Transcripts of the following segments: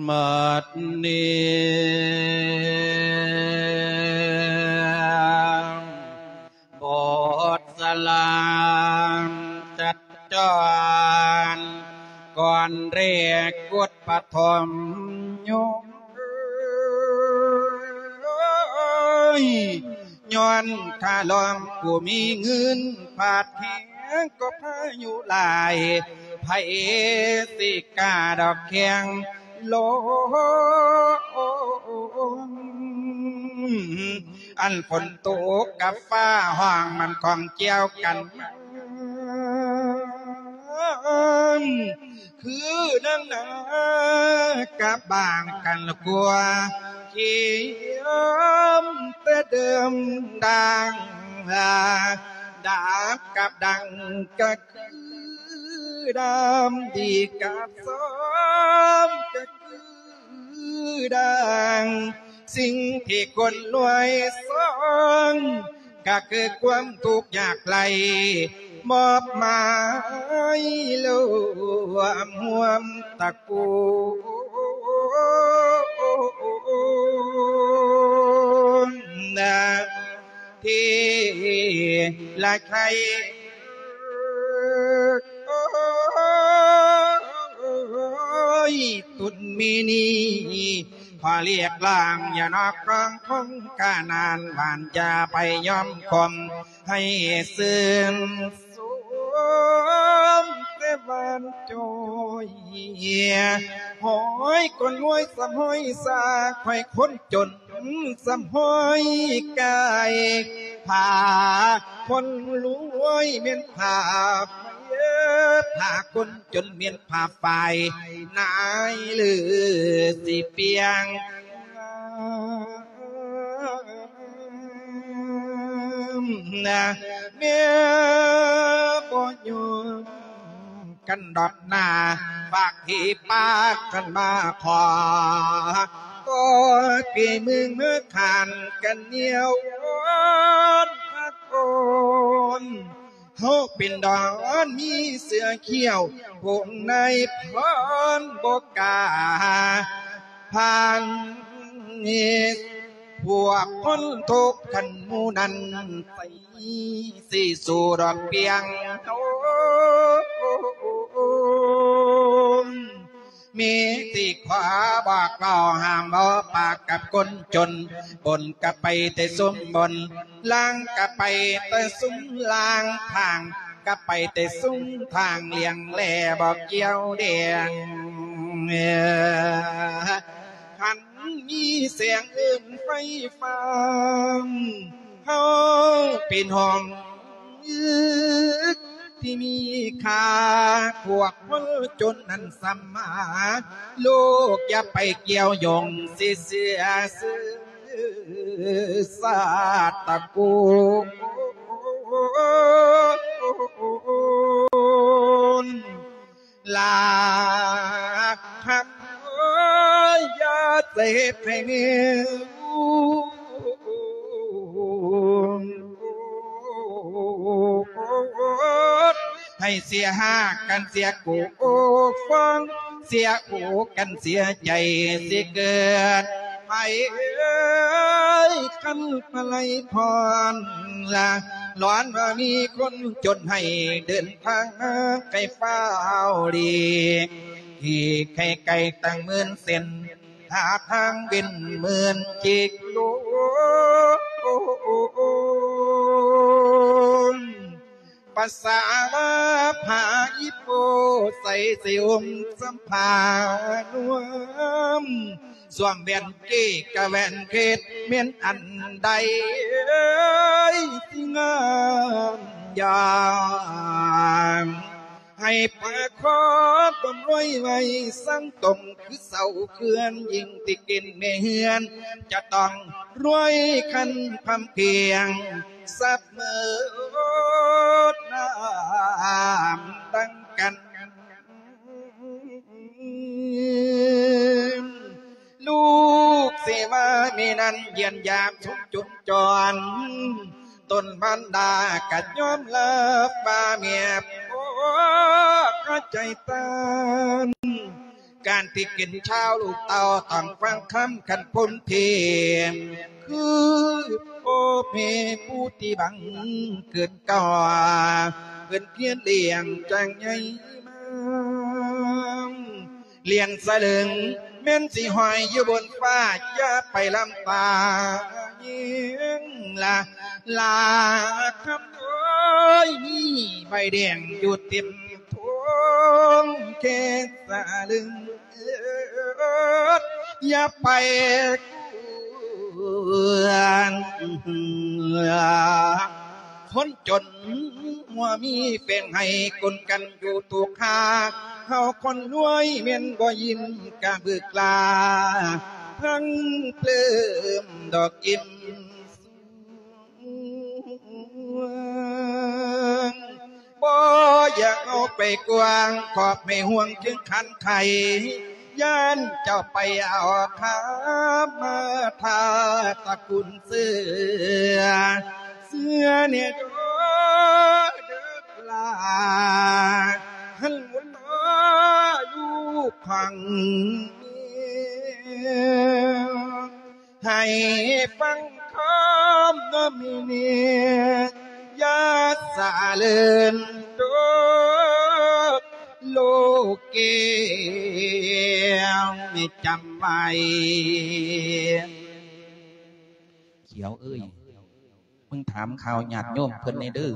ບັດນີ້ ບົດສະຫຼາມຈັດຈອນ ກ່ອນແລກກົດປະຖົມຍົມ ຍ້ອນຂ້າລອມຜູ້ມີເງິນ ພາດແຮງກໍພາຍຸຫຼາຍ ໃຜຊິກ້າດອກແຂ່ງລົມ ອັນຝົນຕົກກັບຟ້າຮ້ອງມັນຂ້ອງກ່ຽວກັນ ຄືນາງນາກັບບາງກັນກົວ ຂຽມແຕ່ເດີມດັ່ງດາບກັບດັງ ກະຄືດາມດີກັບຊອມ ກະຄື ຄືດັ່ງສິ່ງທີ່ຄົນລວຍສ້າງ ກະຄືຄວາມທຸກຍາກໄຮ້ ມອບໝາຍລວມຮ່ວມຕະກູນ ທີ່ລະໄຄ ໂອ້ຍ ຕຸນມີນີ້ ຂໍລຽກລ້າງ ຢ່ານອກກອງຄົງການານ ຫວານຢ່າໄປຍອມຄົມ ໃຫ້ຊື່ນຊົມແຕ່ຫວານໂຈຍ ໂຫຍ ຄົນລວຍສະຫ້ອຍສາ ຂ້ອຍຄົນຈົນ ສະຫ້ອຍກາຍ ພາຄົນລວຍແມ່ນພາ ພາຄົນຈົນແມ່ນພາຝ້າຍ ນາຍຫຼືຊິປ່ຽງ ແມ່ບໍ່ຍອມ ກັນດອກໜ້າ ຝາກທີ່ປາກກັນມາຂໍ ກໍປີເມືອງເມືອຂານກັນນຽວວອນພະໂກນ ເຮົາເປັນດອນມີເສືອຂຽວ ພວກນາຍພານບໍ່ກ້າຜ່ານ ພວກຄົນທຸກຂັ້ນໝູ່ນັ້ນ ໄປ ຊິສູ້ດອກປຽງໂຕນ ມີທີ່ຂໍບອກເວົ້າຫ້າມບໍ່ປາກກັບຄົນຈົນ ບົນກະໄປແຕ່ຊຸມບົນ ລ່າງກະໄປແຕ່ຊຸມລ່າງ ທາງກະໄປແຕ່ຊຸມທາງ ລ້ຽງແລບໍ່ກ່ຽວແດງ ຄັນ ມີແສງເອີ້ນໄຟຟ້າ ເຮົາເປັນຫ້ອງທີ່ມີຄ່າ ພວກຄົນຈົນນັ້ນສຳມາ ລູກຢ່າໄປກ່ຽວຢົງ ຊິເສຍຊື່ຊາດຕະກູນ ລາຄຳ ໂອ້ຍ ຢ່າເຈັບໃຫ້ແມ່ ໃຫ້ເສຍຫາກກັນເສຍໂກ ໂອ້ ຟອງ ເສຍໂອກັນເສຍໃຈ ຊິເກີດໃຜເອີຍ ຄັນມາໄລພອນລະ ລອນວ່າມີຄົນຈົນໃຫ້ເດີນ ທາງໄກຟ້າວຫຼີກ ທີ່ໄກໆຕັ້ງໝື່ນເສັ້ນ ຫາທາງເວັ້ນໝື່ນຈິກໂລນ ປາສາລາພາອີໂປ ໃສ່ຊິອົມສຳພານວມ ສວມແຫວນເກກະແຫວນເພັດ ແມ່ນອັນໃດ ເອີຍ ຊິງາມຢາມ ໃຫ້ປາຄອດບຳລວຍໄວ້ສັງຕົງ ຄືເສົາເຂື່ອນ ຍິ່ງຕິກິນແມ່ເຮືອນ ຈະຕ້ອງລວຍຄັນພຳພຽງ ສັບເໝີດນ້ຳດັ່ງກັນ ລູກເສວາແມ່ນັ້ນຢ້ຽມຢາມຊົມຈົນຈອນ ຕົນມານດາກໍຍອມຮັບວ່າແມ່ພໍ່ຂະ ໃຈຕານ ການທີ່ເປັນຊາວລູກເຕົ້າຕ້ອງຟັງຄຳຄັນພົ້ນເພງ ຄືພໍ່ແມ່ຜູ້ທີ່ບັງເກີດເກີາ ເພິ່ນພຽນລ້ຽງຈັ່ງໃຫຍ່ມາ ລ້ຽງສະເຫຼີງແມ່ນຊິຫ້ອຍຢູ່ບົນຟ້າ ຢ່າໄປລຳຕາຍິງລະ ລາຄຳເອີຍ ມີໃບແດງຢູ່ເຕັມ ທົງແຄສະເລິງ ຢ່າໄປກວນ ຄົນຈົນບໍ່ມີແປງໃຫ້ກົນກັນຢູ່ຕຸກຫາ ເຮົາຄົນລວຍແມ່ນບໍ່ຍິນກະບຶກລາ ທັງເພີ່ມດອກກິນ ບໍ່ຢາກເອົາໄປກວ້າງ ຂອບໃຫ້ຫ່ວງເຄີງຄັນໄຂ ຢ້ານເຈົ້າໄປເອົາຄາມາທາຕະກຸນເສືອ ເສືອແນ່ເດີ ເດີກຫຼາ ຫັ້ນບໍ່ຕໍ່ລູກຂອງແມ່ ໃຫ້ຟັງຄຳນຳແມ່ ຢ່າສະເຫຼີນໂຕໂລກແກ້ວ ໃຫ້ຈຳໄວ້ ຂຽວເອີຍ ມຶງຖາມຂ່າວຍາດໂຍມເພິ່ນແດ່ເດີ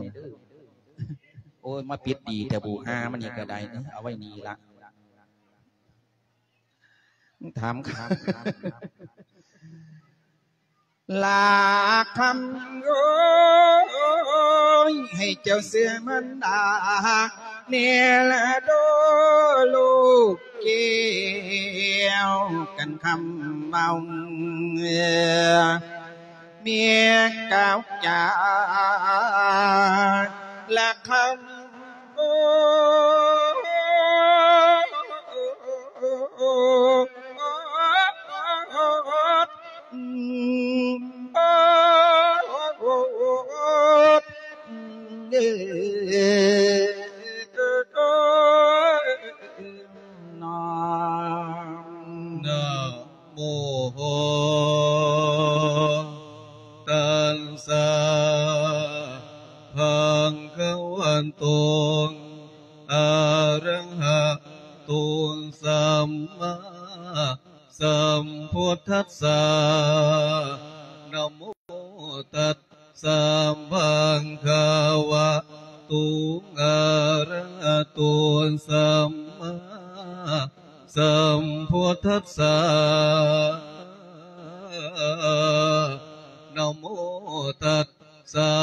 ໂອ້ຍ ມາປິດດີແທ້ ບູຮາມັນນີ້ກະໄດ້ ເອົາໄວ້ນີ້ລະ ຖາມ ລາຄຳເອີຍ ໃຫ້ເຈົ້າເຊື່ອມັນດາ ແນ່ລະເດີ ລູກແກ້ວ ກັນຄຳເວົ້າ ເມຍກ່າວຈາ ລາຄຳ ນະໂມ ຕັດສະ ພະຄະວະໂຕ ອະຣະຫະໂຕ ສຳມາສຳພຸດທັດສະ ນະໂມ ຕັດສະ ພະຄະວະໂຕ ອະຣະຫະໂຕ ສຳມາ ສຳພຸດທັດສະ ນະໂມ ຕັດສະ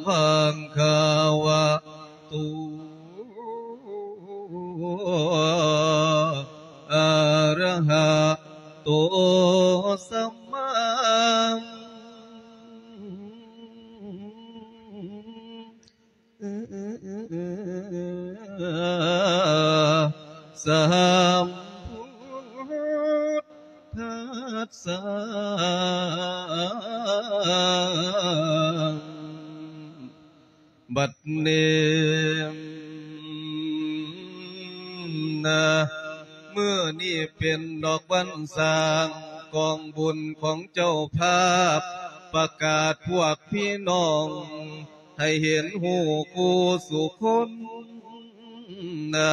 ພະຄະວະໂຕ ອະຣະຫະໂຕ ສຳມາ ສຳພຸດທັດສະ ບັດນີ້ນະ ມື້ນີ້ເປັນດອກວັນສ້າງກອງບຸນຂອງເຈົ້າພາບ ປະກາດພວກພີ່ນ້ອງ ໃຫ້ເຫັນຮູ້ຄູ່ສູ່ຄົນນະ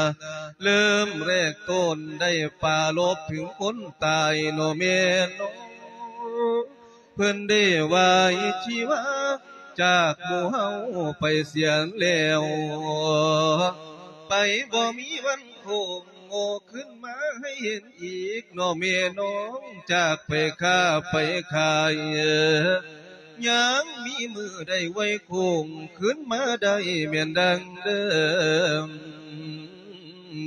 ເລີ່ມແລກຕົ້ນໄດ້ປາລົບເຖິງຄົນຕາຍເນາະແມ່ເນາະ ເພິ່ນໄດ້ວາຍຊີວາຈາກໝູ່ເຮົາໄປເສຍແລ້ວ ໄປບໍ່ມີວັນໂຄ້ງ ໂງ່ ຄືນມາໃຫ້ເຫັນອີກເນາະແມ່ນ້ອງ ຈາກໄປຄ້າໄປຂາຍ ຍັງມີມື້ໄດ້ໄຫວ້ໂຄ້ງ ຄືນມາໄດ້ແມ່ນດັ່ງເດີມ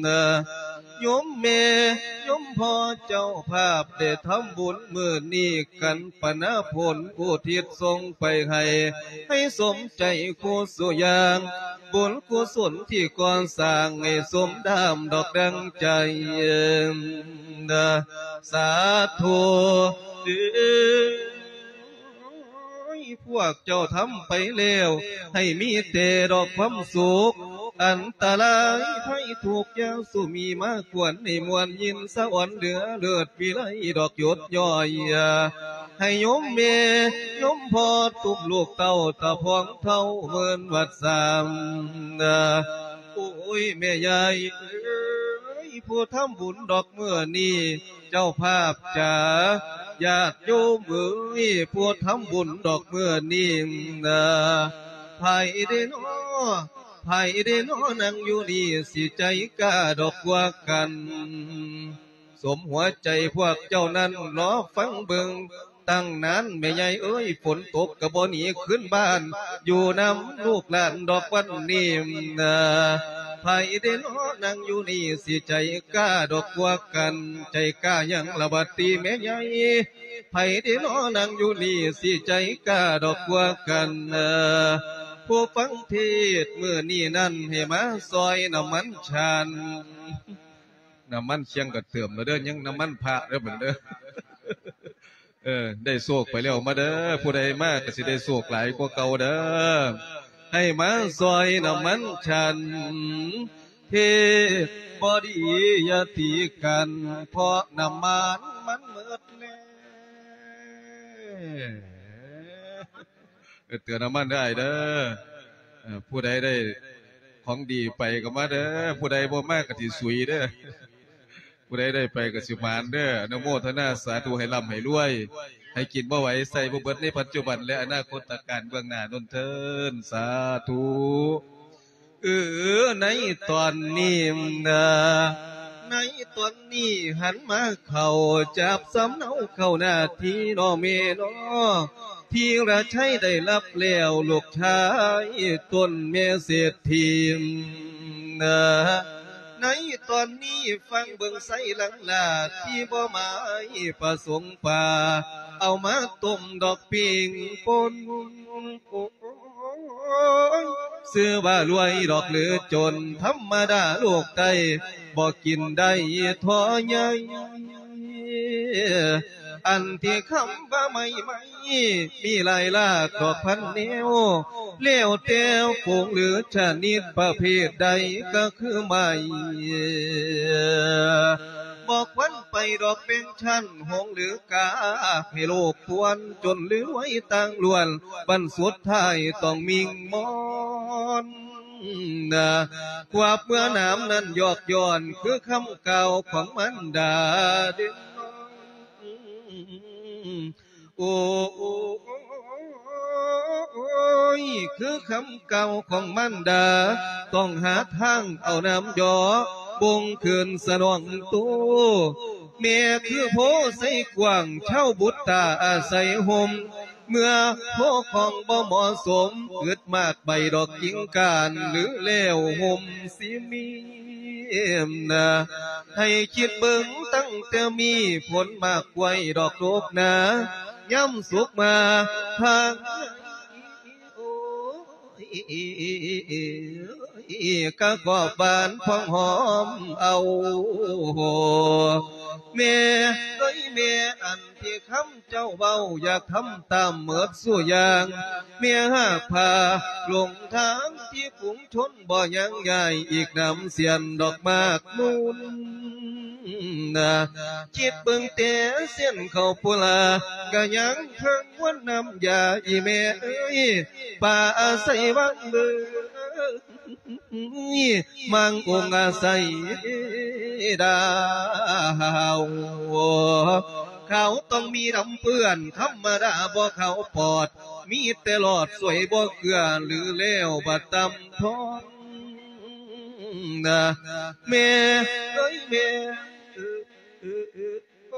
ນະ ໂຍມແມ່ໂຍມພໍ່ເຈົ້າພາບ ໄດ້ທຳບຸນມື້ນີ້ກັນ ປະນາຜົນອຸທິດສົ່ງໄປໃຫ້ ໃຫ້ສົມໃຈຄູ່ສູ່ຢ່າງ ບຸນກຸສົນທີ່ກໍ່ສ້າງໃຫ້ສົມດາມດອກດັ່ງໃຈ ສາທຸເອີຍ ພວກເຈົ້າທຳໄປແລ້ວ ໃຫ້ມີແຕ່ດອກຄວາມສຸກ ອັນຕະລາຍໄພທຸກຢ່າສູ່ມີມາຄວນໃຫ້ມ່ວນຍິນສະອອນເຫຼືອເລີດວິໄລດອກຢຸດຍ່ອຍ ໃຫ້ໂຍມແມ່ໂຍມພໍ່ຕຸ້ມລູກເຕົ້າຕາພອງເຖົ້າເມີນວັດສາມ. ໂອ້ຍ ແມ່ຍາຍເອີຍ ຜູ້ທຳບຸນດອກມື້ນີ້ ເຈົ້າພາບຈາ ຍາດໂຍມເອີຍ ຜູ້ທຳບຸນດອກມື້ນີ້ນະ ໃຜເດນໍ ໃຜເດນໍ ນັ່ງຢູ່ນີ້ ຊິໃຈກ້າດອກກວ່າກັນ. ສົມຫົວໃຈພວກເຈົ້ານັ້ນ ລໍຟັງເບິ່ງຕັ້ງນານ ແມ່ໃຫຍ່ເອີຍ ຝົນຕົກກໍບໍ່ໜີຄືນບ້ານ ຢູ່ນຳລູກຫຼານດອກວັນນີ້ນະ. ໃຜເດນໍ ນັ່ງຢູ່ນີ້ ຊິໃຈກ້າດອກກວ່າກັນ ໃຈກ້າຫຍັງລະບັດນີ້ແມ່ໃຫຍ່ ໃຜເດນໍ ນັ່ງຢູ່ນີ້ ຊິໃຈກ້າດອກກວ່າກັນ. ຜູ້ຟັງເທດມື້ນີ້ນັ້ນ ໃຫ້ມາຊ່ອຍນ້ຳມັນຊານ ນ້ຳມັນຊຽງກໍເຕີມແລ້ວເດີ້ ຍັງນ້ຳມັນພະເດີ້ບັດເດີ້. ເອີ ໄດ້ໂຊກໄປແລ້ວ ມາເດີ້ ຜູ້ໃດມາກໍຊິໄດ້ໂຊກຫຼາຍກວ່າເກົ່າເດີ້. ໃຫ້ມາຊ່ອຍນ້ຳມັນຊານ ເທດບໍ່ດີຢ່າຕີກັນ ເພາະນ້ຳມັນມັນໝົດແລ້ວ. ເອີ ເຕືອນນ້ຳມັນເດີ້ອ້າຍເດີ້. ເອີ ຜູ້ໃດໄດ້ຂອງດີໄປກໍມາເດີ້ ຜູ້ໃດບໍ່ມາກໍຊິສຸຍເດີ້. ຜູ້ໃດໄດ້ໄປກໍຊິໝານເດີ້. ອະນຸໂມທະນາສາທຸ ໃຫ້ລ່ຳໃຫ້ລວຍ ໃຫ້ກິນບໍ່ໄຫວ ໃຊ້ບໍ່ເບິດໃນປັດຈຸບັນ ແລະ ອະນາຄົດຕະການເບື້ອງໜ້າໂນ້ນເທີ້ນ ສາທຸ. ເອີ ໃນຕອນນີ້ນະ ໃນຕອນນີ້ຫັນມາເຂົ້າ ຈັບສຳເນົາເຂົ້າໜ້າທີ່ນໍແມ່ນໍ ທີລະໄຊໄດ້ຮັບແລ້ວ ລູກຊາຍຕົນແມ່ເສດຖີນະ. ໃນຕອນນີ້ຟັງເບິ່ງໄຊຫຼັງຫຼາ ທີ່ບໍ່ໝາຍປະສົງປາ ເອົາມາຕົ້ມດອກປີ້ງປົນ ໂອ້ຍ ຊື່ວ່າລວຍດອກຫຼືຈົນ ທຳມະດາໂລກໃຕ້ ບໍ່ກິນໄດ້ທໍ່ໃຫຍ່. ອັນທີ່ຄຳວ່າໄມ້ໄມ້ ມີຫຼາຍຫຼາກດອກພັນແນວ ແລ້ວແຕ່ຝູງຫຼືຊະນິດປະເພດໃດກໍຄືໄມ້ ບໍ່ຄວນໄປດອກເປັນຊັ້ນ ຫົງຫຼືກາ ໃຫ້ໂລກປວນ ຈົນຫຼືລວຍຕ່າງລ້ວນ ບັ້ນສຸດທ້າຍຕ້ອງມິ່ງມອນນະ. ຄວາບເມື່ອນາມນັ້ນຍອກຍ້ອນ ຄືຄຳກ່າວຂອງມານດາເດ ໂອ້ຍ ຄືຄຳກ່າວຂອງມານດາ ຕ້ອງຫາທາງເອົານ້ຳຢໍ ບົ່ງຄືນສະໜອງໂຕ. ແມ່ຄືໂພໄຊກວ້າງ ຊາວບຸດຕາອາໄສຮົ່ມ ເມື່ອໂພຂອງບໍ່ເໝາະສົມ ອຶດມາກໃບດອກກິ່ງການ ຫຼືແລ້ວຮົ່ມຊິມີມນະ. ໃຫ້ຄິດເບິ່ງຕັ້ງແຕ່ມີຜົນໝາກກ້ວຍດອກດົກໜາ ຍາມສຸກມາພາງ ໂອ້ຍ ກະກອບບານພອງຫອມເອົາ. ແມ່ເອີຍແມ່ ອັນທີ່ຄຳເຈົ້າເວົ້າ ຢາກທຳຕາມໝົດສູ່ຢ່າງ ແມ່ຫາກພາຫຼົງທາງທີ່ຝູງ ຊົນບໍ່ຍັງຍ້າຍ ອີກນຳສຽນດອກໝາກມູນນະ. ຄິດເບິ່ງແຕ່ເສັ້ນເຂົ້າປຸລາ ກະຍັງເທິງວັນນ້ຳຢາ ອີແມ່ເອີຍ ປ່າອາໄສວັງເບີ ມັງອົງອາໄສດາວ ຂາວຕ້ອງມີດຳເປື້ອນ ທຳມະດາບໍ່ຂາວປອດ ມີແຕ່ຫຼອດສວຍບໍ່ເກືອ ຫຼືແລ້ວບັດຕຳທອນນະ ແມ່ເອີຍແມ່ ໂອ້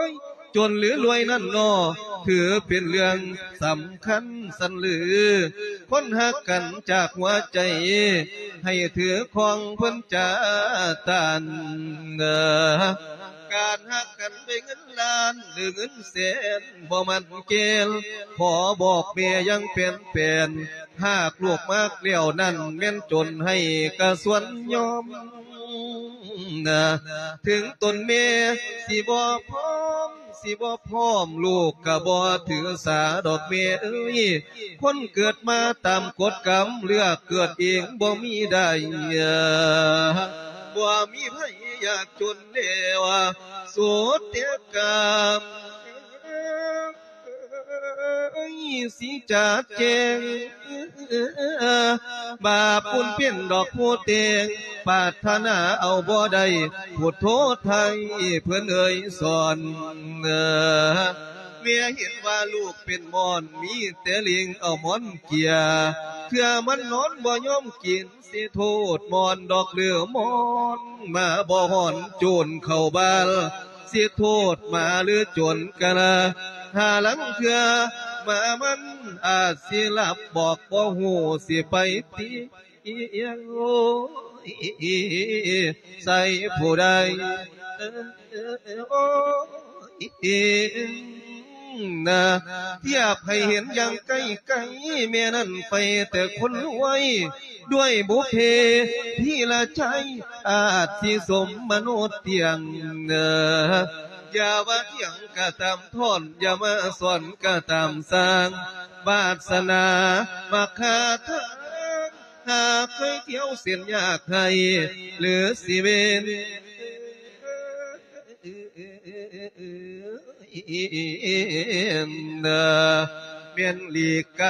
ຍ ຈົນຫຼືລວຍນັ້ນນໍ ຖືເປັນເລື່ອງສຳຄັນສັນຫຼື ຄົນຮັກກັນຈາກຫົວໃຈ ໃຫ້ຖືຄອງເພິ່ນຈາຕານ ການຮັກກັນດ້ວຍເງິນລ້ານ ຫຼືເງິນແສນ ບໍ່ໝັ້ນແກ່ນ ຂໍບອກແມ່ຢ່າງແປນໆ ຫາກລູກມັກແລ້ວນັ້ນ ແມ່ນຈົນໃຫ້ກະສ່ວນຍອມນະ ເຖິງຕົນແມ່ຊິບໍ່ພ້ອມ ຊິບໍ່ພ້ອມ ລູກກໍບໍ່ຖືສາດອກແມ່ເອີຍ ຄົນເກີດມາຕາມກົດກຳ ເລືອກເກີດເອງບໍ່ມີໄດ້ ບໍ່ມີໃຜຢາກຈົນແລ້ວ ສຸດແຕ່ກຳ ເອີຍ ຊິຈະແຈ້ງ ບາບບຸນເປັນດອກຜູ້ແຕ່ງ ປາດຖະໜາເອົາບໍ່ໄດ້ ພຸດໂທໄທເພິ່ນເອີຍສອນ ແມ່ເຫັນວ່າລູກເປັນມ່ອນ ມີແຕ່ເລັ່ງເອົາໝອນເກຍ ເທື່ອມັນນອນບໍ່ຍອມກິນ ຊິໂທດມ່ອນດອກ ຫຼື ໝອນມາບໍ່ຮ້ອນໂຈນເຂົ້າບ້ານ ຊິໂທດໝາ ຫຼື ໂຈນກະລາ ຫາລາງເທື່ອໝາມັນອາດຊິຫຼັບ ບອກບໍ່ຮູ້ຊິໄປຕິ ໃສ່ຜູ້ໃດ ນະ ທຽບໃຫ້ເຫັນຢ່າງໃກ້ໆ ແມ່ນັ້ນໄປແຕ່ຄົນລວຍ ດ້ວຍບຸບເພທີລະໄຈ ອາດຊິສົມມະໂນດຕຽງ ເອີ ຢ່າວ່າຖຽງກະຕາມທ່ອນ ຢ່າມາສອນກະຕາມສ້າງ ວາດສະໜາມາຄາທາງ ຫາເຄີຍທ່ຽວເສັ້ນຍາກໃຫ້ ຫຼື ຊິເວນ ແມ່ນຫຼີກໄກ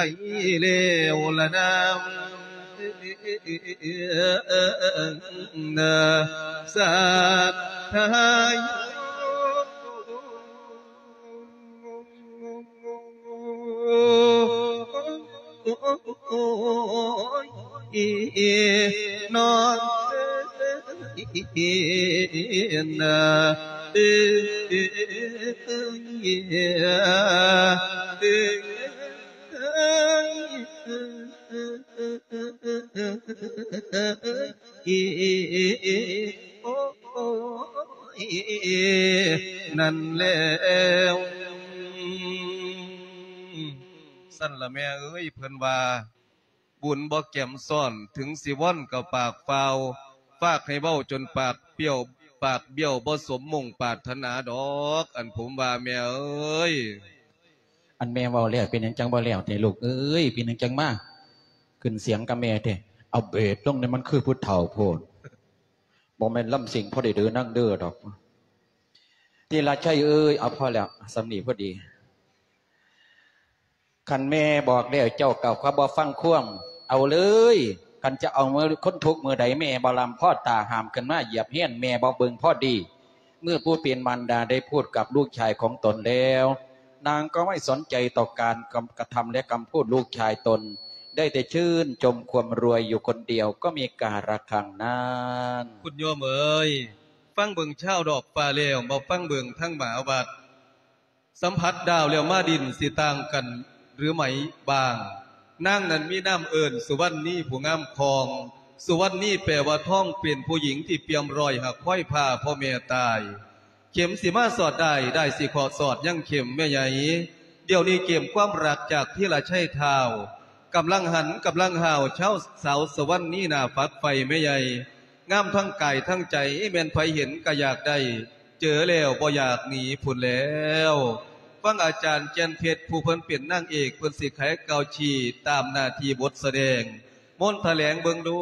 ແລ້ວລະນາ ສາດທາຍ ໂອ້ຍ ນ້ອງເອີຍ ເອີ ນັ້ນແລ້ວ ຊັ້ນລະແມ່ເອີຍ ເພິ່ນວ່າ ບຸນບໍ່ແກມຊ້ອນ ເຖິງຊິວອນກໍປາກຟ້າວ ຟາກໃຫ້ເວົ້າຈົນປາກປ້ຽວ ປາກບ້ຽວ ບໍ່ສົມມຸ່ງປາດຖະໜາດອກ ອັນຜົມວ່າແມ່ເອີຍ. ອັນແມ່ເວົ້າແລ້ວ ເປັນຫຍັງຈັ່ງບໍ່ແລ້ວແທ້ລູກເອີຍ? ເປັນຫຍັງຈັ່ງມາຂຶ້ນສຽງກັບແມ່ແທ້? ເອົາເບດລົງແດ່ ມັນຄືຜູ້ເຖົ້າໂພດ. ບໍ່ແມ່ນລຳສິງພໍໄດ້ເດີນາງເດີດອກ. ທີລະໄຊເອີຍ ເອົາພໍແລ້ວ ສ່ຳນີ້ພໍດີ. ຄັນແມ່ບອກແລ້ວ ເຈົ້າກໍບໍ່ຟັງຄວາມ ເອົາເລີຍ. ຄັນຈະເອົາມື້ຄົນທຸກມື້ໃດ ແມ່ບໍ່ລຳພໍຕາ ຫ້າມຂຶ້ນມາຢຽບຮຽນ ແມ່ບໍ່ເບິ່ງພໍດີ. ເມື່ອຜູ້ເປັນມານດາໄດ້ພູດກັບລູກຊາຍຂອງຕົນແລ້ວ ນາງກໍໄມ່ສົນໃຈຕໍ່ການກະທຳ ແລະ ຄຳພູດລູກຊາຍຕົນ ໄດ້ແຕ່ຊື່ນຊົມຄວາມລວຍຢູ່ຄົນດຽວ ກໍມີກາລະຄັງນັ້ນ. ຄຸນໂຍມເອີຍ ຟັງເບິ່ງຊາວດອກຟ້າແລ້ວ ມາຟັງເບິ່ງທາງໝາວັດ. ສຳຜັດດາວແລ້ວມາດິນ ຊິຕ່າງກັນຫຼືໄໝບາງ? ນາງນັ້ນມີນາມເອີ້ນສຸວັນນີ ຜູ້ງາມຄອງ. ສຸວັນນີແປວ່າທອງ ເປັນຜູ້ຍິງທີ່ປ່ຽມລອຍ ຫາກຄວາຍພາພໍ່ແມ່ຕາຍ. ເຂັມຊິມາສອດດ້າຍ ດ້າຍຊິເຄາະສອດຍັງເຂັມແມ່ໃຫຍ່. ດຽວນີ້ເກມຄວາມລັກຈາກທີລະໄຊທ້າວ ກຳລັງຫັນກຳລັງຫ້າວ ຊາວ ສາວສຸວັນນີໜ້າຝັກໃຝ່ແມ່ໃຫຍ່. ງາມທັງກາຍທັງໃຈ ແມ່ນໃຜເຫັນກະຢາກໄດ້ ເຈີແລ້ວບໍ່ຢາກໜີພຸ້ນແລ້ວ. ຟັງອາຈານແກ່ນເພັດ ຜູ້ເພິ່ນເປັນນາງເອກ ເພິ່ນຊິໄຂກ່າວຊີ້ຕາມໜ້າທີ່ບົດສະແດງ. ມົນຖະແຫຼງເບິ່ງດູ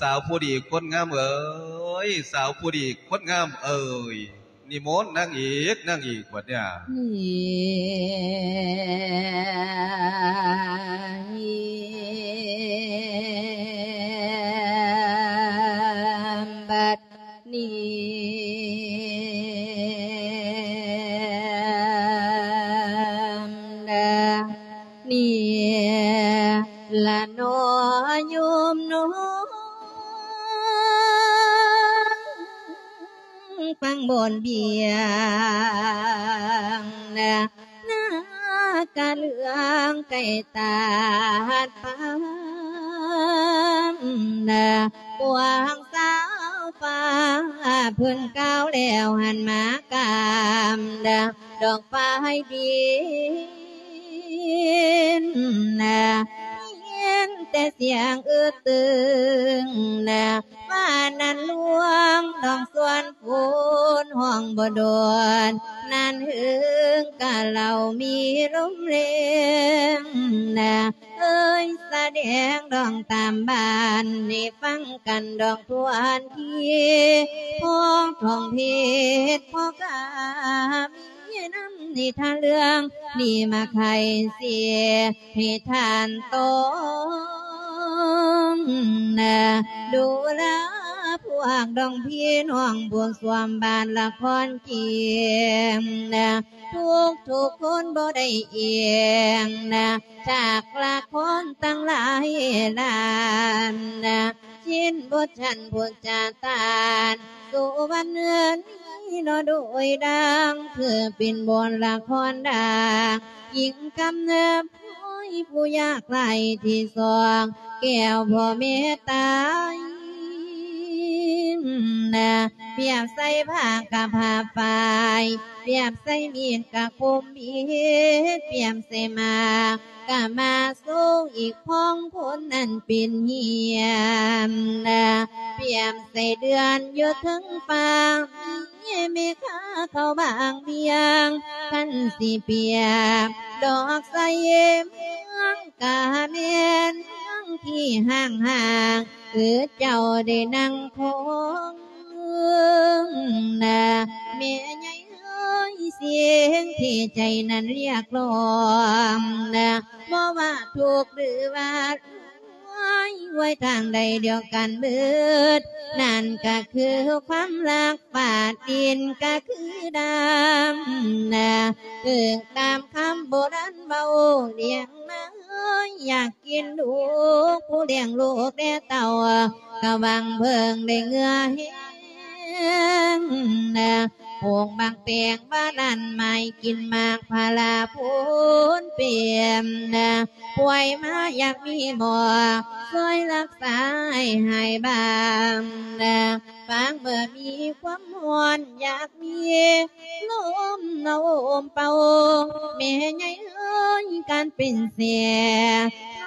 ສາວຜູ້ດີຄົນງາມເອີຍ ສາວຜູ້ດີຄົນງາມເອີຍ. ນິມົນນາງເອກ ນາງເອກບັດນີ້. ບັດນີ້ ນີ້ລະເນາະໂຍມເນາະ ຟັງບ່ອນບຽງນະ ນາກະເຫຼືອງໃກ້ຕາດປາມນະ ພວກສາວຟ້າເພິ່ນກ່າວແລ້ວ ຫັນມາກາມນະ ດອກໄຟດິນນະ ຍິນແຕ່ສຽງອຶດຕຶງນະ ວ່ານັ້ນລວງດອງສວນຝົນ ຮ້ອງບໍ່ດອນ ນານເຫິງກະເລົ່າມີລົມແລງນະ ເອີຍສະແດງດອງຕາມບ້ານ ໃຫ້ຟັງກັນດອງທວນທີ ພໍທ່ອງເທດພໍກະມີນຳນິທານເລື່ອງນີ້ມາໄຂເສຍ ໃຫ້ທ່ານຕ້ອງນະ ດູລາພວກດອງພີ່ນ້ອງຜູ້ສວມບ້ານລະຄອນຈຽງນະ ທຸກໆຄົນບໍ່ໄດ້ອຽງນະ ຈາກລະຄອນຕັ້ງຫຼາຍລ້ານນະ ຊິນບົດຊັ້ນພຸດຈາຕານ ສຸວັນເຮືອນນີ້ເນາະໂດຍດັ່ງ ຄືເປັນບົດລະຄອນດັງ ຍິງກຳເນີບ ໂອ້ຍ ຜູ້ຍາກໄຮ້ທີ່ສອງແກ້ວພໍ່ແມ່ຕາຍນະ ປຽບໃສ່ຜ້າກະຜ້າຝ້າຍ ປຽບໃສ່ມີດກະຄົມເບັດ ປຽບໃສ່ໝາກກະມາສູງ ອີກພ້ອງຄົນນັ້ນເປັນເຫື່ອນນະ ປຽບໃສ່ເດືອນຢູ່ເທິງຟ້າ ແມ່ຄ້າເຂົ້າບາງວຽງ ຄັນຊິປຽບດອກສະເຫຍເມືອງກະແມ່ນເມືອງທີ່ຮ້າງໆ ຄືເຈົ້າໄດ້ນັ່ງຄອງນະ ແມ່ໃຫຍ່ເອີຍ ສິ່ງທີ່ໃຈນັ້ນຮຽກຮ້ອງນະ ບໍ່ວ່າທຸກຫຼືວ່າ ໄວ້ ໄວ້ທາງໃດດຽວກັນເບີດ ນັ້ນກະຄືຄວາມຮັກ ຟ້າດິນກະຄືດຳນະ ເອີງຕາມຄຳໂບລານເວົ້າ ລ້ຽງມາເອີຍ ຢາກກິນລູກ ຜູ້ລ້ຽງລູກແດ່ເຕົ້າ ກະຫວັງເພິ່ງໄດ້ເຫື່ອແຮງນະ ປູກໝາກແຕງວ່ານັ້ນ ໄມ້ກິນໝາກພາລາໂພນເປັມນະ ປ່ວຍມາຢາກມີໝໍຊ່ວຍລັກສາໃຫ້ຫາຍບາງນະ ຟາງເມື່ອມີຄວາມຮ້ອນຢາກມີລົມນະໂອມເປົ່າ ແມ່ໃຫຍ່ເອີຍ ການເປັນແຊ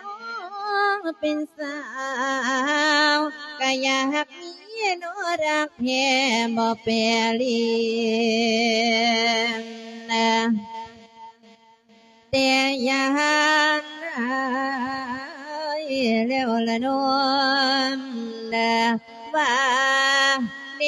ວ ເປັນສາວ ກະຢາກ ມີນອກຮັກແທ້ບໍ່ແປລີນະ ແຕ່ຢ້ານອາຍແລ້ວລະນອນນະ ວ່າເນ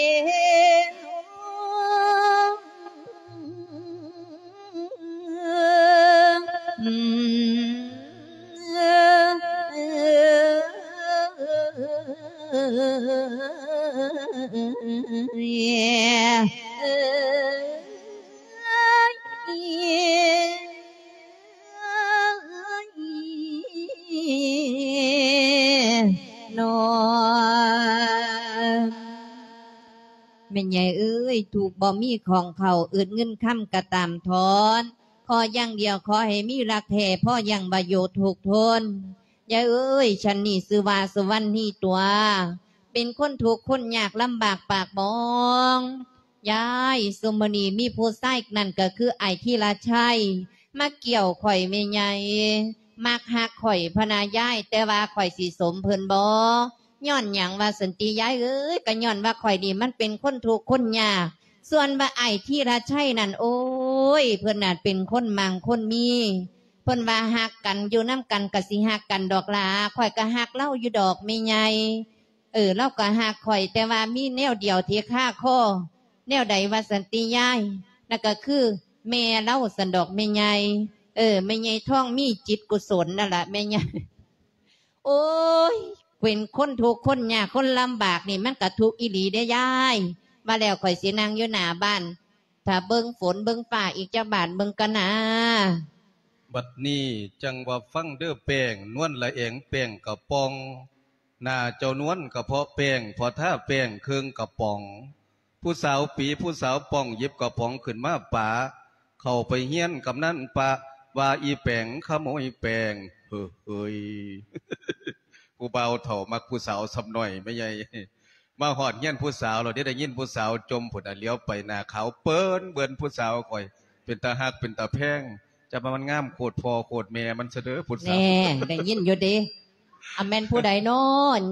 ແມ່ໃຫຍ່ເອີຍ ທຸກບໍ່ມີຂອງເຂົ້າ ອຶດເງິນຄຳກະຕາມທອນ ຂໍຢ່າງດຽວ ຂໍໃຫ້ມີຮັກແທ້ ພໍຢ່າງວ່າຢູ່ທຸກທົນ. ຍາຍເອີຍ ຊັ້ນນີ້ຊື່ວ່າສຸວັນນີຕົວະ ເປັນຄົນທຸກຄົນຍາກລຳບາກປາກໝອງ. ຍາຍ ຊຸມື້ນີ້ມີຜູ້ຊາຍ ນັ້ນກໍຄືອ້າຍທີລະໄຊ ມາກ່ຽວຂ້ອຍແມ່ໃຫຍ່ ມັກຮັກຂ້ອຍພະນາຍາຍ ແຕ່ວ່າຂ້ອຍຊິສົມເພິ່ນບໍ່? ຍ້ອນຫຍັງວ່າຊັ້ນຕິຍາຍເອີຍ? ກໍຍ້ອນວ່າຂ້ອຍນີ້ມັນເປັນຄົນທຸກຄົນຍາກ. ສ່ວນວ່າອ້າຍທີລະໄຊນັ້ນ ໂອ້ຍ ເພິ່ນນັ້ນເປັນຄົນມັ່ງຄົນມີ ເພິ່ນວ່າຮັກກັນ ຢູ່ນຳກັນກໍຊິຮັກກັນດອກຫຼ້າ ຂ້ອຍກໍຮັກລາວຢູ່ດອກແມ່ໃຫຍ່. ເອີ ລາວກໍຮັກຂ້ອຍ ແຕ່ວ່າມີແນວດຽວທີ່ຄາຄໍ. ແນວໃດວ່າຊັ້ນຕິຍາຍ? ນັ້ນກໍຄືແມ່ລາວຊັ້ນດອກແມ່ໃຫຍ່. ເອີ ແມ່ໃຫຍ່ທອງມີຈິດກຸສົນນັ້ນລະແມ່ໃຫຍ່. ໂອ້ຍ ເປັນຄົນທຸກຄົນຍາກຄົນລຳບາກນີ້ ມັນກະທຸກອີ່ຫຼີເດ້ຍາຍ. ວ່າແລ້ວຂ້ອຍຊິນັ່ງຢູ່ໜ້າບ້ານ ຖ້າເບິ່ງຝົນເບິ່ງຟ້າອີກຈັກບາດເບິ່ງກ່ອນນາ. ບັດນີ້ຈັ່ງວ່າຟັງເດີ້ແປ້ງ ນວນລະແອງແປ້ງກະປ໋ອງ ໜ້າເຈົ້ານວນກະເພາະແປ້ງ ພໍທາແປ້ງເຄິ່ງກະປ໋ອງ. ຜູ້ສາວປີ ຜູ້ສາວປ້ອງ ຫຍິບກະປ໋ອງຂຶ້ນມາປະ ເຂົ້າໄປຮຽນກຳນັນປະ ວ່າອີແປ້ງຂະໂມຍແປ້ງ ເຮີ້ຍ ຜູ້ບ່າວເຖົ້າມັກຜູ້ສາວຊຳນ້ອຍແມ່ໃຫຍ່. ມາຮອດຮຽນຜູ້ສາວແລ້ວເດ້ ໄດ້ຍິນຜູ້ສາວຈົ່ມພຸ້ນນະ ຫຼຽວໄປໜ້າຂາວເປີ້ນເບິ່ນ ຜູ້ສາວຂ້ອຍເປັນຕາຮັກເປັນຕາແພງ ຈັກວ່າມັນງາມໂຄດພໍ່ໂຄດແມ່ມັນຊະເດີ ຜູ້ສາວ. ແນ່ ໄດ້ຍິນຢູ່ເດ້. ອັນແມ່ນຜູ້ໃດນໍ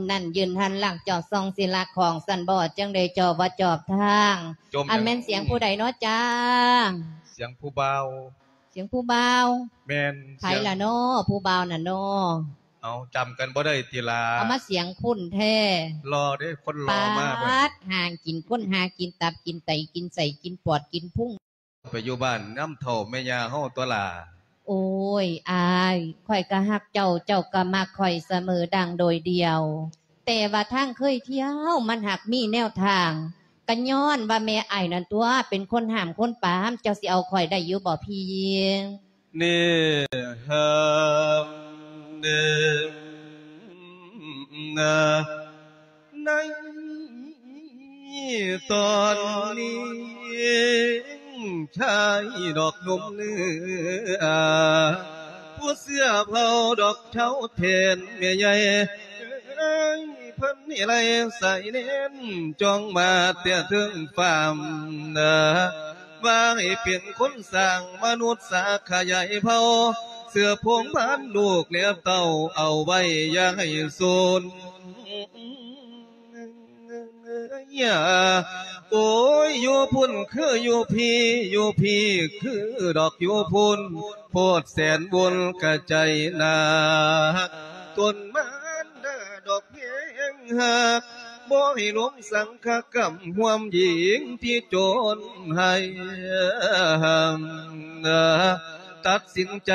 ນັ້ນຢືນຫັນຫຼັງຈອດສ່ອງສີລະຂອງຊັ້ນບໍ່ ຈັ່ງໄດ້ເຈົ້າວ່າຈອບທາງ ຈົມ ອັນແມ່ນສຽງຜູ້ໃດນໍຈ້າ? ສຽງຜູ້ບ່າວ. ສຽງຜູ້ບ່າວ? ແມ່ນ. ໃຜລະນໍ ຜູ້ບ່າວນັ້ນນໍ? ເອົາ ຈຳກັນບໍ່ໄດ້ຕິລະ? ເອົາມາສຽງຄຸ້ນແທ້. ຫຼໍ່ເດ້ ຄົນຫຼໍ່ມາ. ປາດ ຫາກິນ ຄົນຫາກິນ ຕັບກິນໄຕ ກິນໄສ້ ກິນປອດ ກິນພຸງ ໄປຢູ່ບ້ານນຳເຖົ້າແມ່ຍ່າເຮົາຕົວະຫຼ້າ. ໂອ້ຍ ອ້າຍ ຂ້ອຍກໍຮັກເຈົ້າ ເຈົ້າກໍມັກຂ້ອຍສະເໝີດັ່ງໂດຍດຽວ ແຕ່ວ່າທາງເຄີຍທ່ຽວມັນຫາກມີແນວທາງ ກໍຍ້ອນວ່າແມ່ອ້າຍນັ້ນຕົວະ ເປັນຄົນຫ້າມຄົນປາມ ເຈົ້າຊິເອົາຂ້ອຍໄດ້ຢູ່ບໍ່ພີ່ຍິງ? ເນ ຫ້າມ ເນ ນາ ໃນຕອນນີ້ ຊາຍດອກໜຸ່ມເນື້ອ ຜູ້ເສື້ອເຜົ່າດອກເທົ້າແທນແມ່ໃຫຍ່ ເອີຍ ເພິ່ນໃຫ້ໄລ່ສາຍແນນ ຈ້ອງມາແຕ່ເທິງຟ້າ ວ່າໃຫ້ເປັນຄົນສ້າງມະນຸດສາຂະຫຍາຍເຜົ່າ ເສືບພົງພັນລູກແລະເຕົ້າ ເອົາໄວ້ຢ່າໃຫ້ສູນ. ໂອ້ຍ ຢູ່ພຸ້ນຄືຢູ່ພີ້ ຢູ່ພີ້ຄືດອກຢູ່ພຸ້ນ ໂພດແສນບຸນກະໃຈໜາກ ຕົນມານດາດອກແພງຮັກ ບໍ່ໃຫ້ລົງສັງຄະກຳຮ່ວມຍິງທີ່ຈົນໃຫ້ ຕັດສິນໃຈ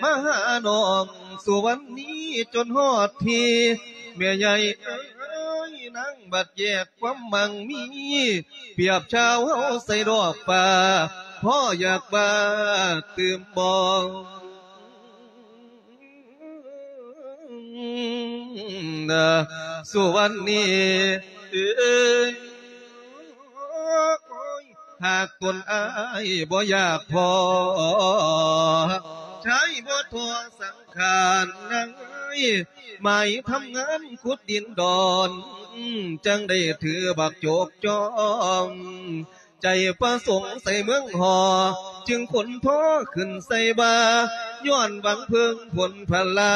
ມາຫານ້ອງສຸວັນນີຈົນຮອດທີ່ ແມ່ໃຫຍ່ເອີຍ ນາງບັດແຍກຄວາມໝັ່ງມີ ປຽບຊາວເຮົາໃສ່ດອກຟ້າ ພໍຢາກວ່າຕື່ມບໍ່ ສຸວັນນີເອີຍ ຫາກຕົນອ້າຍບໍ່ຢາກພໍ ຊາຍບໍ່ທໍ້ສັງຂານນາງເອີຍ ໝາຍທຳງານຂຸດດິນດອນ ຈັ່ງໄດ້ຖືບັກໂຈກຈອງ ໃຈປະສົງໃສ່ເມືອງຫໍ ຈຶ່ງຂົນທໍ່ຂຶ້ນໃສ່ບ່າ ຍ້ອນຫວັງເພິ່ງຜົນພະລາ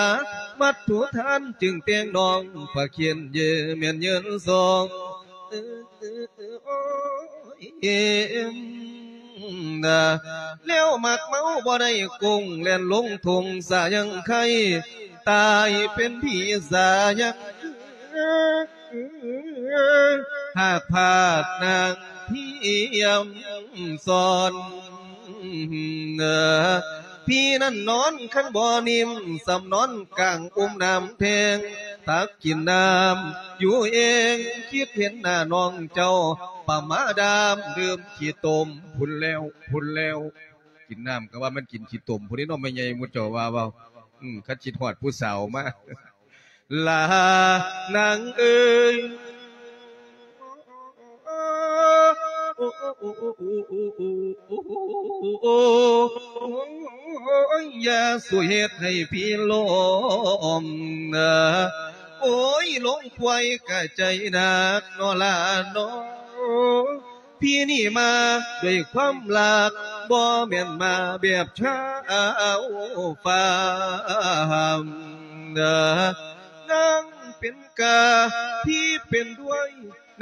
ວັດຖຸທານຈຶ່ງແຕ່ງນ້ອງ ພະຄຽນເຢີແມ່ນເຍີນສອງ ແລ້ວມັກເມົາບໍ່ໄດ້ກົງ ແລ່ນລົງທົ່ງສາຍັງໄຄ ຕາຍເປັນຜີສາຍັງ ຫາກພາດນາງພຽມສອນ ພີ້ນັ້ນນອນຄັນບໍ່ນິ້ມ ສ່ຳນອນກາງອຸ້ມນ້ຳແທງ ຕັກກິນນ້ຳຢູ່ເອງ ຄິດເຫັນໜ້ານ້ອງເຈົ້າ ປະມາດາມດື່ມຂີ້ຕົມພຸ້ນແລ້ວ ພຸ້ນແລ້ວ ກິນນ້ຳກໍວ່າມັນກິນຂີ້ຕົມພຸ້ນເດ້ເນາະ ແມ່ໃຫຍ່ໝູ່ເຈົ້າວ່າເວົ້າ ອືມ ຄັນຄິດຮອດຜູ້ສາວມາ ລານາງເອີຍ ໂອ້ຍ ຢ່າສູ່ເຮັດໃຫ້ພີ່ລົມ ໂອ້ຍ ລົງປ່ວຍກະໃຈໜັກເນາະຫຼານເນາະ. ພີ່ນີ້ມາດ້ວຍຄວາມຮັກ ບໍ່ແມ່ນມາແບບຊາວຟາມ. ນາງເປັນກາ ພີ່ເປັນດ້ວຍ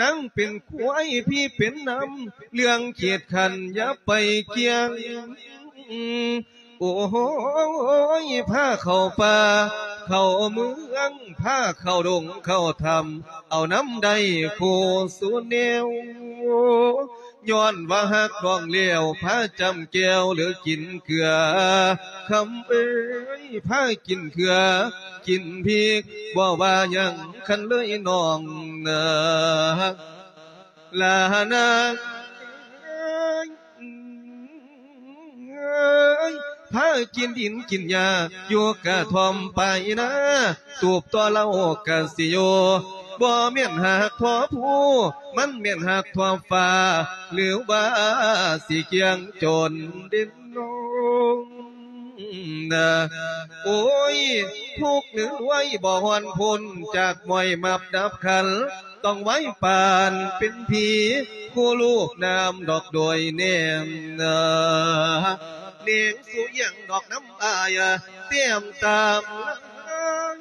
ນາງເປັນຄວາຍ ພີ່ເປັນນຳ ເລື່ອງເຂດຂັນຢ່າໄປກ່ຽງ. ໂອ້ຍ ພາເຂົ້າປ່າເຂົ້າເມືອງ ພາເຂົ້າດົງເຂົ້າຖ້ຳ ເອົານຳໄດ້ຄູ່ສູ່ແນວ. ຍ້ອນວ່າຮັກນ້ອງແລ້ວ ພາຈ້ຳແຈ່ວຫຼືກິນເກືອ ຄຳເອີຍ ພາກິນເກືອກິນພິກ ບໍ່ວ່າຫຍັງຄັນເລີຍນ້ອງນາ ລານາງເອີຍ. ເອີຍ ພາກິນດິນກິນຫຍ້າ ຢູ່ກະທ່ອມປາຍນາ ຕູບຕໍ່ເຫຼົ້າກະຊິຢູ່ ບໍ່ແມ່ນຮັກທໍ່ພູ ມັນແມ່ນຮັກທໍ່ຟ້າ ຫຼືວ່າຊິກ່ຽງຈົນເດັ່ນນອງນາ. ໂອ້ຍ ທຸກຫຼືລວຍບໍ່ຮ່ອນພົ້ນ ຈາກມວຍມັບດັບຂັນ ຕ້ອງໄວປານເປັນຜີ ຄູ່ລູບນ້ຳດອກໂດຍແນມນາ ເໜັງສຸຍັງດອກນ້ຳອາຍ ແຕ້ມຕາມລາຍ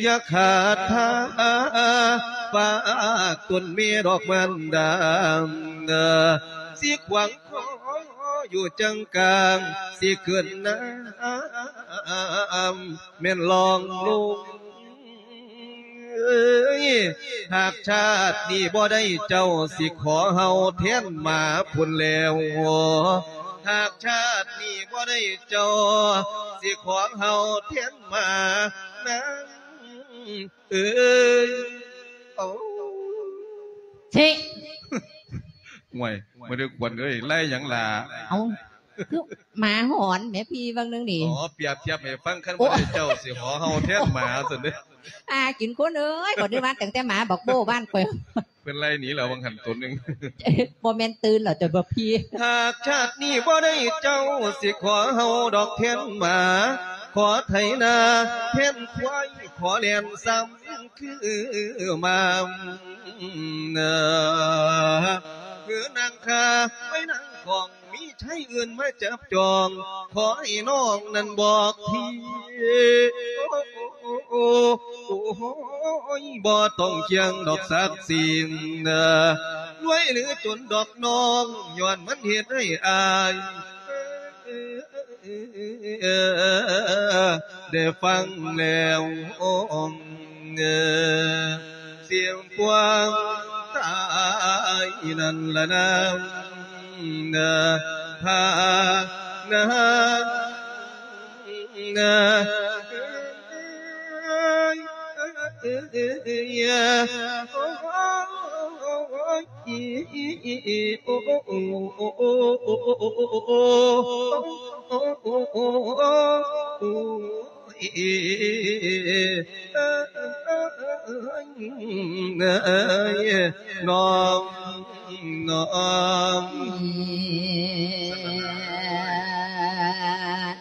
ຢ່າຂາດທ່າ ຝາກຕົນແມ່ດອກມານດາ ຊິຂວາງຄໍຢູ່ຈັ່ງກາງ ຊິຂຶ້ນນ້ຳແມ່ນລ່ອງລົງ. ຫາກຊາດນີ້ບໍ່ໄດ້ເຈົ້າ ຊິຂໍເຫົ່າແທນໝາພຸ້ນແລ້ວ. ຫາກຊາດນີ້ບໍ່ໄດ້ເຈົ້າ ຊິຂໍເຫົ່າແທນໝານາງເອີຍ. ໂອ້ ເຊະ ຫ່ວຍ ບໍ່ໄດ້ຄວນເອີຍ ໄລ່ຫຍັງລະ? ເອົ້າ ຄືໝາຫອນແໝ່ພີ່ ເບິ່ງໜຶ່ງນີ້. ອໍ ປຽບທຽບໃຫ້ຟັງ ຄັນ ໂອ້ ບໍ່ໄດ້ເຈົ້າ ຊິຂໍເຫົ່າແທນໝາຊັ້ນເດ້. ອາ ກິນຄົນເອີຍ ບໍ່ໄດ້ວ່າຕັ້ງແຕ່ໝາບັກໂບ້ບ້ານຂ້ອຍ ເພິ່ນໄລ່ໜີແລ້ວ ວ່າງຫັ້ນໂຕໜຶ່ງ. ບໍ່ແມ່ນຕື່ນເຫຼື ຈົນບໍ່ພີ. ຫາກຊາດນີ້ບໍ່ໄດ້ເຈົ້າ ຊິຂໍເຫົ່າດອກແທນໝາ ຂໍໄຖນາແທນຄວາຍ ຂໍແລ່ນຊ້ຳຄືໝາ ເອີ ນາງຂ້າໄປນາງຂອງ ມີໄຊອື່ນມາຈັບຈອງ ຂໍໃຫ້ນ້ອງນັ້ນບອກທີ ໂອ້ຍ ບໍ່ຕ້ອງຄຽງດອກສັກສີ ລວຍຫຼືຈົນດອກນ້ອງ ຍ້ອນມັນເຮັດໃຫ້ອາຍ ໄດ້ຟັງແລ້ວ ເສຍງປວງຕາຍນັ້ນລະນາ ພານາ ນ້ອງ ນ້ອງ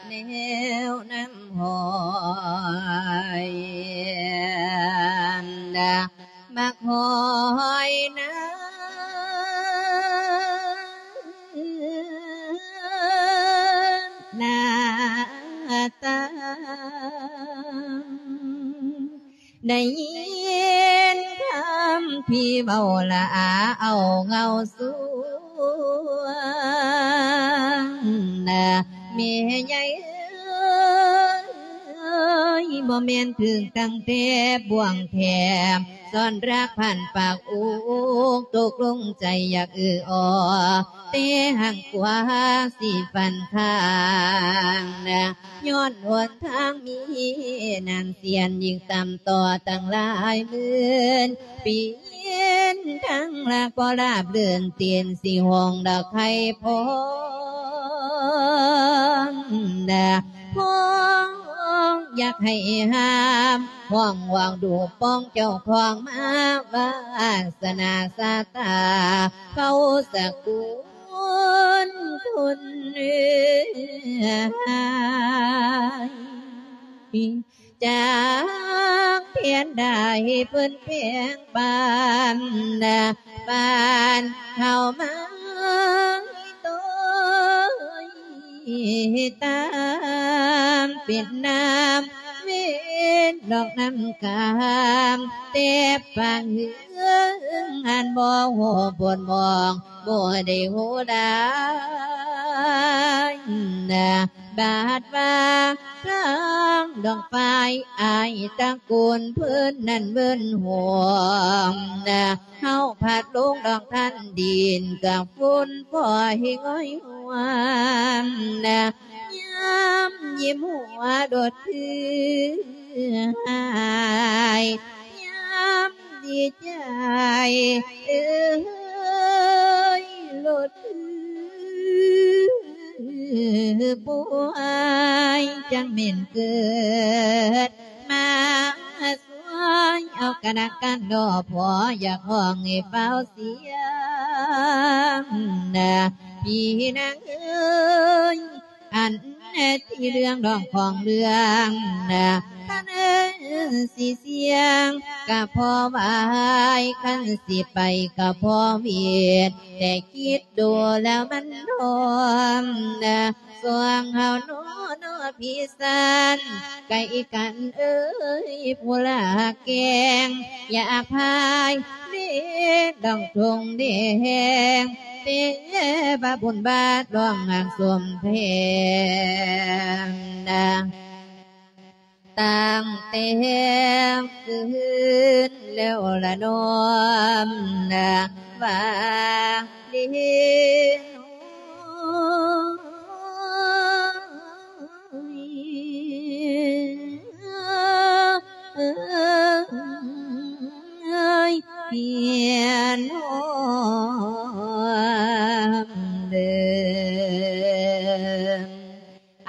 ແນວນ້ຳຫ້ອຍ ມັກຫ້ອຍນາ ໜ້າຕາ ໄດ້ຍິນຄຳພີ່ເວົ້າລະອາ ເອົາເງົາສວງ ແມ່ໃຫຍ່ເອີຍ ບໍ່ແມ່ນຖືກຕັ້ງແຕ່ບ່ວງແຖມ ສອນລັກພັນປາກອຸກ ຕົກລົງໃຈຢາກເອື້ອອໍ ແຕ່ຫາງກວ່າຊິຝັນຂ້າງ ຍ້ອນຫົນທາງມີນ້ຳເສຍນ ຍິ່ງຕ່ຳຕໍ່ຕັ້ງຫຼາຍໝື່ນປີນ ທາງລາກບໍ່ລາບລື່ນຕີນ ຊິຫ້ອງດອກໄຂ່ພອງ ນະ ພອງຢາກໃຫ້ຫ້າມ ຫ້ອງຫວງດູປອງເຈົ້າຂອງມາ ວາສະໜາຊະຕາ ເຜົ່າສະກຸນຄົນເອີຍ ຈາກແຜນໄດ້ເພິ່ນແປງປານ ປານເຂົ້າມາໂຕຍ ຕາມເປັນນ້ຳເວັນດອກນ້ຳກາມ ແຕ່ປານເຮືອງອັນບໍ່ຮູ້ບົດມອງ ບໍ່ໄດ້ຮູ້ໄດ້ ບາດວ່າພາງດອກຝ້າຍ ອ້າຍຕະກູນເພິ່ນນັ້ນເວີນຫວງ ເຮົາພັດລົງດອກທັນດິນ ກັບຝຸ່ນພອຍງ່ອຍຫວນ ຍາມຍິ້ມຫົວໂດດຄືຫາຍ ຍາມດີໃຈເອີຍໂລດຄືປ່ວຍ ຈັ່ງແມ່ນເກີດມາຊ່ວຍເອົາກະນະກັນດອກ ພໍຢາກຮ້ອງໃຫ້ຟ້າວສຽງ ພີ່ນາງເອີຍ ອັນທີ່ເລື່ອງດອກຂອງເລື່ອງ ທ່ານເອີຍ ຊິສ່ຽງກະພໍໄຫວ ຄັນຊິໄປກະພໍຫວຽດ ແຕ່ຄິດດູແລ້ວມັນດອມນະ ຊ່ວງເຮົານອນນອນພິສັນ ໄກ່ກັນເອີຍຜູ້ລາແກງ ຢາກພາຍເລດອງທົ່ງແດງ ເປບາບຸນບາດດອງຫາງສົມແພງນະ ຕັ້ງແຕ່ຄືນແລ້ວລະນ້ອມນະ ວ່າເລໂນ ເອີຍ ເພຍນອມເດີ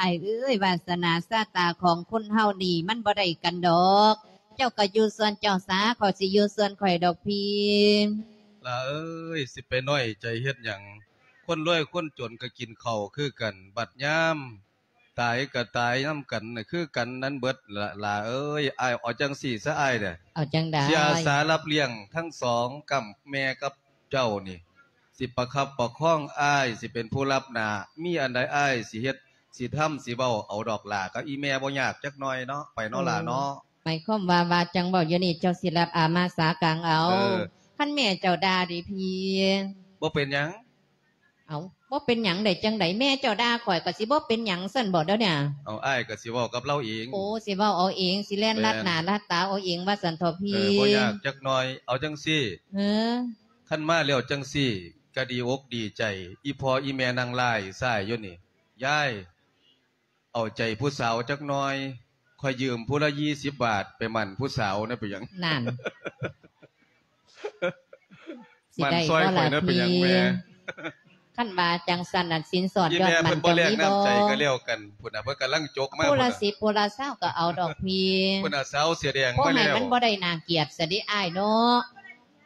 ອ້າຍເອີຍ ວາສະໜາຊະຕາຂອງຄົນເຮົານີ້ ມັນບໍ່ໄດ້ກັນດອກ. ເຈົ້າກໍຢູ່ສ່ວນເຈົ້າສາ ຂ້ອຍຊິຢູ່ສ່ວນຂ້ອຍດອກພີ່. ຫຼ້າເອີຍ ຊິໄປນ້ອຍໃຈເຮັດຫຍັງ? ຄົນລວຍຄົນຈົນກໍກິນເຂົ້າຄືກັນ ບັດຍາມຕາຍກໍຕາຍນຳກັນ ຄືກັນນັ້ນເບິດ ຫຼ້າເອີຍ. ອ້າຍເອົາຈັ່ງຊີ້ຊະອ້າຍເດີ ເອົາຈັ່ງໃດ? ຊິອາສາຮັບລ້ຽງທັງສອງກ້ຳ ແມ່ກັບເຈົ້ານີ້ ຊິປະຄັບປະຄອງອ້າຍ ຊິເປັນຜູ້ຮັບໜ້າ ມີອັນໃດອ້າຍຊິເຮັດ ຊິທຳ ຊິເວົ້າເອົາດອກຫຼ້າ ກັບອີ່ແມ່ບໍ່ຍາກຈັກໜ້ອຍເນາະ ໄປເນາະຫຼ້າເນາະ. ໝາຍຄວາມວ່າ ວ່າຈັ່ງເວົ້າຢູ່ນີ້ ເຈົ້າຊິຮັບອາມາສາກາງເອົາ. ເອີ ຄັນແມ່ເຈົ້າດ່າເດພີ່? ບໍ່ເປັນຫຍັງ. ເອົ້າ ບໍ່ເປັນຫຍັງໄດ້ຈັ່ງໃດ? ແມ່ເຈົ້າດ່າຂ້ອຍກໍຊິບໍ່ເປັນຫຍັງຊັ້ນບໍດຽວນີ້? ເອົາ ອ້າຍກໍຊິເວົ້າກັບລາວເອງ. ໂອ້ ຊິເວົ້າເອົາເອງ ຊິແລ່ນລັດໜ້າລັດຕາເອົາເອງວ່າຊັ້ນເຖາະພີ່. ເອີ ບໍ່ຍາກຈັກໜ້ອຍ. ເອົາຈັ່ງຊີ້ ເອີ ຄັນມາແລ້ວຈັ່ງຊີ້ ກະດີອົກດີໃຈ ອີ່ພໍ່ອີ່ແມ່ນັ່ງລ້າຍຊ້າຍຢູ່ນີ້ ຍາຍ ເອົາໃຈຜູ້ສາວຈັກໜ້ອຍ ຂ້ອຍຢືມຜູ້ລະຊາວບາດໄປໝັ້ນຜູ້ສາວນະ ເປັນຫຍັງ? ນັ້ນ ຊິໄດ້ບໍ່ລະພີ່? ໝັ້ນຊ່ອຍຂ້ອຍນະ ເປັນຫຍັງແມ່? ຄັນວ່າຈັ່ງຊັ້ນ ອັນສິນສອດຍອດໝັ້ນເຈົ້າມີບໍ່? ອີ່ແມ່ເພິ່ນບໍ່ແລກນ້ຳໃຈກໍແລ້ວກັນ ພຸ້ນນະ ເພິ່ນກຳລັງຈົກມາ ຜູ້ລະສິບ ຜູ້ລະຊາວກໍເອົາດອກພີ່ ພຸ້ນນະ ສາວເສື້ອແດງມາແລ້ວ. ໂອ້ ໃຫ້ມັນບໍ່ໄດ້ໜ້າກຽດຊະເດອ້າຍເນາະ.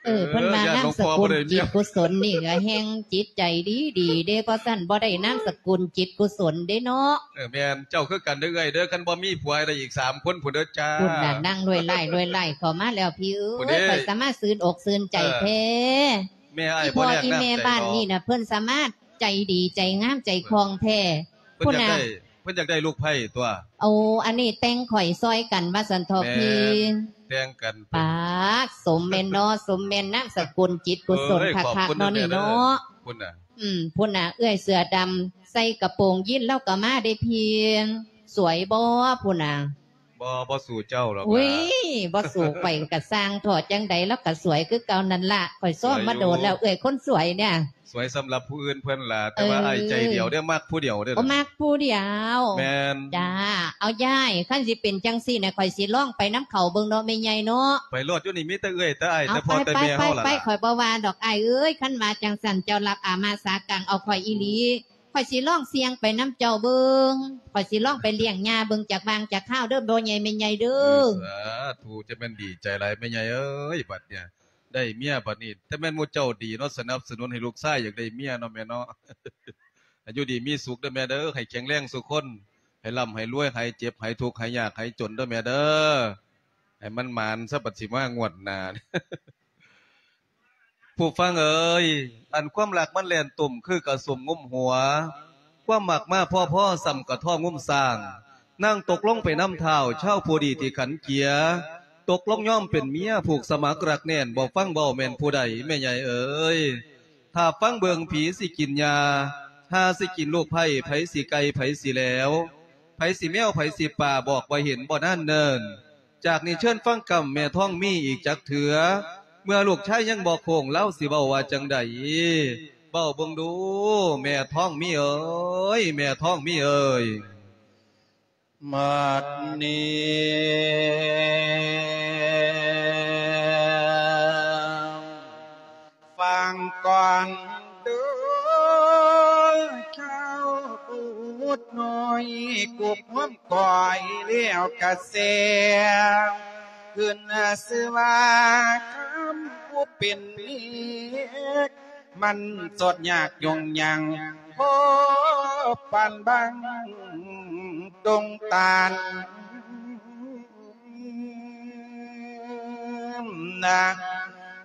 ເອີ ເພິ່ນວ່ານາມສະກຸນຈິດກຸສົນນີ້ກໍແຮ່ງຈິດໃຈດີໆເດ້ ບໍ່ຊັ້ນບໍ່ໄດ້ນາມສະກຸນຈິດກຸສົນເດ້ເນາະ. ເອີ ແມ່ນ ເຈົ້າຄືກັນເດີເອື້ອຍເດີ ຄັນບໍ່ມີຜົວໄດ້ອີກສາມຄົນພຸ້ນເດີຈ້າ. ພຸ້ນນະ ນັ່ງລວຍລ້າຍລວຍລ້າຍເຂົ້າມາແລ້ວພີ່ເອີຍ ຂ້ອຍສາມາດຊື່ນອົກຊື່ນໃຈແທ້. ເອີ ແມ່ອ້າຍບໍ່ແລກນ້ຳໃຈດອກ ອີ່ແມ່ບ້ານນີ້ນະ ເພິ່ນສາມາດໃຈດີໃຈງາມໃຈຄ່ອງແທ້. ເພິ່ນຢາກໄດ້ ເພິ່ນຢາກໄດ້ລູກໃພ້ຕົວະ. ໂອ້ ອັນນີ້ແຕ່ງຂ້ອຍຊ່ອຍກັນວ່າຊັ້ນເຖາະພີ່. ແມ່ນ ແຕ່ງກັນເປັນ ປາດ ສົມແມ່ນເນາະ ສົມແມ່ນນາມສະກຸນຈິດກຸສົນຄັກໆເນາະນີ້ເນາະ. ພຸ້ນນະ ອືມ ພຸ້ນນະ ເອື້ອຍເສື້ອດຳໃສ່ກະໂປງຢີນລາວກໍມາເດ້ພີ່. ສວຍບໍ່ພຸ້ນນະ? ບໍ່ ບໍ່ສູ້ເຈົ້າດອກ. ໂອ້ຍ ບໍ່ສູ້ຂ້ອຍກໍຊ່າງເຖາະ ຈັ່ງໃດລາວກໍສວຍຄືເກົ່ານັ້ນລະ ຂ້ອຍຊ້ອມມາໂດນແລ້ວ ເອື້ອຍຄົນສວຍເນຍ. ສວຍສຳລັບຜູ້ອື່ນເພິ່ນລະ ແຕ່ວ່າ ເອີ ອ້າຍໃຈດຽວເດ້ ມັກຜູ້ດຽວເດ້. ໂອ້ ມັກຜູ້ດຽວ. ແມ່ນ ຈ້າ. ເອົາ ຍາຍ ຄັນຊິເປັນຈັ່ງຊີ້ນະ ຂ້ອຍຊິລອງໄປນຳເຂົາເບິ່ງເນາະ ແມ່ໃຫຍ່ເນາະ. ໄປໂລດ ຢູ່ນີ້ມີແຕ່ເອື້ອຍແຕ່ອ້າຍ ແຕ່ພໍ່ແຕ່ແມ່ເຮົາລະ. ໄປໆ ຂ້ອຍບໍ່ວ່າດອກອ້າຍເອີຍ. ຄັນວ່າຈັ່ງຊັ້ນ ເຈົ້າຮັບອາມາສາກາງເອົາຂ້ອຍອີ່ຫຼີ ຂ້ອຍຊິລອງສ່ຽງໄປນຳເຈົ້າເບິ່ງ ຂ້ອຍຊິລອງໄປລ້ຽງຍ່າເບິ່ງຈັກຫວ່າງຈັກຄາວເດີ ພໍ່ໃຫຍ່ແມ່ໃຫຍ່ເດີ. ເອີ ສາທຸ ຈະແມ່ນດີໃຈຫຼາຍແມ່ໃຫຍ່ເອີຍ ບັດເນຍ ໄດ້ເມຍບັດນີ້ ແຕ່ແມ່ນໝູ່ເຈົ້າດີເນາະ ສະໜັບສະໜູນໃຫ້ລູກຊາຍຢາກໄດ້ເມຍເນາະແມ່ເນາະ. ໃຫ້ຢູ່ດີມີສຸກເດີແມ່ເດີ ໃຫ້ແຂງແຮງສູ່ຄົນ ໃຫ້ລ່ຳໃຫ້ລວຍ ຫາຍເຈັບຫາຍທຸກ ຫາຍຍາກຫາຍຈົນເດີແມ່ເດີ. ໃຫ້ມັນໝານຊະ ບັດຊິມາງວດໜ້າ. ຜູ້ຟັງເອີຍ ອັນຄວາມຮັກມັນແລ່ນຕຸ່ມຄືກະສົມງຸມຫົວ ຄວາມມັກມາພໍໆ ສ່ຳກະທ້ອງງຸມສ້າງ ນາງຕົກລົງໄປນຳທ້າວ ຊາວຜູ້ດີທີ່ຂັນເກຍ ຕົກລົງຍອມເປັນເມຍ ຜູກສະໝັກລັກແໜ້ນ ບໍ່ຟັງເວົ້າແມ່ນຜູ້ໃດ ແມ່ໃຫຍ່ເອີຍ. ຖ້າຟັງເບິ່ງຜີຊິກິນຫຍ້າ ຫ່າຊິກິນລູກໃພ້ ໃຜຊິໄກ່ ໃຜຊິແຫຼວ ໃຜຊິແມວ ໃຜຊິປາ ບອກບໍ່ເຫັນບໍ່ນານເນີນ. ຈາກນີ້ເຊີນຟັງກຳແມ່ທອງມີອີກຈັກເທື່ອ ເມື່ອລູກຊາຍຍັງບໍ່ໂຄ້ງ ລາວຊິເວົ້າວ່າຈັ່ງໃດ ເວົ້າເບິ່ງດູ ແມ່ທອງມີເອີຍ ແມ່ທອງມີເອີຍ. ບັດນີ້ຟັງກ່ອນເດີ ຊາວບຸດນ້ອຍ ກົບຫອມ ກ້ອຍແລ້ວກະແຊວ ຂຶ້ນຊື່ວ່າຄຳຜູ້ເປັນເມຍ ມັນສອດຍາກຍົງຍັງ ພໍປານບັງດົງຕານ. ນະ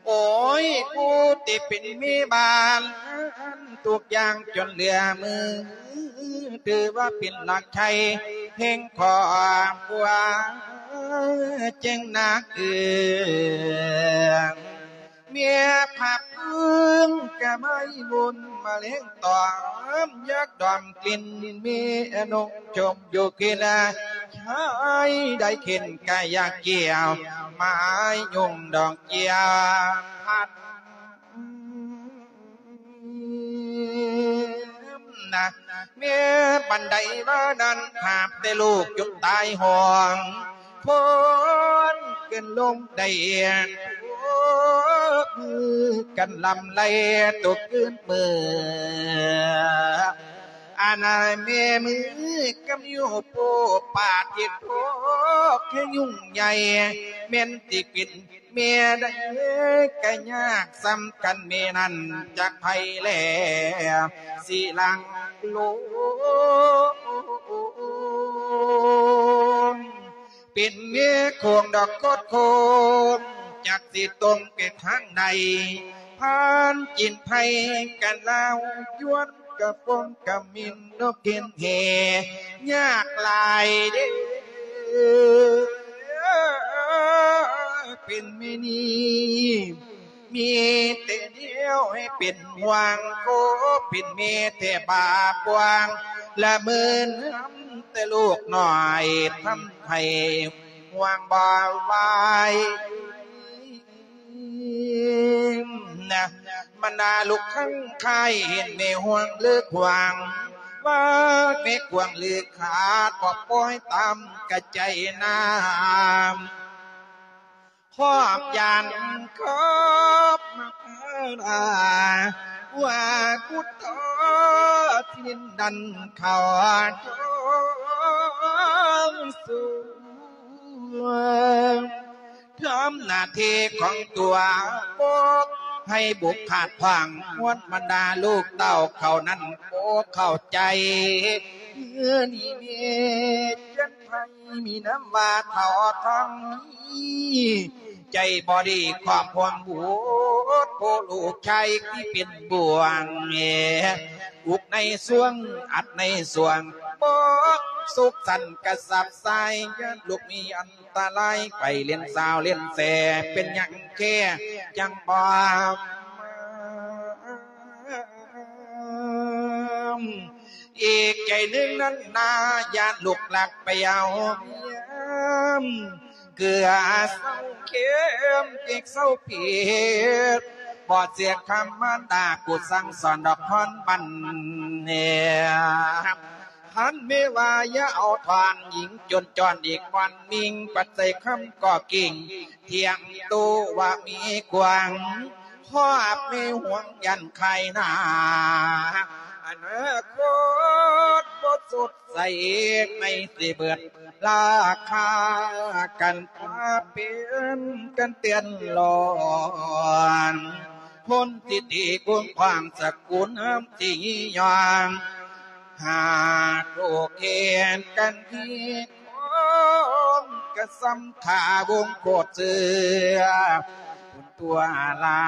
ໂອ້ຍ ຜູ້ທີ່ເປັນແມ່ບ້ານ ທຸກຢ່າງຈົນເຫຼືອມື ຖືວ່າເປັນຫຼັກໄຊແຫ່ງຄອບຄົວ ຈຶ່ງໜັກເອີງ ເມຍພັກເພິ່ງກະໄມ້ວົນມາແລງຕອມ ຢາກດອມກິ່ນເມຍນົກ ຊົມຢູ່ກິລາ ຊາຍໄດ້ເຂັນກະຢາກກ່ຽວ ໄມ້ຍົງດອກເຈ້ຍພັດນະ ແມ່ປານໃດວ່ານັ້ນ ຫາບແຕ່ລູກຈົນຕາຍຫ້ອງ ໂພນຂຶ້ນລົງໄດ້ ໂພນກັນລຳໄລຕົກຄືນເມືອ ອັນນາແມ່ມືກຳຢູ່ໂປປາດເຮັດໂພກໃຫ້ຫຍຸ້ງໃຫຍ່ ແມ່ນຊິເປັນແມ່ໃດກະຍາກສ່ຳກັນ ແມ່ນັ້ນຈັກໃຜແລ ຊິຫຼັງໂລ ເປັນເມໂຂງດອກໂຄດໂຄງ ຈັກຊິຕົງໄປທາງໃດ ຜ່ານຈີນໄທກັນລາວ ຍວນກະປົງກະມິນ ນົກກິນແຮ່ ຍາກຫຼາຍເດ້ ເປັນແມ່ນີ້ ມີແຕ່ແນວໃຫ້ເປັນຫ່ວງ ໂອ້ ເປັນແມ່ແທ້ບາບຫວ່າງ ລະເມີນຳແຕ່ລູກນ້ອຍ ທຳໃຫ້ຫ່ວງບໍ່ໄຫວນະ ບັນດາລູກຄັງຄາຍ ເຫັນແມ່ຫ່ວງເລີກຫວ່າງ ວ່າແມ່ກວາງເລີກຂາດ ບໍ່ປ່ອຍຕາມກະໃຈນາ ຄອບຢ້ານຄອບມາພາລາ ວ່າກຸດຕໍ່ທີ່ດິນນັ້ນເຂົາຈອງສວງ ທຳໜ້າທີ່ຂອງຕົວປົກໃຫ້ບຸກຂາດຂວາງ ຮວມບັນດາລູກເຕົ້າເຂົານັ້ນບໍ່ເຂົ້າໃຈ ເມື່ອນີ້ແມ່ຈັນໄພ ມີນາມວ່າເຖົ້າທອງມີ ໃຈບໍ່ດີຄວາມຫ່ວງບຸດ ຜູ້ລູກຊາຍທີ່ເປັນບ່ວງ ອຸກໃນສວງ ອັດໃນສວງ ບໍ່ສຸກສັນກະສັບສາຍ ຢ້ານລູກມີອັນຕະລາຍ ໄປຫຼິ້ນສາວຫຼິ້ນແສ ເປັນຫຍັງແທ້ຈັ່ງບໍ່ ອີກໃຈໜຶ່ງນັ້ນນາ ຢ້ານລູກລັກໄປເອົາເມຍ ເກືອເຊົາເຄັມ ເຈັກເຊົາຜິດ ບໍ່ເສຍຄຳມານດາ ກູສັ່ງສອນດອກພອນບັນ ຄັນແມ່ວ່າຢ່າເອົາທ່ອນ ຍິງຈົນຈອນອີກບ່ອນມິ່ງ ປັດໃສ່ຄຳກໍກິ່ງ ທ່ຽງໂຕວ່າມີກວາງ ຄອບມີຫ່ວງຢັນໄຄນາ ອະນາຄົດບໍ່ສົດໃສ ໃນຊິເບິດລາຄາກັນ ພາເປັນກັນເຕັ້ນຫຼອນ ຄົນທີ່ຕີກົງຂວາງສະກຸນທີ່ຍີ່ຍອງ ຫາກໂລກເຫັນກັນທີ່ຄອງ ກະສ່ຳຂ້າວົງໂຄດເສືອ ຄຸນຕົວລາ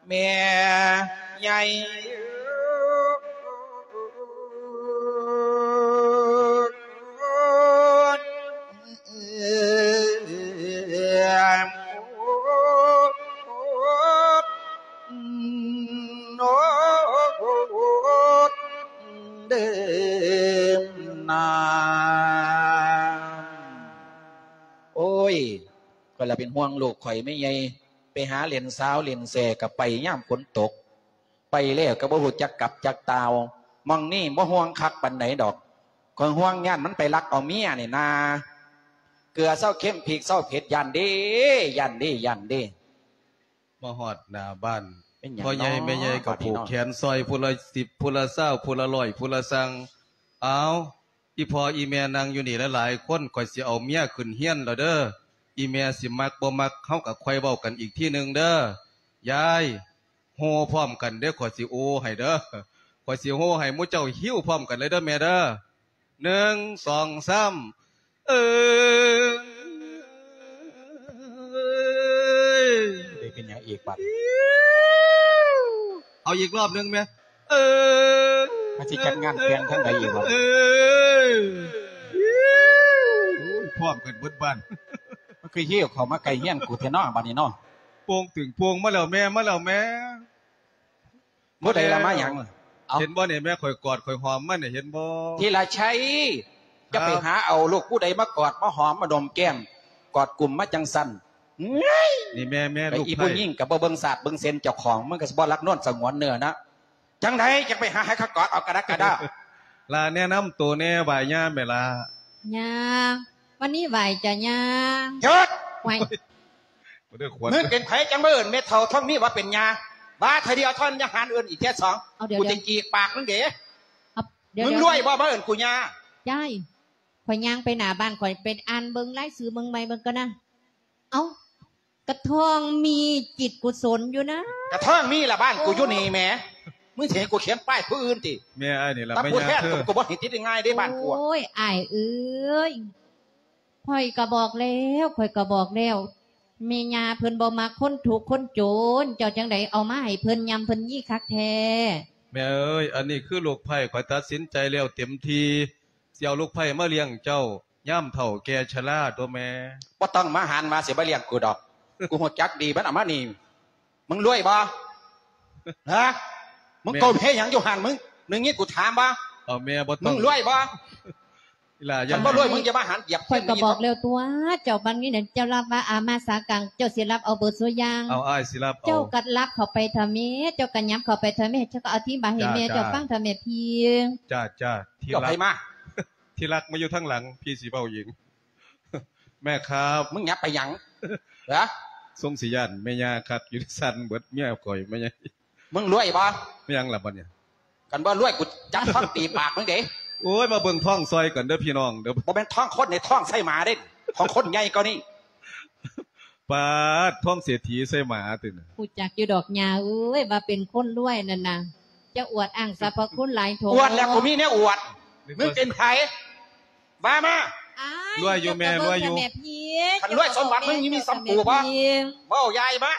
ແມ່ໃຫຍ່. ໂອ້ຍ ຂ້ອຍລະເປັນຫ່ວງລູກຂ້ອຍແມ່ໃຫຍ່ ໄປຫາເລ່ນສາວເລ່ນແຊກະໄປຍາມຝົນຕົກ ໄປແລ້ວກະບໍ່ຮູ້ຈັກກັບຈັກຕ່າວ ໝ່ອງນີ້ບໍ່ຫ່ວງຄັກປານໃດດອກ ຂ້ອຍຫ່ວງຢ້ານມັນໄປລັກເອົາເມຍນີ້ນາ ເກືອເຊົາເຄັມ ພິກເຊົາເຜັດ ຢ້ານເດ້ ຢ້ານເດ້ ຢ້ານເດ້. ມາຮອດໜ້າບ້ານ ເປັນຫຍັງ ພໍ່ໃຫຍ່ ເນາະ ແມ່ໃຫຍ່ກໍ ບາດນີ້ ຜູກ ເນາະ ແຂນຊ່ອຍ ຜູ້ລະສິບ ຜູ້ລະຊາວ ຜູ້ລະຮ້ອຍ ຜູ້ລະຊັ່ງ ເອົາ ອີ່ພໍ່ອີ່ແມ່ນັ່ງຢູ່ນີ້ຫຼາຍໆຄົນ ຂ້ອຍຊິເອົາເມຍຂຶ້ນເຮືອນແລ້ວເດີ ອີ່ແມ່ຊິມັກບໍ່ມັກ ເຮົາກໍຄ່ອຍເວົ້າກັນອີກທີໜຶ່ງເດີ ຍາຍ ໂຮ່ພ້ອມກັນເດີ ຂ້ອຍຊິໂອ້ໃຫ້ເດີ ຂ້ອຍຊິໂຮ່ໃຫ້ໝູ່ເຈົ້າຫິ້ວພ້ອມກັນເລີຍເດີແມ່ເດີ ໜຶ່ງ ສອງ ສາມ. ເອີ ໄດ້ເປັນຫຍັງອີກບັດ? ເອົາອີກລອບໜຶ່ງແມະ. ເອີ ມັນຊິຈັດງານແຕ່ງທາງໃດອີກບັດ? ເອີ ໂອ້ຍ ພ້ອມກັນເບິດບ້ານ. ມັນຄືຫິ້ວເຂົ້າມາໃກ້ເຮືອນກູແທ້ເນາະ ບັດນີ້ເນາະ. ໂປ່ງຕຶງໂປ່ງ ມາແລ້ວແມ່ ມາແລ້ວແມ່. ຜູ້ໃດລະມາຫຍັງ? ເອົ້າ ເຫັນບໍ່ນີ້ແມ່ ຂ້ອຍກອດຂ້ອຍຫອມມັນນີ້ ເຫັນບໍ່? ທີລະໄຊ ຈະໄປຫາເອົາລູກຜູ້ໃດມາກອດມາຫອມມາດົມແກ້ມ ກອດກຸ້ມມາຈັ່ງຊັ້ນ. ນີ້ແມ່ ແມ່ ໄອ້ ລູກ ອີ ໃຜ? ຜູ້ຍິງກໍບໍ່ເບິ່ງຊາດເບິ່ງເສັນເຈົ້າຂອງ ມັນກໍຊິບໍ່ລັກນວນສະຫງວນເນື້ອນະ. ຈັ່ງໃດຈັ່ງໄປຫາໃຫ້ເຂົາກອດເອົາກະດັກກະດໍ້? ຫຼ້າແນະນຳໂຕແດ່ ໄຫວ້ຍ່າແມ່ຫຼ້າ. ຍ່າ ວັນນີ້ໄຫວ້ຈ້າຍ່າ. ຢຸດ! ໄຫວ້ ບໍ່ໄດ້ຂວັນ ມຶງເປັນໃຜຈັ່ງມາເອີ້ນແມ່ເຖົ້າທອງມີວ່າເປັນຍ່າ? ວ່າເທື່ອດຽວເທົ່ານັ້ນ ຢ່າຫັນເອີ້ນອີກເທື່ອສອງ. ເອົາ ດຽວ ກູຈະຈີກປາກມຶງເດ້. ເອົາ ດຽວ ມຶງລວຍບໍ່ ມາເອີ້ນກູຍ່າ? ຍາຍ ຂ້ອຍຍ່າງໄປໜ້າບ້ານ ຂ້ອຍໄປອ່ານເບິ່ງລາຍຊື່ເມືອງໃໝ່ເບິ່ງກ່ອນນະ. ເອົ້າ ກະທ້ອງມີຈິດກຸສົນຢູ່ນະ. ກະທ້ອງມີລະ ບ້ານກູຢູ່ນີ້ແໝ. ມຶງຊິໃຫ້ກູຂຽນປ້າຍຜູ້ອື່ນຕິ? ແມ່ອ້າຍນີ້ລະ ແມ່ຍ່າ ແທ້ ເອີ ກູບໍ່ໃຫ້ຕິດງ່າຍເດ້ບ້ານກູ. ໂອ້ຍ ອ້າຍເອີຍ ຂ້ອຍກະບອກແລ້ວ ຂ້ອຍກະບອກແລ້ວ ແມ່ຍ່າເພິ່ນບໍ່ມັກຄົນທຸກຄົນຈົນ ເຈົ້າຈັ່ງໃດເອົາມາໃຫ້ເພິ່ນຍ່ຳເພິ່ນຢີຄັກແທ້. ແມ່ເອີຍ ອັນນີ້ຄືລູກໃພ້ ຂ້ອຍຕັດສິນໃຈແລ້ວເຕັມທີ່ ຊິເອົາລູກໃພ້ມາລ້ຽງເຈົ້າ ຍາມເຖົ້າແກ່ຊະລາຕົວະແມ່. ບໍ່ຕ້ອງມາຫັນວ່າຊິມາລ້ຽງກູດອກ ກູຮູ້ຈັກດີ ມັນເອົາມານີ້. ມຶງລວຍບໍ່? ຮະ? ມຶງ ແມ່ ກົ້ມເຮັດຫຍັງຢູ່ຫັ້ນ? ມຶງ ໄດ້ຍິນກູຖາມບໍ່? ເອົາແມ່ ບໍ່ຕ້ອງ ມຶງລວຍບໍ່? ອີຫຼ້າ ຄັນບໍ່ລວຍ ຢ່າ ມຶງຢ່າມາຫັນຢຽບ ຂ້ອຍກະບອກແລ້ວຕົວະ ເຈົ້າບັດນີ້ນະ ເຈົ້າລັບວ່າອາມາສາກັງ ເຈົ້າຊິລັບເອົາເບິດສູ່ຢ່າງ. ເອົາ ອ້າຍຊິລັບເອົາ. ເຈົ້າກະລັບເຂົ້າໄປເຖາະແມ່ ເຈົ້າກະຫຍັບເຂົ້າໄປເຖາະແມ່ ເຈົ້າກະອະທິບາຍໃຫ້ແມ່ເຈົ້າຟັງເຖາະແມ່ພີ້. ຈ້າ ຈ້າ ທີ່ລັກ ມາ ທີ່ລັກມາຢູ່ທາງຫຼັງ ພີ້ຊິເວົ້າເອງ. ແມ່ຄັບ ມຶງຫຍັບໄປຫຍັງ? ຮະ? ຊົງຊິຢ້ານແມ່ຍ່າຄັກຢູ່ ສັ່ນເບິດເມຍຂ້ອຍແມ່ໃຫຍ່. ມຶງລວຍບໍ່? ແມ່ນຫຍັງລະບັດນີ້? ຄັນບໍ່ລວຍ ກູຈັບທ້ອງຕີປາກມຶງເດ້. ໂອ້ຍ ມາເບິ່ງທ້ອງຊ່ອຍກັນເດີພີ່ນ້ອງເດີ. ບໍ່ແມ່ນທ້ອງຄົນເດ້ ທ້ອງໄສ້ໝາເດ້ ຂອງຄົນໃຫຍ່ກວ່ານີ້. ປາດ ທ້ອງເສດຖີໄສ້ໝາຕິນະ. ຮູ້ຈັກຢູ່ດອກຍ່າເອີຍ ວ່າເປັນຄົນລວຍນັ້ນນະ. ຈະອວດອ້າງສັບພະຄຸນຫຼາຍໂທ. ອວດແລ້ວ ກູມີແນວອວດ. ມຶງເປັນໃຜ? ວ່າມາ. ອ້າຍ ລວຍຢູ່ແມ່ ລວຍຢູ່. ຄັນລວຍສົມບັດມຶງມີສ່ຳກູບໍ່? ເວົ້າຢ່າຍມາ.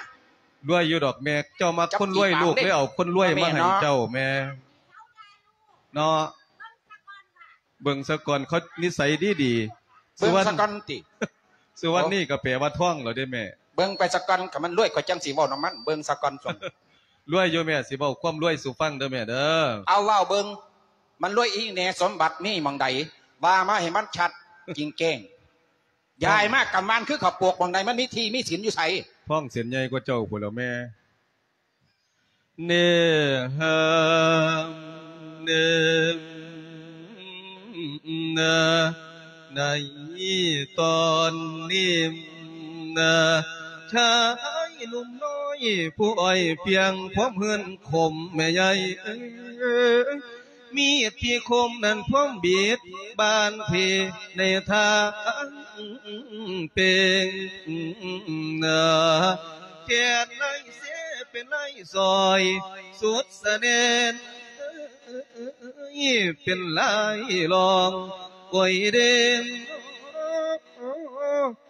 ລວຍຢູ່ດອກແມ່ ເຈົ້າມັກຄົນລວຍ ລູກເລີຍເອົາຄົນລວຍມາໃຫ້ເຈົ້າແມ່ເນາະ. ເບິ່ງສາກ່ອນ ເຂົານິໄສດີໆ. ເບິ່ງສາກ່ອນຕິ. ສຸວັນນີ້ກໍແປວ່າທອງແລ້ວເດ້ແມ່. ເບິ່ງໄປສາກ່ອນ ຄັນມັນລວຍ ຂ້ອຍຈັ່ງຊິເວົ້ານຳມັນ. ເບິ່ງສາກ່ອນ. ລວຍຢູ່ແມ່ ຊິເວົ້າຄວາມລວຍສູ່ຟັງເດີແມ່ເດີ. ເອົາເວົ້າເບິ່ງ ມັນລວຍອີ່ແນ່ ສົມບັດມີໝ່ອງໃດ ວ່າມາໃຫ້ມັນຊັດຈິງແຈ້ງ. ຢາຍມາກຳມານຄືເຂົ້າໂປກ ໝ່ອງໃດມັນມີທີ່ມີສິນຢູ່ໃສ? ທ້ອງເສັ້ນໃຫຍ່ກວ່າເຈົ້າພຸ້ນແລ້ວແມ່. ເນ ເຮີ ເນ ເນ ໃນຕອນນີ້ນະ ຊາຍໜຸ່ມນ້ອຍຜູ້ອ້ອຍປຽງຄວາມເຮືອນຂົມ ແມ່ໃຫຍ່ເອີຍ ມີດທີ່ຄົມນັ້ນພວມບິດບານເພໃນທາງເປັງນາ ແກ່ນໄລເສເປັນໄລສອຍສຸດສະແໜ້ນ ເປັນລາຍລອງກວຍເດນ.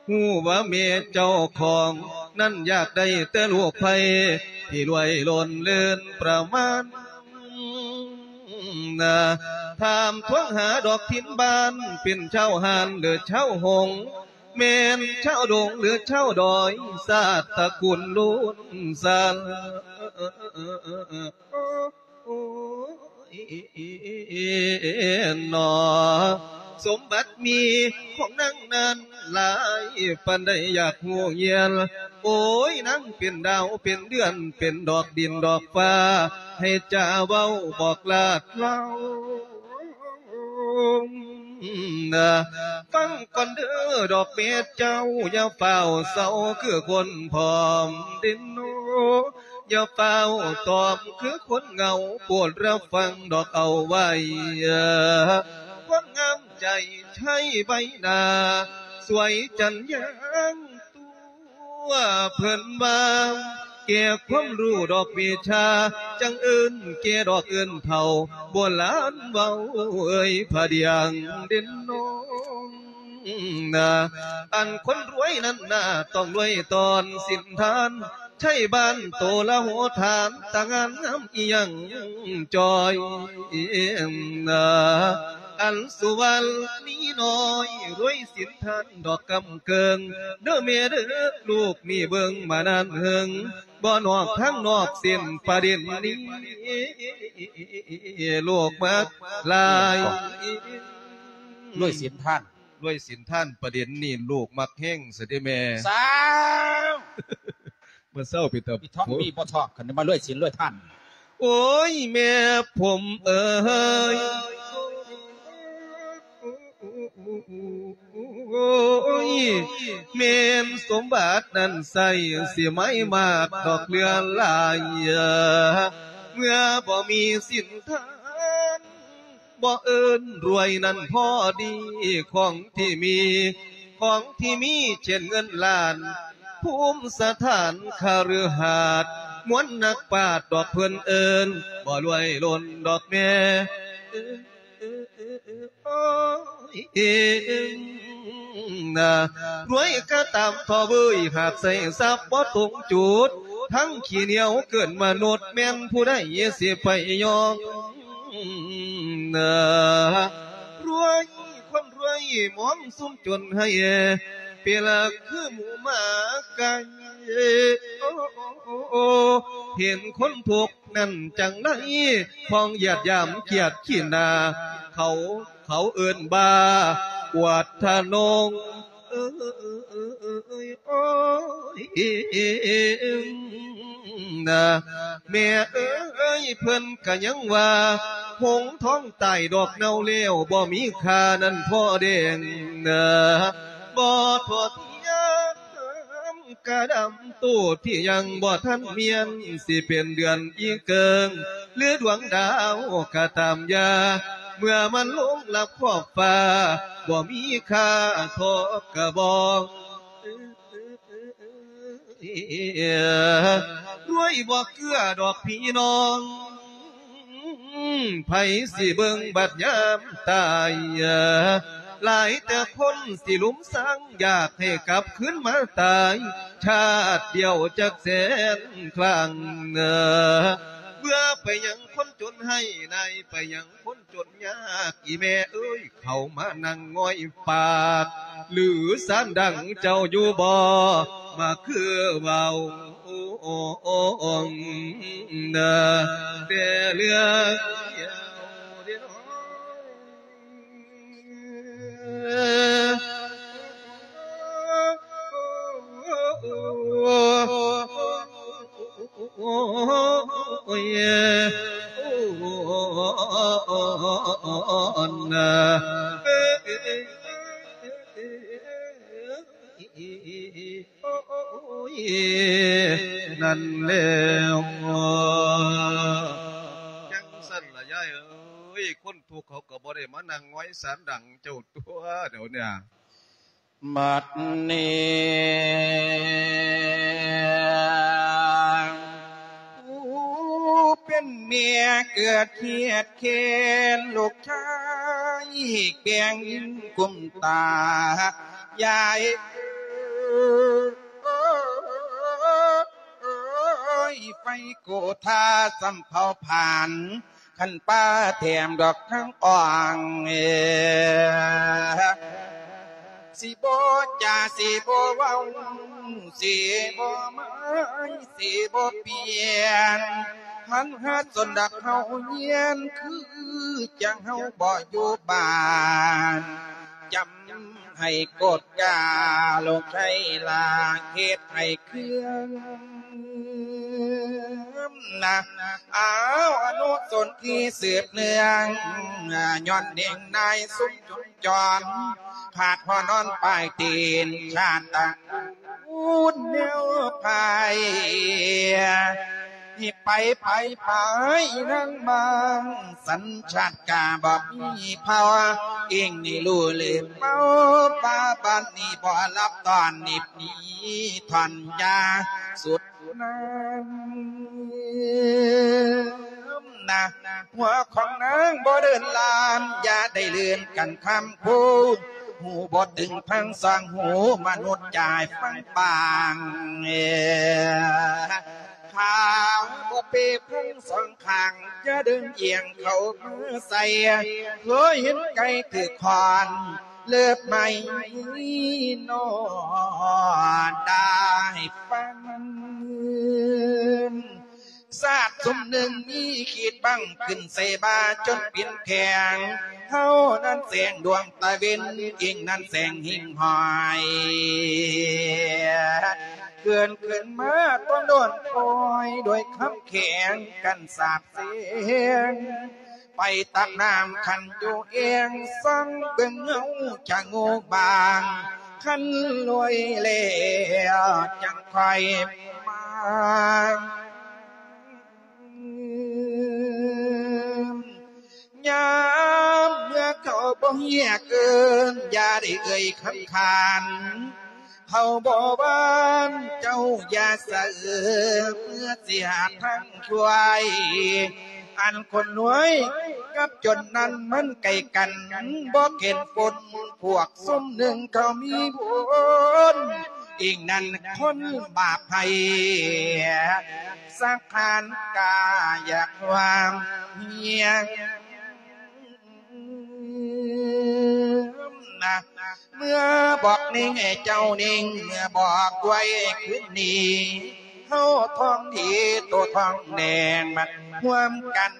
ຮູ້ວ່າແມ່ເຈົ້າຂອງນັ້ນຢາກໄດ້ແຕ່ລູກໃຜທີ່ລວຍລົ້ນເລີນປະມານນາ ຖາມທວງຫາດອກຖິ່ນບ້ານ ເປັນຊາວຮ້ານ ຫຼື ຊາວຫົງ ແມ່ນຊາວດົງ ຫຼື ຊາວດອຍ ຊາດຕະກູນລຸນຊານ. ໂອ້ຍ ໜໍ ສົມບັດມີຂອງນາງນັ້ນຫຼາຍປານໃດ ຢາກຮູ້ຮຽນ. ໂອ້ຍ ນາງເປັນດາວເປັນເດືອນ ເປັນດອກດິນດອກຟ້າ ໃຫ້ຈາເວົ້າບອກລາດລາວ. ຟັງກ່ອນເດີດອກເມັດເຈົ້າ ຢ່າຟ້າວເສົ້າຄືຄົນຜອມເດນໂນ ຢ່າຟ້າວຕອມຄືຄົນເຫງົາ ໂປດຮັບຟັງດອກເອົາໄວ້ ຄວາມງາມໃຈໄທໃບໜ້າ ສວຍຈັນຍາງຕົວ ເພິ່ນວ່າ ແກ່ຄວາມຮູ້ດອກວິຊາ ຈັ່ງເອີ້ນແກ່ດອກເອີ້ນເຖົ້າ ໂບລານເວົ້າເອີຍ ພະດຽງເດນໂນ. ນາ ອັນຄົນລວຍນັ້ນນາ ຕ້ອງລວຍຕອນສິນທານ ໃຊ້ບ້ານໂຕລະໂຫຖານ ຕາງານງາມອີ່ຫຍັງຈ່ອຍນາ ອັນສຸວັນນີນ້ອຍ ລວຍສິນທານດອກກຳເກີງ ເດີແມ່ເດີ ລູກນີ້ເບິ່ງມານານເຫິງ ບໍ່ນອກທາງນອກເສັ້ນປະເດັນນີ້ ລູກມັກຫຼາຍ ລວຍສິນທານ ລວຍສິນທານປະເດັນນີ້ ລູກມັກແຮງຊະເດແມ່ ສາວ ມາເຊົາເປັນຕາ ອີ່ທ້ອງມີບໍ່ທ້ອງ ຄັນໄດ້ມາລວຍສິນລວຍທານ ໂອ້ຍ ແມ່ຜົມເອີຍ ໂອ້ຍ ແມ່ນສົມບັດນັ້ນໃສ ຊິໄໝ້ມາກດອກເຫຼືອຫຼາຍ ເມື່ອບໍ່ມີສິນທານ ບໍ່ເອີ້ນລວຍນັ້ນພໍດີ ຂອງທີ່ມີ ຂອງທີ່ມີເຊັ່ນເງິນລ້ານ ພູມສະຖານຄະລືຫາດ ມວນນັກປາດດອກເພິ່ນເອີ້ນ ບໍ່ລວຍລົ້ນດອກແມ່ ໂອ້ຍ ນາ ລວຍກະຕາມທໍ່ເວີຍ ຫາກໃຊ້ຊັບບໍ່ຕົງຈຸດ ທັງຂີ້ໜຽວເກີນມະນຸດ ແມ່ນຜູ້ໃດຊິໄປຍອມ ນາ ລວຍ ຄົນລວຍມອງຊຸມຈົນໃຫ້ ເປລະຄືໝູໝາໄກ່ ໂອ້ ເຫັນຄົນທຸກນັ້ນຈັ່ງໃດ ພ້ອງຢາດຢາມກຽດຂີ້ໜ້າ ເຂົາ ເຂົາເອີ້ນວ່າ ອວດທະນົງ ເອີຍ ໂອ້ຍ ນາ ແມ່ເອີຍ ເພິ່ນກະຍັງວ່າ ຫົງທອງຕາຍດອກເນົ່າແລ້ວ ບໍ່ມີຄ່ານັ້ນພໍແດງ ນາ ບໍ່ທົ່ວທຽມກະດຳ ໂຕທີ່ຍັງບໍ່ທັນມຽນ ຊິເປັນເດືອນອີເກີງ ຫຼືດວງດາວກະຕາມຢ່າ ເມື່ອມັນລົງລັບຂອບຟ້າ ບໍ່ມີຄ່າທໍ່ກະບອງ ລວຍບໍ່ເກືອດອກພີ່ນ້ອງ ໃຜຊິເບິ່ງບັດຍາມຕາຍ ຫຼາຍແຕ່ຄົນຊິລຸມສັງ ຢາກໃຫ້ກັບຄືນມາຕາຍ ຊາດດຽວຈັກແສນຄັ້ງ ເບື່ອໄປຫຍັງຄົນຈົນໃຫ້ ນາຍໄປຫຍັງຄົນ ຈົນຍາກ ອີແມ່ເອີຍ ເຂົ້າມານັ່ງງອຍປາກ ຫຼືສານດັງເຈົ້າຢູ່ບໍ່ ມາຄືເວົ້າ ແຕ່ເລື່ອງດຽວເດເນາະ ໂອ້ຍ ໂອ້ຍ ນາ ໂອ້ຍ ນັ້ນແລ້ວ ຈັ່ງຊັ້ນລະຍາຍເອີຍ ຄົນທຸກເຂົາກໍບໍ່ໄດ້ມານັ່ງງອຍສານດັງເຈົ້າຕົວະ ດຽວເນີ້ຍ. ບັດນີ້ຜູ້ເປັນແມ່ເກີດຄຽດແຄ້ນ ລູກຊາຍແກງກຸມຕາ ຍາຍເອີຍ ໄຟໂກທາສ່ຳເຜົາຜານ ຄັນປ່າແຖມດອກທາງອ່ອງ ເອີ ຊິບໍ່ຈາ ຊິບໍ່ເວົ້າ ຊິບໍ່ໝາຍ ຊິບໍ່ປ່ຽນ ຫັນຫາຊົນດອກເຮົາຮຽນ ຄືຈັ່ງເຮົາບໍ່ຢູ່ບ້ານ ຈຳໃຫ້ກົດກາ ລູກໄຊລາ ເຮັດໃຫ້ເຄື່ອງ ນະ ອ້າວ ອະນຸສົນທີ່ສືບເນື່ອງ ຍ້ອນເໜັງນາຍຊຸມຈຸນຈອນ ຂາດຫົວນອນປາຍຕີນ ຊາດຕະກູນແນວພາຍ ໃຫ້ໄປ ໄປ ໄປນາງບາງ ສັນຊາດກາບໍ່ມີເຜົ່າ ອີງນີ້ຮູ້ລືມເມົາ ປາບາດນີ້ບໍ່ຮັບຕອນ ນິບໜີທ່ອນຢາສຸດ ນາງນະ ຫົວຂອງນາງບໍ່ເດີນລາມ ຢ່າໄດ້ເລື່ອນກັນຄຳຄູ ຫູບໍ່ຕຶງພັງສອງຫູ ມະນຸດຢ່າໃຫ້ຟັງບາງ ຂາວບໍ່ເປພັງສອງຂ້າງ ຢ່າເດີນອຽງເຂົ້າມາໃສ່ ເຄີຍເຫັນໄກ່ຖືກຄ້ອນ ເລີບໄມ້ນອນໄດ້ຟັງ. ຊາດຊຸມໜຶ່ງມີຂີດບັງຂຶ້ນໃສ່ບ່າຈົນເປັນແຂງ ເຮົານັ້ນແສງດວງຕາເວັນ ອີງນັ້ນແສງຫິ່ງຫ້ອຍ ເກີນຂຶ້ນມາຕ້ອນໂດນປ່ອຍ ດ້ວຍຄຳແຂງກັນສາບແສງ ໄປຕັກນ້ຳຂັນຢູ່ແອ່ງ ສ່ອງເບິ່ງເງົາຈະງູບາງ ຄັນລວຍແລ້ວຈັ່ງຄ່ອຍມາ. ຍາມເມື່ອເຂົາບໍ່ຮຽກເອີ້ນ ຢ່າໄດ້ເອີ່ຍຄຳຂານ ເຂົາບໍ່ຫວານເຈົ້າຢ່າສະເອີ ເມື່ອຊິຫາທາງຊ່ວຍ ອັນຄົນລວຍກັບຈົນນັ້ນມັນໃກ້ກັນ ບໍ່ເຫັນຜົນ ພວກຊຸມໜຶ່ງເຂົາມີບຸນ ອີງນັ້ນຄົນບາບໃຜ ສັງຂານກາຢາກຄວາມຮຽງ ເມື່ອບອກໜິ່ງໃຫ້ເຈົ້າໜິ່ງ ເມື່ອບອກໄວ້ຄືນນີ້ ເຮົາທ້ອງດີໂຕທ້ອງແດງ ມັນຮ່ວມກັນ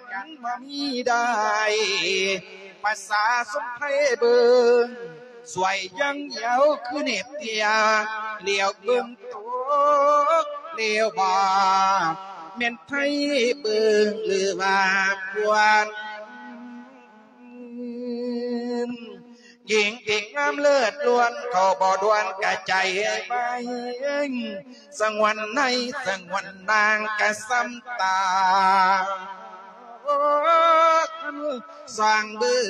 ບໍ່ມີໄດ້ ພາສາສົມໄພເບິ່ງ ສວຍຢ່າງດຽວຄືເນັບເຕຍ ຫຼຽວເບິ່ງຕົກ ຫຼຽວບໍ່ ແມ່ນໄທເບິ່ງ ຫຼືວ່າຄວນ ຍິງທີ່ງາມເລີດລ້ວນ ເຂົາບໍ່ດ່ວນກະໃຈໄວ ສະຫງວນໃນສະຫງວນນາງກະສ່ຳຕາ ສ່ອງເບິ່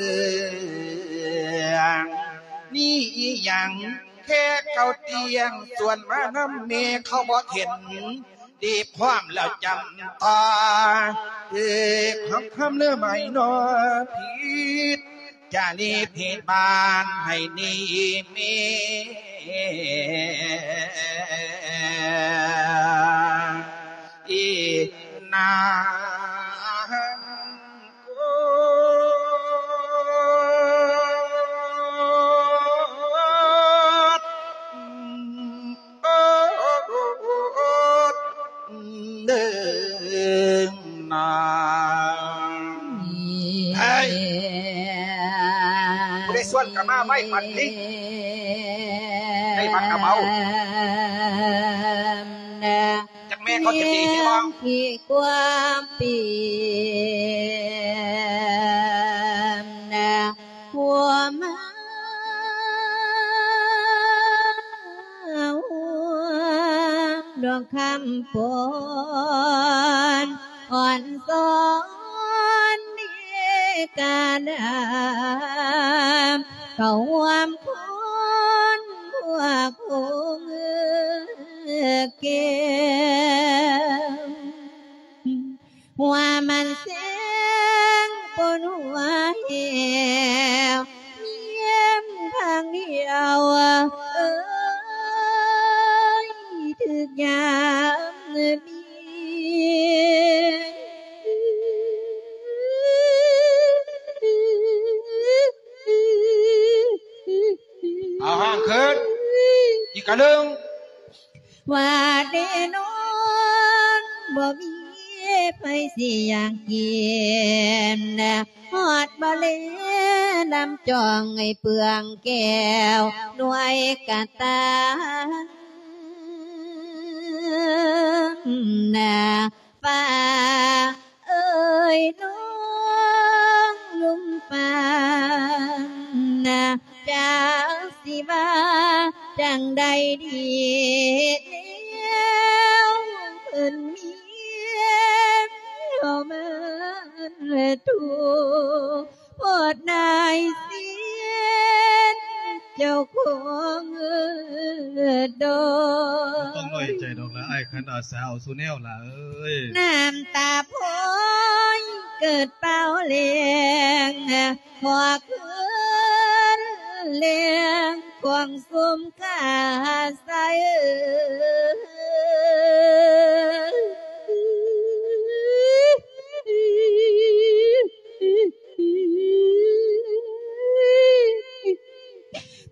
ງ ນີ້ອີ່ຫຍັງ ແຄ່ເຂົາຕຽງ ຊວນມານຳແມ່ເຂົາບໍ່ເຫັນ ດີພ້ອມແລ້ວຈຳຕໍ່ ເອີ ຄຳຄຳເລີໄມ້ນອ ຜິດຈາລີຜິດບ້ານໃຫ້ໜີເມ ອີນາງ ເດີນາງ ເຮີ້ຍ ຜູ້ໃດຊວນກໍມາໄວປານນີ້ ໄດ້ມາກະເມົາ. ຈັກແມ່ເຂົາຈະຕີຊິບໍ່? ທີ່ຄວາມປີນ ຄວາມດວງຄຳປອນ ອ່ອນສອນເດການາ ເຂົ້າຮ່ວມຄົນພວກຄົງແກ້ວ ຫົວມັນແສງປົນຫົວແຫ້ວ ແຍ້ມທາງດຽວ ເອີຍ ຖືກຍາມມີ ເອົາຫ້ອງຂຶ້ນ ອີກກະໜຶ່ງ ວ່າແນ່ນອນ ບໍ່ມີໃຜຊິຢາກກິນ ຮອດບໍ່ແລນຳຈອງໃຫ້ເປືອງແກ້ວ ໜ່ວຍກະຕາ ນາ ຟ້າເອີຍນ້ອງ ລົມປານນະ ຈັກຊິວ່າຈັ່ງໃດດີແລ້ວ ເພິ່ນມີແນວມາທຸກ ໂພດນາຍເສນເຈົ້າຂອງເອີດອກ ບໍ່ຕ້ອງນ້ອຍໃຈດອກລະອ້າຍ ຄັນອາສາເອົາສູ່ແນວລະເອີຍ ນ້ຳຕາພອຍເກີດເປົ່າແລງ ຂໍຄືນແລ້ວ ຂອງສົມກາໄຊ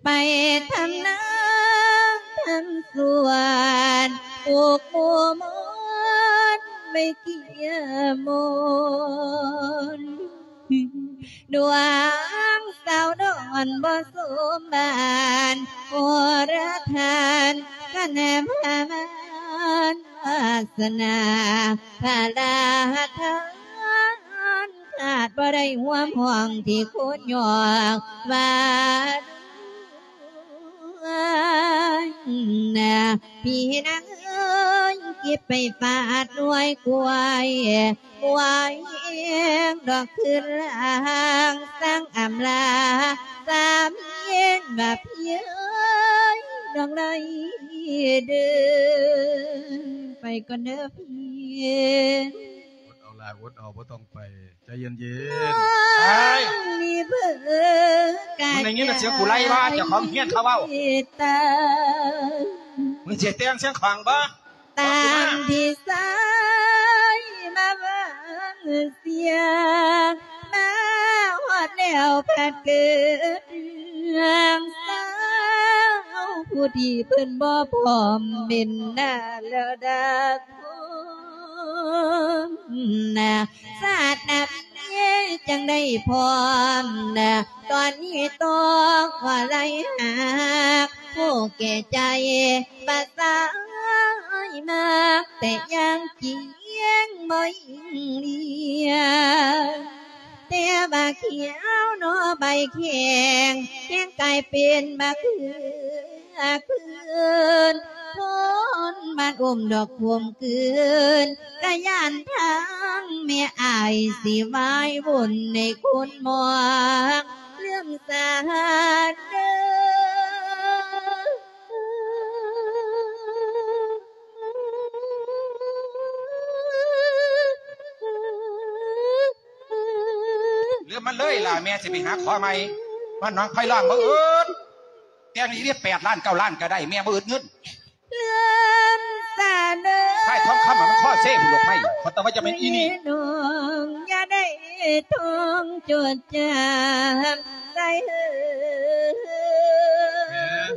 ໄປທຳນາທຳສວນ ປູກໝູ່ມອນໄວ້ກ່ຽມອນ ດວງສາວດອນບໍ່ສົມບ້ານ ໂອລະທ່ານຄະນະພະມານ ວາສະໜາພະລາທານ ຂາດບໍ່ໄດ້ຮ່ວມຫ້ອງທີ່ຄູນຍ້ອງວ່າ ພີ່ນາງເອີຍ ເກັບໄປຟາດໜ່ວຍກ້ວຍ ບວຍເອງດອກຄືນລາງ ສັ່ງອຳລາສາມີວ່າ ພີ່ເອີຍ ນ້ອງໄດ້ເດີ ໄປກ່ອນເດີພີ່. ອົດເອົາຫຼ້າ ອົດເອົາ ບໍ່ຕ້ອງໄປ ໃຈເຢັນໆ. ນ້ອງມີເບີກະ ມຶງໄດ້ຍິນແຕ່ສຽງກູໄລບໍ່? ເຈົ້າຂອງຮຽນເຂົາເວົ້າ ຕາ ມຶງຊິແຕ່ງສຽງຂ້ອງບໍ່? ຕາມທີ່ສາຍມາວາງສຽງ ມາຮອດແລ້ວພັດເກີດເລື່ອງເສົ້າ ຜູ້ທີ່ເພິ່ນບໍ່ພ້ອມເປັນໜ້າລະດັບ ນາ ຊາດໜ້າເມຍຈັ່ງໄດ້ພ້ອມນາ ຕອນນີ້ຕ້ອງຂໍໄລ່ຫາກ ຜູ້ແກ່ໃຈປະສາຍມັກ ແຕ່ຢ່າງຈິງບໍ່ຍິ່ງລຽງ ແຕ່ວ່າຂຽວໜໍໃບແຂງ ແຂງກາຍເປັນມະເຂືອ ຄືນ ຄົນບ້ານອຸ້ມດອກຂົມກືນ ກະຢ້ານທາງແມ່ອ້າຍຊິວາຍວຸ່ນໃນຄຸນໝອກ ເລື່ອມສາເດີ ເລື່ອມມັນເລີຍລະ ແມ່ຊິໄປຫາຂໍໃໝ່ ບ້ານໜອງໄຜ່ລ້ອງບໍ່ອຶດ ແຕ່ງອີ່ຫຼີແປດລ້ານເກົ້າລ້ານກະໄດ້ ແມ່ບໍ່ອຶດເງິນ ເລື່ອມສາເດີ ຄ້າຍທອງຄຳມັນຄໍເຊພຸ້ນລູກໄມ້ ເຂົາຕ້ອງວ່າຈະແມ່ນອີ່ນີ້ ນ້ອງຢ່າໄດ້ທ່ອງຈົດຈຳໃສ່ເອີຍ ແມ່ນ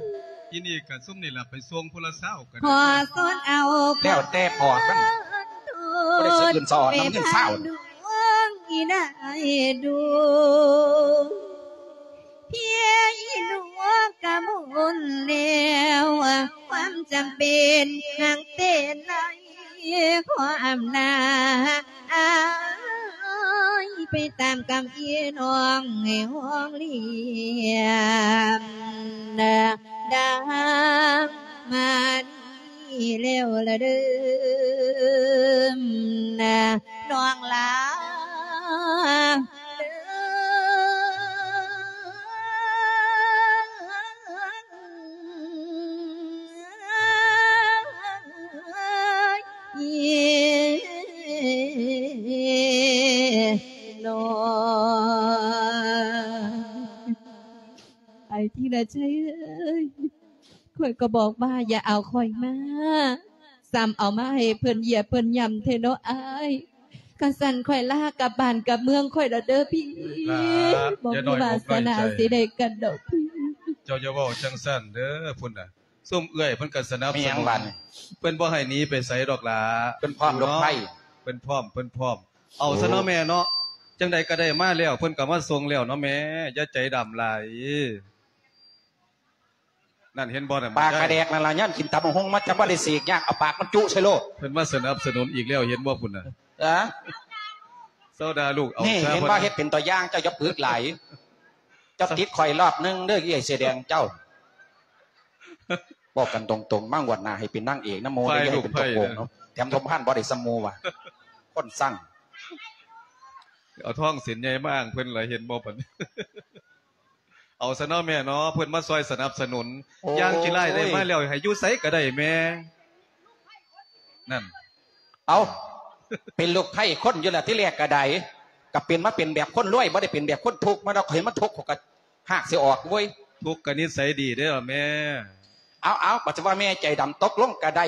ອີ່ນີ້ກະຊຸມນີ້ລະ ໄປສົ່ງຜູ້ລະຊາວກະໄດ້ ຂໍສອນເອົາ ແລ້ວແຕ່ພໍ່ມັນ ບໍ່ໄດ້ສະອື່ນສະອອນນຳເງິນຊາວ ດວງອີ່ນາຍດວງ ພຽງອີ່ໜວກກະໝົດແລ້ວ ຄວາມຈຳເປັນຫາກເຕັນໄຫຼ ຂໍອຳນາອາຍ ໄປຕາມກຳອີ່ນ້ອງໃຫ້ຫ້ອງລ້ຽງ ດັງມານີ້ແລ້ວລະເດີ ນ້ອງຫຼ້າເດີ. ອ້າຍທີລະໄຊເອີຍ ຂ້ອຍກໍບອກວ່າຢ່າເອົາຂ້ອຍມາ ຊ້ຳເອົາມາໃຫ້ເພິ່ນຢຽບເພິ່ນຫຍ້ຳແທ້ເນາະອ້າຍ. ຄັນຊັ້ນຂ້ອຍລາກັບບ້ານກັບເມືອງຂ້ອຍລະເດີພີ່ ບໍ່ມີວາສະໜາຊິໄດ້ກັນດອກພີ່. ເຈົ້າຢ່າເວົ້າຈັ່ງຊັ້ນເດີ ພຸ້ນນະ ຊຸມເອື້ອຍເພິ່ນກໍສະໜັບສະໜູນ ເພິ່ນບໍ່ໃຫ້ໜີໄປໃສດອກຫຼ້າ ເພິ່ນພ້ອມ ເພິ່ນພ້ອມ ເພິ່ນພ້ອມ ເອົາຊະເນາະແມ່ເນາະ ຈັ່ງໃດກໍໄດ້ມາແລ້ວ ເພິ່ນກໍມາສົ່ງແລ້ວເນາະແມ່ ຢ່າໃຈດຳຫຼາຍ. ນັ້ນເຫັນບໍ່ນັ້ນ ປາກກະແດກນັ້ນລະ ຍ້ອນກິນຕຳບັກຫຸ່ງມາ ຈະບໍ່ໄດ້ເສກຍາກ ເອົາປາກມັນຈຸໃສ່ໂລດ. ເພິ່ນມາສະໜັບສະໜູນອີກແລ້ວ ເຫັນບໍ່ພຸ້ນນະ. ເອີ ໂຊດາລູກ ເອົາ ນີ້ເຫັນບໍ່ ເຮັດເປັນຕົວຢ່າງ ເຈົ້າຢ່າປຶກຫຼາຍ ເຈົ້າຕິດຂ້ອຍລອບໜຶ່ງເດີ ເອື້ອຍເສື້ອແດງເຈົ້າ. ເວົ້າກັນຕົງໆ ມາງວດໜ້າໃຫ້ເປັນນາງເອກນຳໝູ່ເດີ ຢ່າໃຫ້ເປັນຕົວໂກງເນາະ. ແຖມສົມພານບໍ່ໄດ້ສ່ຳໝູ່ວ່າ ຄົນຊັງ ເອົາທອງເສັ້ນໃຫຍ່ມາອ້າງເພິ່ນລະ ເຫັນບໍ່ປານນີ້. ເອົາຊະເນາະແມ່ເນາະ ເພິ່ນມາຊ່ອຍສະໜັບສະໜູນ. ໂອ້ຍ ຢ່າງຂີ້ລ້າຍໄດ້ມາແລ້ວ ໃຫ້ຢູ່ໃສກໍໄດ້ແມ່. ນັ້ນ ເອົ້າ ເປັນລູກໃພ້ຄົນຢູ່ລະ ທີແລກກໍໄດ້ ກໍເປັນມາເປັນແບບຄົນລວຍ ບໍ່ໄດ້ເປັນແບບຄົນທຸກ ມາດອກເຫັນມັນທຸກ ເຂົາກໍຮາກຊິອອກເວີຍ. ທຸກກະນິໄສດີເດີ້ແມ່. ເອົາໆ ບັດຊິວ່າແມ່ໃຈດຳຕົກລົງກະໄດ້.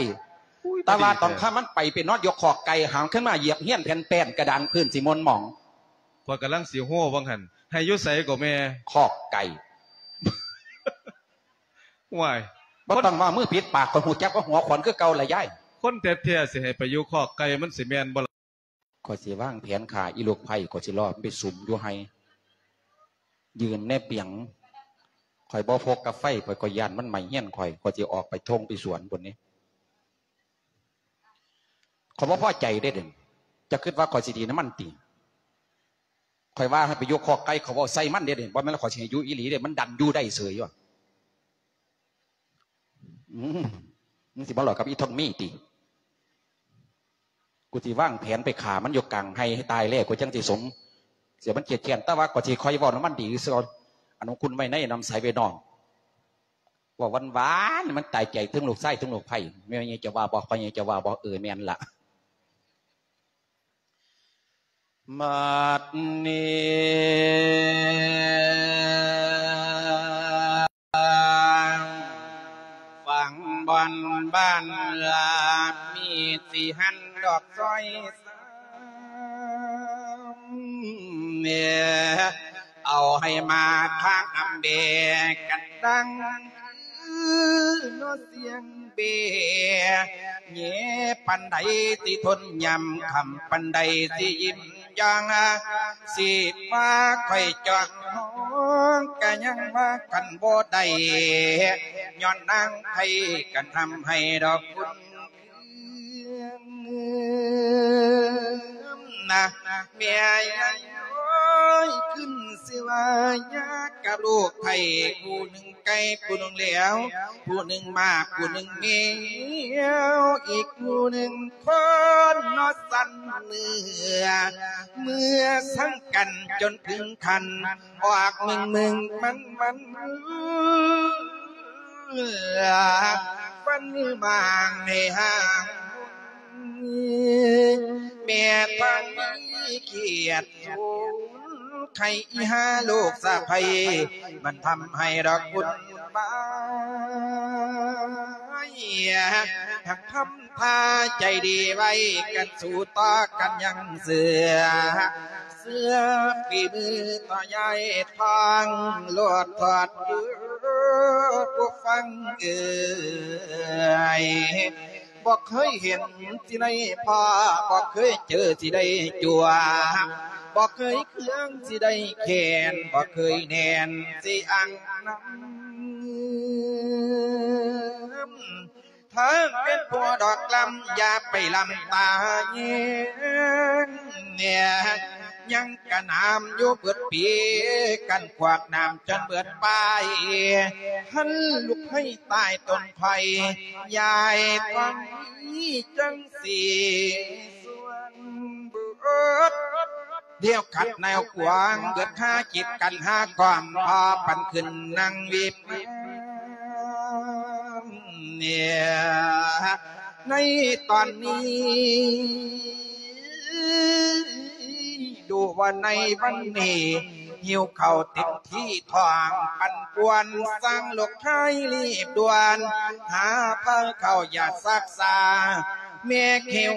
ອຸ້ຍ ແຕ່ວ່າ ພໍດີ ຕອນຄ່ຳມັນໄປ ໄປນອນຢູ່ຄອກໄກ່ ຫາງຂຶ້ນມາຢຽບຮຽນແຜ່ນແປ້ນກະດານພື້ນຊິມົນໝອງ. ຂ້ອຍກຳລັງຊິໂຮວ່າຫັ້ນ ໃຫ້ຢູ່ໃສກໍແມ່? ຄອກໄກ່. ວ້າຍ ບໍ່ຕ້ອງວ່າມືປິດປາກ ຂ້ອຍຮູ້ຈັກວ່າຫົວຂວັນຄືເກົ່າລະຍາຍ. ຄົນແທ້ໆ ຊິໃຫ້ໄປຢູ່ຄອກໄກ່ ມັນຊິແມ່ນບໍ່ລະ? ຂ້ອຍຊິວາງແຜນຂ້າອີລູກໄພ້ ຂ້ອຍຊິລໍມັນໄປສຸມຢູ່ໄຮ່ ຢືນແນບປຽງ. ຂ້ອຍບໍ່ພົກກັບໄຟ ຂ້ອຍກໍຢ້ານມັນໄໝ້ເຮືອນຂ້ອຍ ຂ້ອຍຊິອອກໄປທົ່ງໄປສວນພຸ້ນເດ້. ຂ້ອຍບໍ່ພໍໃຈເດ້ ເດະ ເຈົ້າຄິດວ່າຂ້ອຍຊິດີນຳມັນຕິ? ຂ້ອຍວ່າໃຫ້ໄປຢູ່ຄອກໄກ່ ຂ້ອຍເວົ້າໃສ່ມັນເດ້ ເດະ ບໍ່ແມ່ນວ່າຂ້ອຍຊິໃຫ້ຢູ່ອີ່ຫຼີເດ້ ມັນດັນຢູ່ໄດ້ເສີຍຢູ່. ອືມ ມຶງຊິມາເວົ້າກັບອີທອງມີຕິ? ກູຊິວາງແຜນໄປຂ້າມັນຢູ່ກາງໄຮ່ໃຫ້ຕາຍແລ້ວ ກູຈັ່ງຊິສົມ ເສຍມັນຄຽດແຄ້ນ ແຕ່ວ່າກໍຊິຄ່ອຍເວົ້ານຳມັນດີຊື່ໆ. ອັນຂອງຄຸນໄວ້ໃນ ນຳໃສໄວ້ນອກ ເວົ້າຫວານໆ ມັນຕາຍໃຈ ເຖິງລູກຊາຍເຖິງລູກໃພ້. ແມ່ໃຫຍ່ຈະວ່າບໍ່? ພໍ່ໃຫຍ່ຈະວ່າບໍ່? ເອີ ແມ່ນລະ. ບັດນີ້ ຝັ່ງບ່ອນບ້ານເອື້ອ ມີຊິຫັນດອກຊອຍສາມ ເອົາໃຫ້ມາທາງອຳເບກັນດັງ ຄືນອສຽງເບ ແຍປານໃດຊິທົນຍາມຄ່ຳ ປານໃດຊິອີ່ມຢ່າງ ຊິວ່າຂ້ອຍຈອງຫ້ອງ ກະຍັງວ່າກັນບໍ່ໄດ້ ຍ້ອນນາງໄພກັນທຳໃຫ້ດອກບຸນຄືນນະ ແມ່ຍາຍນ້ອຍຂຶ້ນ ຊິວ່າຍາກກັບລູກໄພ ຜູ້ໜຶ່ງ ໄກ່ຜູ້ໜຶ່ງແລ້ວ ຜູ້ໜຶ່ງໝາກ ຜູ້ໜຶ່ງແມວ ອີກຜູ້ໜຶ່ງຄົນເນາະ ສັນເນື້ອ ເມື່ອສັງກັນຈົນເຖິງຂັ້ນ ອອກມຶງໆ ມັນໆ ຟັນໝາງໃນຫ້າງ ແມ່ທ່ານມີກຽດສູນ ໃຄອີຫາລູກສະໃພ້ ມັນທຳໃຫ້ດອກບຸນບາຍ ຫາກທຳທ່າໃຈດີໄວ້ກັນ ສູ້ຕໍ່ກັນຍັງເສືອ ເຊື່ອຝີມືຕໍ່ຍາຍທອງ ໂລດທອດເດີ້ຜູ້ຟັງເອີຍ. ບໍ່ເຄີຍເຫັນຊິໄດ້ພໍ້ ບໍ່ເຄີຍເຈີຊິໄດ້ຈົວ ບໍ່ເຄີຍເຄືອງຊິໄດ້ແຂນ ບໍ່ເຄີຍແໜ້ນຊິອັ່ງນຳ ຖ້າເປັນຜົວດອກລຳ ຢ່າໄປລຳຕາແຍງ ຍັງກະໜາມຢູ່ເບິດປີ ກັນຂວາກໜາມຈົນເບິດປາຍ ຫັນລູກໃຫ້ຕາຍຕົ້ນໄຜ່ ຍາຍທອງມີຈັ່ງຊິສວນເບິດ ດຽວຂັດແນວຂວາງ ເບິດຫາຈິດກັນຫາຄວາມ ພໍປັນຂຶ້ນນັ່ງວິບງາມ ໃນຕອນນີ້ ດູວ່າໃນວັນນີ້ ຫິວເຂົ້າເຕັມທີ່ທ້ອງ ປັ່ນປ່ວນ ສ້າງລູກຊາຍລີບດ່ວນ ຫາພາເຂົ້າຢາສັກສາ ແມ່ຫິວ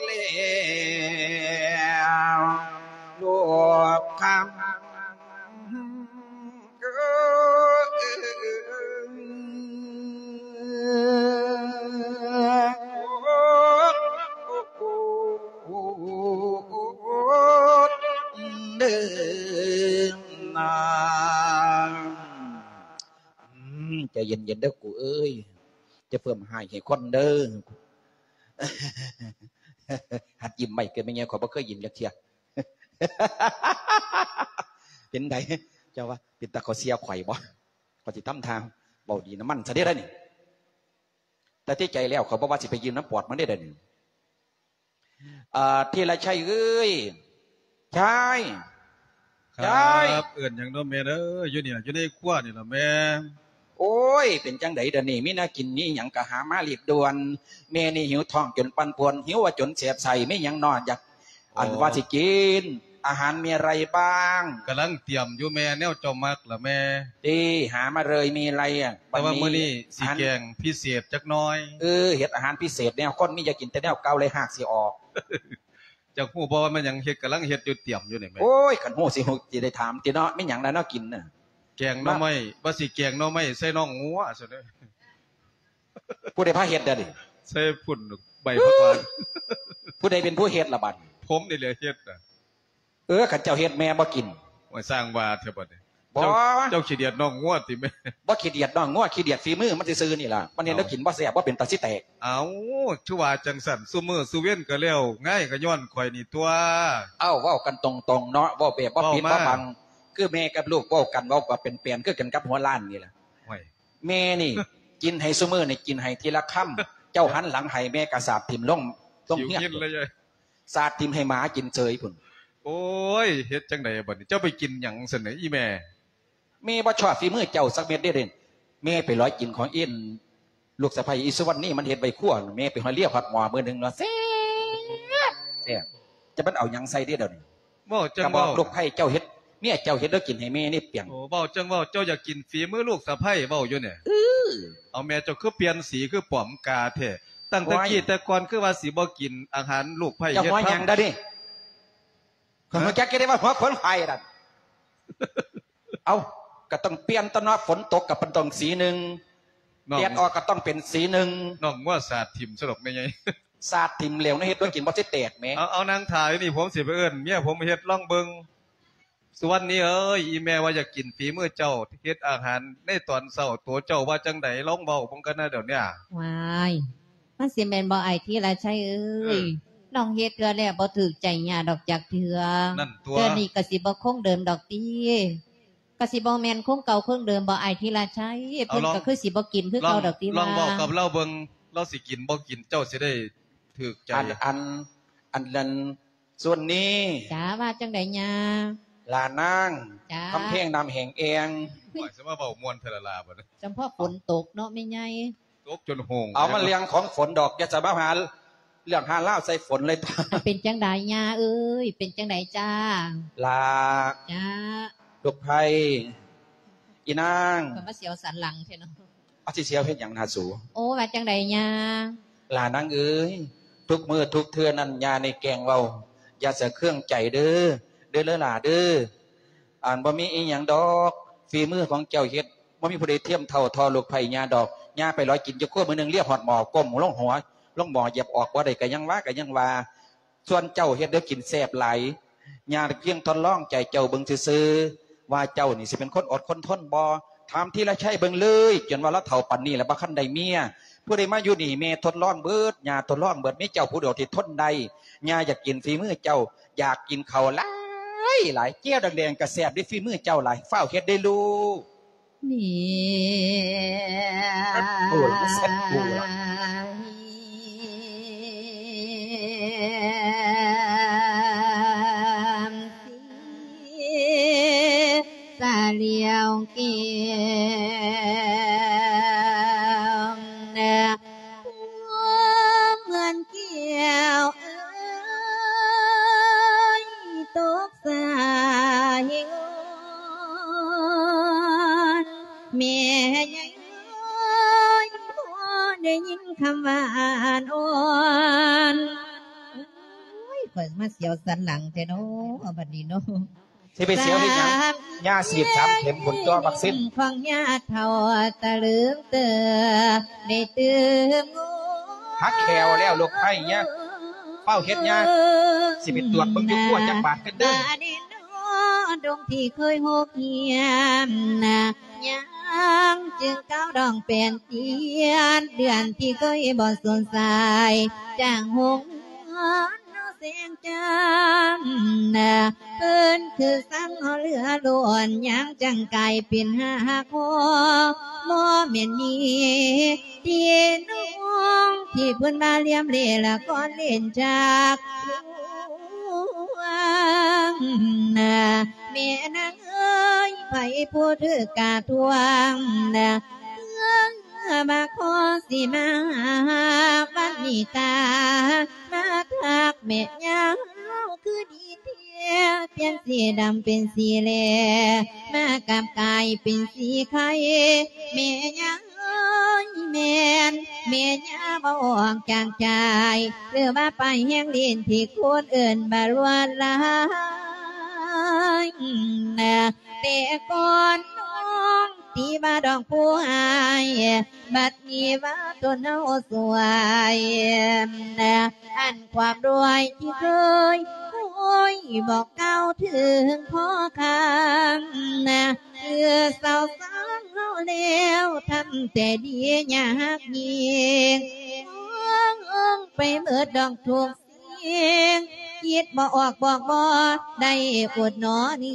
ແລ້ວ ລູກຄຳ ເດີນາງ ອືມ ໃຈເຢັນໆ ເດີກູເອີຍ ຈະເພີ່ມຮ້າຍໃຫ້ຄົນເດີ. ຫັດຍິ້ມໄວ້ ເກີດແມ່ໃຫຍ່ ຂ້ອຍບໍ່ເຄີຍຍິ້ມຈັກເທື່ອ. ເປັນໃດ ເຈົ້າວ່າເປັນຕາເຂົາເສຍຂ້ອຍບໍ່? ຂ້ອຍຊິທຳທ່າເວົ້າດີນຳມັນຊະເດ້ ດຽວນີ້ ແຕ່ທີ່ໃຈແລ້ວ ຂ້ອຍບໍ່ວ່າຊິໄປຢືມນຳປອດມັນເດ້ ດຽວນີ້. ເອີ ທີລະໄຊເອີຍ ໄຊ ໄຊ ເອີ້ນຫຍັງເນາະແມ່ເອີຍ? ຢູ່ນີ້ລະ ຢູ່ໃນຄົວນີ້ລະແມ່. ໂອ້ຍ ເປັນຈັ່ງໃດດຽວນີ້ ມີແນວກິນມີຫຍັງກະຫາມາລີບດ່ວນ. ແມ່ນີ້ຫິວທ້ອງຈົນປັ່ນປ່ວນ ຫິວວ່າຈົນແສບໄສ້ ມີຫຍັງເນາະ ຢາກ ອັນ ໂອ້ ວ່າຊິກິນ. ອາຫານມີອະໄລບ້າງ? ກຳລັງຕຽມຢູ່ແມ່ ແນວເຈົ້າມັກລະແມ່. ເດ້ ຫາມາເລີຍ ມີອະໄລອະ? ແຕ່ວ່າມື້ນີ້ຊິແກງພິເສດຈັກໜ້ອຍ. ເອີ ເຮັດອາຫານພິເສດແນວຄົນມີ ຢ່າກິນແຕ່ແນວເກົ່າເລີຍ ຮາກຊິອອກ. ເຈົ້າຮູ້ບໍ່ວ່າແມ່ນຫຍັງເຮັດ? ກຳລັງເຮັດຢູ່ ຕຽມຢູ່ນີ້ແມ່. ໂອ້ຍ ຄັນຮູ້ຊິຮູ້ ຊິໄດ້ຖາມຕິເນາະ ມີຫຍັງແດ່ເນາະກິນນະ? ແກງໜໍ່ໄມ້ ວ່າຊິແກງໜໍ່ໄມ້ໃສ່ໜອງງົວຊັ້ນເດ້. ຜູ້ໃດພາເຮັດດະນີ້? ໃສ່ພຸ້ນ ໃບຜັກຫວານ. ຜູ້ໃດເປັນຜູ້ເຮັດລະບັດ? ຜົມນີ້ແຫຼະເຮັດນະ. ເອີ ຄັນເຈົ້າເຮັດແມ່ບໍ່ກິນ. ໂອ້ຍ ສ້າງວ່າແທ້ບັດນີ້. ບໍ່ ເຈົ້າ ເຈົ້າຂີ້ດຽດໜອງງົວຕິແມ່? ບໍ່ຂີ້ດຽດໜອງງົວ ຂີ້ດຽດຝີມືມັນຊື່ໆນີ້ລະ. ມັນເຮັດແນວກິນບໍ່ແຊບ ບໍ່ເປັນຕາຊິແຕກ. ເອົ້າ ຄືວ່າຈັ່ງຊັ້ນ ຊຸມື້ຊຸເວັນກໍແລ້ວ ງ່າຍກໍຍ້ອນຂ້ອຍນີ້ຕົວະ. ເອົ້າ ເວົ້າກັນຕົງໆເນາະ ເວົ້າແບບບໍ່ປິດບໍ່ບັງ ຄືແມ່ກັບລູກເວົ້າກັນ ເວົ້າກັບເປັນແປນ ຄືກັນກັບຫົວລ້ານນີ້ລະ. ໂອ້ຍ ແມ່ນີ້ກິນໃຫ້ຊຸມື້ນີ້ ກິນໃຫ້ທີລະຄຳ ເຈົ້າຫັນຫຼັງໃຫ້ແມ່ກໍສາດຖິ້ມລົງ ລົງເຮືອນ ສາດຖິ້ມໃຫ້ໝາກິນເສີຍພຸ້ນ. ໂອ້ຍ ເຮັດຈັ່ງໃດບັດນີ້ ເຈົ້າໄປກິນຫຍັງຊັ້ນນະອີ່ແມ່? ແມ່ບໍ່ຊອບຝີມືເຈົ້າຈັກເມັດເດ້. ແມ່ໄປລອຍກິນຂອງອີ່ ລູກສະໃພ້ອີ່ສຸວັນນີ ມັນເຮັດໄວ້ຄົວ ແມ່ໄປຮອດລຽວຮອດໝໍ້ມື້ໜຶ່ງເນາະ ແຊບ ແຊບ. ຈະມັນເອົາຫຍັງໃສ່ເດ້ດຽວນີ້? ເວົ້າຈັ່ງເວົ້າ ກະບອກລູກໃພ້ເຈົ້າເຮັດ ເມຍເຈົ້າເຮັດແລ້ວກິນໃຫ້ແມ່ນີ້ປຽງ. ໂອ້ ເວົ້າຈັ່ງເວົ້າ ເຈົ້າຢາກກິນຝີມືລູກສະໃພ້ເວົ້າຢູ່ນີ້. ເອີ ເອົາ ແມ່ເຈົ້າຄືປ່ຽນສີຄືປ້ອມກາແທ້. ຕັ້ງແຕ່ກີ້ແຕ່ກ່ອນຄືວ່າຊິບໍ່ກິນອາຫານລູກໃພ້ເຮັດ. ເຈົ້າຫົວຫຍັງດະນີ້? ຫາ? ຮູ້ຈັກແຕ່ວ່າຫົວຂນໄຟນັ້ນ. ເອົ້າ ກໍຕ້ອງປ່ຽນຕົວະເນາະ ຝົນຕົກກໍເປັນຕ້ອງສີໜຶ່ງ ແດດອອກກໍຕ້ອງເປັນສີໜຶ່ງ. ນ້ອງງົວສາດຖິ້ມຊະດອກແມ່ໃຫຍ່. ສາດຖິ້ມແລ້ວນະ ເຮັດແນວກິນບໍ່ຊິແຕກແໝ. ເອົາ ເອົາ ນັ່ງຖ້າຢູ່ນີ້ ຜົມຊິໄປເອີ້ນເມຍຜົມເຮັດລອງເບິ່ງ. ສຸວັນນີເອີຍ ອີ່ແມ່ວ່າຢາກກິນຝີມືເຈົ້າເຮັດອາຫານໃນຕອນເຊົ້າ ໂຕເຈົ້າວ່າຈັ່ງໃດ ລອງເວົ້າເບິ່ງກັນນະດຽວນີ້. ວ້າຍ ມັນຊິແມ່ນບໍ່ອ້າຍທີລະໄຊເອີຍ? ເອີ ນ້ອງເຮັດເທື່ອແລກບໍ່ຖືກໃຈຍ່າດອກຈັກເທື່ອ. ນັ້ນຕົວະ ເທື່ອນີ້ກໍຊິບໍ່ຄົງເດີມດອກຕິ. ກໍຊິບໍ່ແມ່ນຄົງເກົ່າຄົງເດີມບໍ່ອ້າຍທີລະໄຊ? ເພິ່ນກໍຄືຊິບໍ່ກິນຄືເກົ່າດອກຕິວ່າ. ລອງເວົ້າກັບລາວເບິ່ງ ລາວຊິກິນບໍ່ກິນ ເຈົ້າຊິໄດ້ຖືກໃຈ. ອັນ ອັນ ອັນນັ້ນ ສ່ວນນີ້ ຈ້າ ວ່າຈັ່ງໃດຍ່າ? ຫຼານນາງ ຈ້າ ຄຳແພງນ້ຳແຫ້ງແອງ. ໂອ້ຍ ຊິມາເວົ້າມ່ວນແທ້ລະລາບັດນີ້. ຈຳເພາະຝົນຕົກເນາະແມ່ໃຫຍ່. ຕົກຈົນໂຮງ. ເອົາ ມັນເລື່ອງຂອງຝົນດອກ ຢ່າຈະມາຫາເລື່ອງຫາລາວໃສ່ຝົນເລີຍ. ເປັນຈັ່ງໃດຍ່າເອີຍ? ເປັນຈັ່ງໃດຈ້າ? ຫຼ້າ ຈ້າ ລູກໃພ້ ອີນາງ. ຂ້ອຍມາສຽວສັນຫຼັງແທ້ເນາະ. ເອົາ ຊິສຽວເຮັດຫຍັງນະສູ? ໂອ້ ວ່າຈັ່ງໃດຍ່າ? ຫຼ້ານາງເອີຍ ທຸກມື້ທຸກເທື່ອນັ້ນ ຍ່ານີ້ແກ່ງເວົ້າ ຢ່າສະເຄືອງໃຈເດີ ເດີຫຼ້າເດີ. ອັນ ບໍ່ມີອີ່ຫຍັງດອກ ຝີມືຂອງເຈົ້າເຮັດ ບໍ່ມີຜູ້ໃດທຽມເທົ່າ ເທົ່າລູກໃພ້ຍ່າດອກ. ຍ່າໄປລອຍກິນຢູ່ຄົວມື້ໜຶ່ງ ລຽບຮອດໝໍ້ ກົ້ມລົງຫົວ ລົງໝໍ້ ຢຽບອອກບໍ່ໄດ້ ກະຍັງວ່າ ກະຍັງວ່າ. ສ່ວນເຈົ້າເຮັດແນວກິນແຊບຫຼາຍ ຍ່າພຽງທົດລອງໃຈເຈົ້າເບິ່ງຊື່ໆ ວ່າເຈົ້ານີ້ຊິເປັນຄົນອົດຄົນທົນບໍ່. ຖາມທີລະໄຊເບິ່ງເລີຍ ຈົນວ່າລາວເຖົ້າປານນີ້ແລ້ວ ບໍ່ທັນໄດ້ເມຍ. ຜູ້ໃດມາຢູ່ນີ້ ແມ່ທົດລອງເບິດ ຍ່າທົດລອງເບິດ ມີເຈົ້າຜູ້ດຽວທີ່ທົນໄດ້. ຍ່າຢາກກິນຝີມືເຈົ້າ ຢາກກິນເຂົ້າຫຼາຍໆ ແຈ່ວແດງໆ ກະແຊບເດ້ ຝີມືເຈົ້າຫຼາຍ. ຟ້າວເຮັດເດ້ລູກ. ນີ້ ເຊັດກູລະ ເຊັດກູລະ ສະຫຼຽວແກ້ວ ເໝືອນແກ້ວເອີຍ ຕົກ ສາຍງອນ ແມ່ໃຫຍ່ເອີຍ ພໍໄດ້ຍິນຄຳຫວານອ່ອນ. ໂອ້ຍ ຂ້ອຍມາສຽວສັນຫຼັງແທ້ເນາະ ບັດນີ້ເນາະ. ຊິໄປສຽວເຮັດຫຍັງ? ຍ່າສີດສາມເຂັມພຸ້ນຕົວະ ວັກຊິນຂອງຍ່າເຖົ້າຕະເລິງເຕີ ໄດ້ຕື່ມງວນ ຫັກແຂ້ວແລ້ວລູກໃພ້. ຢ່າ ຟ້າວເຮັດຍ່າ ຊິໄປຕວດເບິ່ງຢູ່ຄົວຈັກບາດກັນເດີ. ດາເນນອ ດົງທີ່ເຄີຍໂຮກຮຽມນະ ຍາງຈຶ່ງກ້າວດອງແປນຕຽນ ເດືອນທີ່ເຄີຍບໍ່ສູນສາຍ ຈາງຫົງນະ ແສງຈັນນະ ເພິ່ນຄືສັງເຫຼືອລ້ນ ຍາງຈັ່ງກາຍເປັນຫາກຫໍ ບໍ່ແມ່ນມີ ທີ່ນ້ອງທີ່ເພິ່ນມາລຽມເລລະກອນເລ່ນຈາກລວງນະ ແມ່ນາງເອີຍ ໃຜຜູ້ຖືກກະທວງນະ ເອີ ມາຂໍຊິມາຫາວັນນີ້ຕາ ມາທັກແມ່ຍາວຄືດີແທ້. ປ່ຽນສີດຳເປັນສີແຫຼ ມາກັບກາຍເປັນສີໄຂ່ ແມ່ຍາເອີຍ ແມ່ນແມ່ຍາເວົ້າອອກຈາກໃຈ ຫຼືວ່າປາຍແຮງຫຼິ້ນທີ່ຄົນເອີ້ນວ່າລວດລາຍ. ແຕ່ກ່ອນນ້ອງຕີວ່າດອກຜູ້ອາຍ ບັດນີ້ວ່າຕົນເຮົາສວຍ ອັນຄວາມດ້ວຍທີ່ເຄີຍໂອ້ຍບອກກ່າວເຖິງພໍຄ້າງ ຄືສາວສາງເຮົາແລ້ວ ທຳແຕ່ດີຍາກຍິ່ງ ໄປເໝິດດອກທຸກ ສິ່ງ ຄິດບໍ່ອອກບອກບໍ່ໄດ້ອົດໜໍນີ້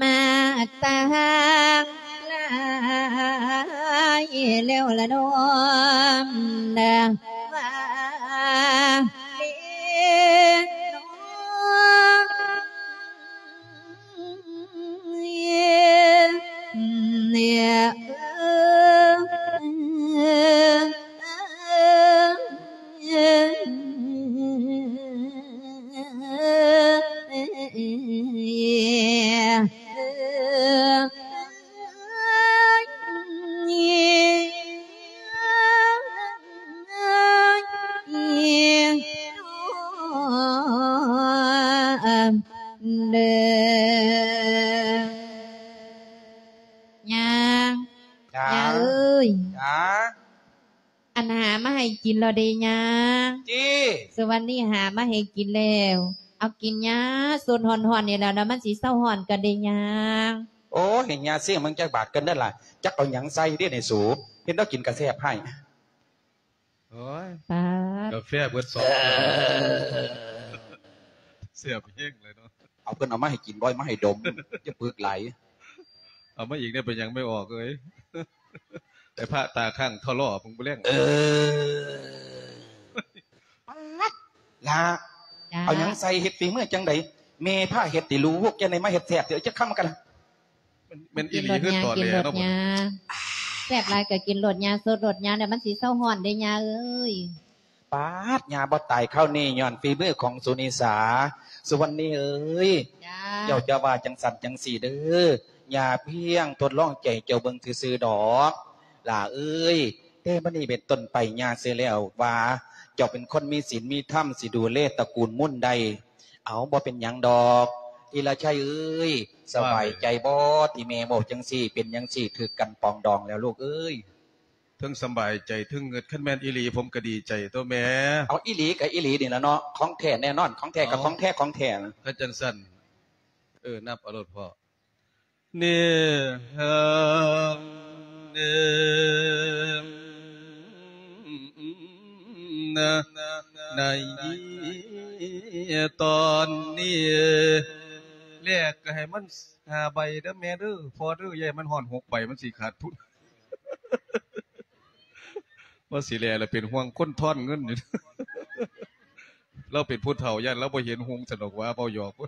ມາກຕາງຫຼາຍແລ້ວລະນ້ອງ ວ່າເດ ເດີ ຍ່າ ຍ່າ ຍ່າເອີຍ ຈ້າ ອັນຫາມາໃຫ້ກິນແລ້ວເດ້ຍ່າ ຕິ ສຸວັນນີ້ຫາມາໃຫ້ກິນແລ້ວ ເອົາກິນຍ່າ ສົດຮ້ອນໆນີ້ແຫຼະ ແລ້ວມັນຊິເຊົາຮ້ອນກັນເດ້ຍ່າ. ໂອ້ຍ ໃຫ້ຍ່າຊີມເບິ່ງຈັກບາດກ່ອນເດີຫຼ້າ ຈັກເອົາຫຍັງໃສ່ເດ້ນີ້ສູ ເຫັນລາວກິນກະແຊບໃຫ້. ໂອ້ຍ ປາດ ກາແຟເບິດສອງແກ້ວ ແຊບແຮງເລີຍເນາະ. ເອົາ ເພິ່ນເອົາມາໃຫ້ກິນ ບໍ່ເອົາມາໃຫ້ດົມ ຢ່າປຶກຫຼາຍ. ເອົາມາອີກແດ່ ເປັນຫຍັງແມ່ອອກເອີຍ? ໄອ້ພະຕາຄ້າງທໍລໍມຶງບໍ່ແລງ. ເອີ ປາດ ຫຼ້າ ຈ້າ ເອົາຫຍັງໃສ່ ເຮັດຝີມືຈັ່ງໃດ? ແມ່ພາເຮັດຕິລູກ ຈັ່ງໃດມາເຮັດແຊບເທື່ອ ຈັກຄຳກັນລະ. ແມ່ນ ແມ່ນອີ່ຫຼີຄືຕອກິນໂລດຍ່າ ເນາະ ກິນໂລດຍ່າ ແຊບຫຼາຍກໍກິນໂລດຍ່າ ສົດໂລດຍ່າ ແລ້ວມັນຊິເຊົາຮ້ອນເດ້ຍ່າເອີຍ. ປາດ ຍ່າບໍ່ຕາຍຄາວນີ້ ຍ້ອນຝີມືຂອງສຸນິສາ ສຸວັນນີເອີຍ. ເຈົ້າ ເຈົ້າຈະວ່າຈັ່ງຊັ້ນຈັ່ງຊີ້ເດີ ຍ່າພຽງທົດລອງໃຈເຈົ້າເບິ່ງຊື່ໆດອກ ຫຼ້າເອີຍ. ແຕ່ບັດນີ້ເປັນຕົ້ນໄປ ຍ່າເຊື່ອແລ້ວວ່າ ເຈົ້າເປັນຄົນມີສິນມີທຳ ຊິດູແລຕະກູນມຸນໄດ້. ເອົາ ບໍ່ເປັນຫຍັງດອກ ອີລະໄຊເອີຍ. ສະບາຍໃຈບໍ່ ທີ່ແມ່ເວົ້າຈັ່ງຊີ້ ເປັນຈັ່ງຊີ້ ຖືກກັນປອງດອງແລ້ວລູກເອີຍ. ເທິງສະບາຍໃຈ ເທິງງຶດ ຄັນແມ່ນອີ່ຫຼີ ຜົມກໍດີໃຈຕົວະແມ່. ເອົາ ອີ່ຫຼີກໍອີ່ຫຼີນີ້ລະເນາະ ຂອງແທ້ແນ່ນອນ ຂອງແທ້ກໍຂອງແທ້ ຂອງແທ້. ຄັນຈັ່ງຊັ້ນ ເອີ ນັບເອົາໂລດພໍ່. ໃນຕອນນີ້ ແລກກໍໃຫ້ມັນຫ້າໃບເດີແມ່ເດີ ພໍ່ເດີ ຢ່າໃຫ້ມັນຮອດຫົກໃບ ມັນຊິຂາດທຶນ. ວ່າຊິແລລະເປັນຫ່ວງຄົນທອນເງິນຢູ່ ລາວເປັນຜູ້ເຖົ້າ ຢ້ານລາວບໍ່ເຫັນຮຸ່ງຊັ້ນດອກວ່າ ເວົ້າຫຍອກ. ກ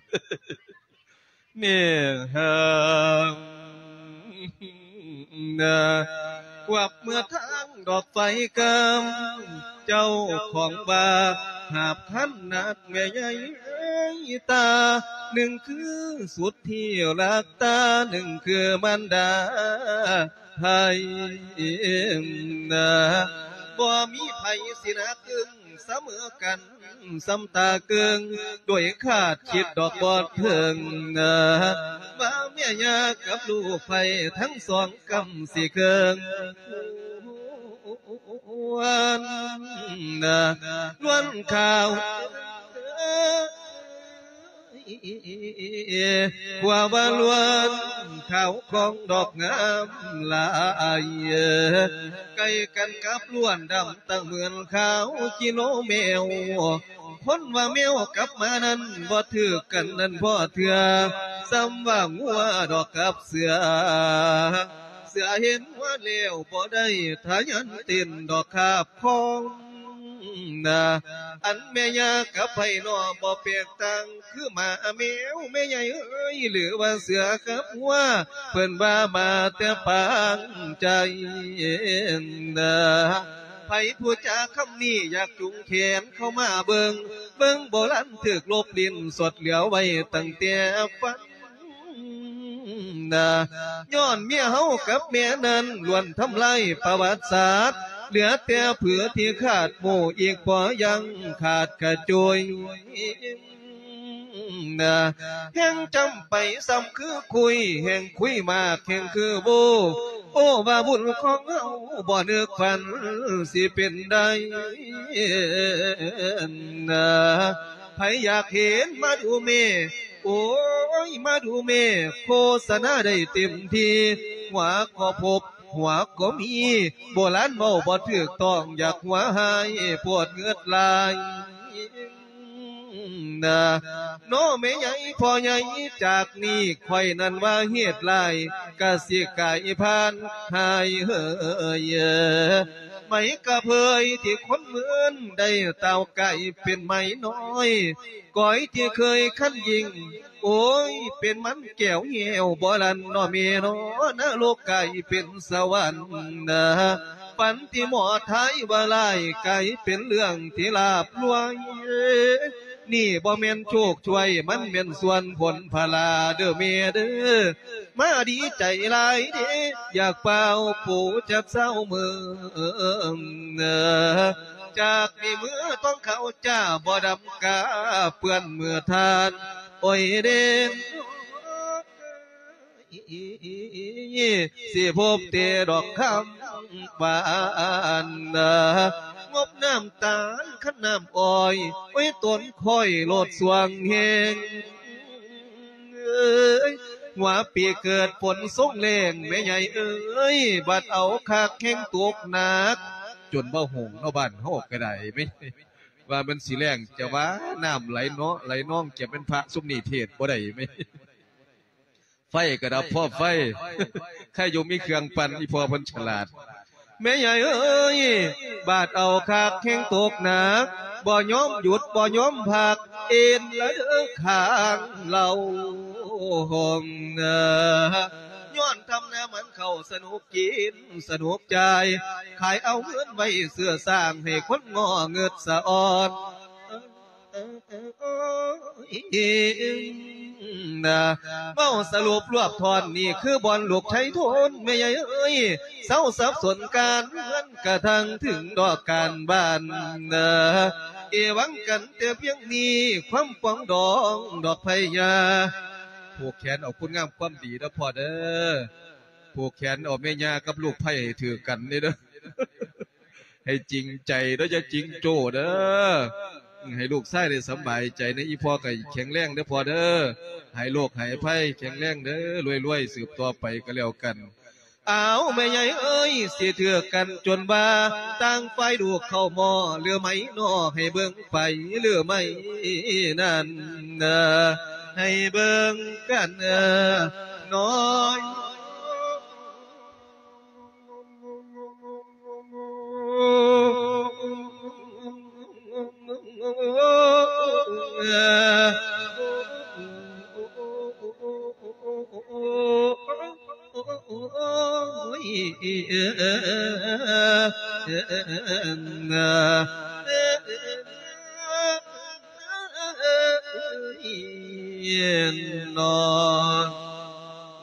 ວັບເມືອທາງດອກໄຟກຳ ເຈົ້າຂອງວ່າຫາບຄັນໜັກແມ່ໃຫຍ່ເອີຍຕາ ໜຶ່ງຄືສຸດທີ່ຮັກຕາ ໜຶ່ງຄືມານດາໃຜ ບໍ່ມີໃຜຊິໜັກອຶ້ງສະເໝີກັນ ສ່ຳຕາເກິ່ງ ໂດຍຄາດຄິດດອກບໍ່ເຖິງ ວ່າແມ່ຍ່າກັບລູກໃຜ ທັງສອງກຳຊິເຄິ່ງ ນວນຂາວ ວ່າວ່າລວນຂາວຂອງດອກງາມຫຼາຍ ໃກ້ກັນກັບລວນດຳຕັ້ງເໝືອນຂາວກິໂລແມວ ຄົນວ່າແມວກັບໝານັ້ນ ບໍ່ຖືກກັນນັ້ນພໍເທື່ອ ສ່ຳວ່າງົວດອກກັບເສືອ ເສືອເຫັນງົວແລ້ວບໍ່ໄດ້ທະຍານເຕັ້ນດອກຄາບຄອງ ອັນແມ່ຍ່າກັບໃຜນໍ ບໍ່ແປກຕ່າງຄືໝາແມວ ແມ່ໃຫຍ່ເອີຍ ຫຼືວ່າເສືອກັບງົວ ເພິ່ນວ່າມາແຕ່ປາງໃຈ ໃຜຜູ້ຈາຄຳນີ້ ຢາກຈູງແຂນເຂົ້າມາເບິ່ງ ເບິ່ງບໍ່ລັນຖືກລົບຫຼິ້ນ ສົດເຫຼືອໄວ້ຕັ້ງແຕ່ຟັງນະ. ຍ້ອນເມຍເຮົາກັບແມ່ນັ້ນ ລ້ວນທຳລາຍປະຫວັດສາດ ເຫຼືອແຕ່ຜືທີ່ຄາດໝູ່ ອີກພໍຍັງຂາດກະຈຸຍ. ແຮ່ງຈຳໄປຊ້ຳຄືຄຸຍ ແຮ່ງຄຸຍມາກແຮ່ງຄືໂວ ໂອ້ ວ່າບຸນຂອງເຮົາບໍ່ນຶກຝັນຊິເປັນໄດ້. ໃຜຢາກເຫັນມາດູແມ່ ໂອ້ຍ ມາດູແມ່ ໂຄສະນາໄດ້ເຕັມທີ່ ຫົວກໍພົບ ຫົວກໍມີ ໂບລານເວົ້າບໍ່ຖືກຕ້ອງ ຢາກຫົວຮ້າຍໂພດເງືອດຫຼາຍ. ນະ ເນາະແມ່ໃຫຍ່ພໍ່ໃຫຍ່ ຈາກນີ້ຂ້ອຍນັ້ນວ່າເຫດຫຼາຍ ກະຊິກາຍຜ່ານຫາຍເຫີຍ. ໄໝກະເຜີຍທີ່ຄົນເມີນ ໄດ້ຕ່າວກາຍເປັນໄໝນ້ອຍ ກອຍທີ່ເຄີຍຄັນຍິ່ງ ໂອ້ຍ ເປັນມັນແກ້ວແຫ້ວບໍ່ລັນເນາະແມ່ເນາະ ນະລົກກາຍເປັນສະຫວັນນະ. ຝັນທີ່ໝໍທາຍວ່າຮ້າຍ ກາຍເປັນເລື່ອງທີ່ລາບລວຍ ນີ້ບໍ່ແມ່ນໂຊກຊ່ວຍ ມັນແມ່ນສ່ວນຜົນພະລາເດີແມ່ເດີ. ມາດີໃຈຫຼາຍເດ ຢາກປ່າວປູຈັກຊາວເມືອງ ຈາກນີ້ເມືອຕ້ອງເຂົ້າຈ້າ ບໍ່ດຳກາເປື້ອນເມືອທ່ານ ໂອ້ຍເດ ຊິພົບແຕ່ດອກຄຳຫວານ ງົບນ້ຳຕານຄັນນ້ຳອ້ອຍ ໂອ້ຍ ຕົນຂ້ອຍໂລດສວງແຮງ ເອີຍ ຫົວປີເກີດຝົນຊົງແລ້ງ ແມ່ໃຫຍ່ເອີຍ ບາດເອົາຄັກແຮງຕົກໜັກ ຈົນບໍ່ໂຫງເນາະ ບ້ານເຮົາກະໄດ້ແມ່ ວ່າມັນຊິແລ້ງ ຈະວ່ານ້ຳໄຫຼເນາະ ໄຫຼນອງ ຈະແມ່ນພະຊຸມນີ້ເທດບໍ່ໄດ້ແມ່. ໄຟກະດັບພ້ອມໄຟ ໃຄຢູ່ມີເຄື່ອງປັ່ນ ອີ່ພໍ່ເພິ່ນສະຫຼາດ. ແມ່ໃຫຍ່ເອີຍ ບາດເອົາຄັກແຮງຕົກໜັກ ບໍ່ຍອມຢຸດບໍ່ຍອມພັກ ເອັນລະເດີຂ້າງເຫຼົ່າ ຍ້ອນທຳນາມັນເຂົ້າ ສະໜຸກກິນສະໜຸກຈ່າຍ ຂາຍເອົາເງິນໄວ້ເຊື້ອສ້າງ ໃຫ້ຄົນງໍເງິດສະອອນ. ນະ ເວົ້າສະຫຼຸບລວບທ່ອນ ນີ້ຄືບ່ອນລູກໄທໂທນ ແມ່ໃຫຍ່ເອີຍ ເຊົາສັບສົນການເຮືອນ ກະທັ່ງເຖິງດອກການບ້ານນະ ເອວັງກັນແຕ່ພຽງນີ້ ຄວາມປອງດອງດອກໄພຍາ ຜູກແຂນເອົາຄຸນງາມຄວາມດີເດີພໍ່ເດີ ຜູກແຂນເອົາແມ່ຍ່າກັບລູກໄພໃຫ້ຖືກກັນນີ້ເດີ. ໃຫ້ຈິງໃຈເດີ ຢ່າຈິງໂຈ້ເດີ ໃຫ້ລູກຊາຍໄດ້ສຳບາຍໃຈນະ ອີ່ພໍ່ກະແຂງແຮງເດີພໍ່ເດີ ໃຫ້ໂລກໃຫ້ໄພແຂງແຮງເດີ ລວຍໆ ສືບຕໍ່ໄປກະແລ້ວກັນ. ອ້າວ ແມ່ໃຫຍ່ເອີຍ ຊິຖືກກັນຈົນວ່າ ຕ່າງຝ່າຍລູກເຂົ້າໝໍ້ ຫຼືໄໝນໍ ໃຫ້ເບິ່ງໄປ ຫຼືໄໝນັ້ນ ໃຫ້ເບິ່ງກັນເອີ ນ້ອຍ.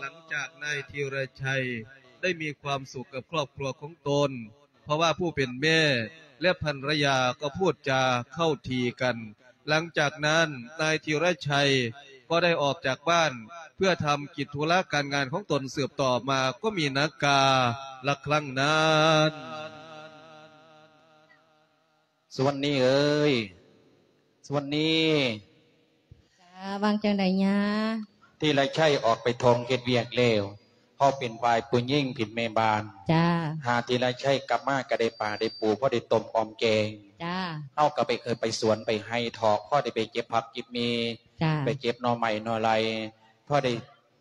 ຫຼັງຈາກນາຍທີລະໄຊ ໄດ້ມີຄວາມສຸກກັບຄອບຄົວຂອງຕົນ ເພາະວ່າຜູ້ເປັນແມ່ ແລະ ພັນລະຍາກໍພູດຈາເຂົ້າທີກັນ. ຫຼັງຈາກນັ້ນ ນາຍທີລະໄຊກໍໄດ້ອອກຈາກບ້ານ ເພື່ອທຳກິດທຸລະການງານຂອງຕົນສືບຕໍ່ມາ ກໍມີນາກາລະຄັ້ງນັ້ນ. ສຸວັນນີເອີຍ ສຸວັນນີ. ຈ້າ ວ່າຈັ່ງໃດຍ່າ? ທີລະໄຊອອກໄປທົ່ງເຮັດວຽກແລ້ວ ເຮົາເປັນຝ່າຍຜູ້ຍິງເປັນແມ່ບ້ານ. ຈ້າ. ຫາທີລະໄຊກັບມາກະໄດ້ປາໄດ້ປູ ພໍໄດ້ຕົ້ມອອມແກງ. ຈ້າ. ເຮົາກະໄປ ເຄີຍໄປສວນໄປໄຮ່ເທາະ ພໍໄດ້ໄປເກັບຜັກເກັບໝີ່. ຈ້າ. ໄປເກັບໜໍ່ໄມ້ໜໍ່ໄລ ພໍໄດ້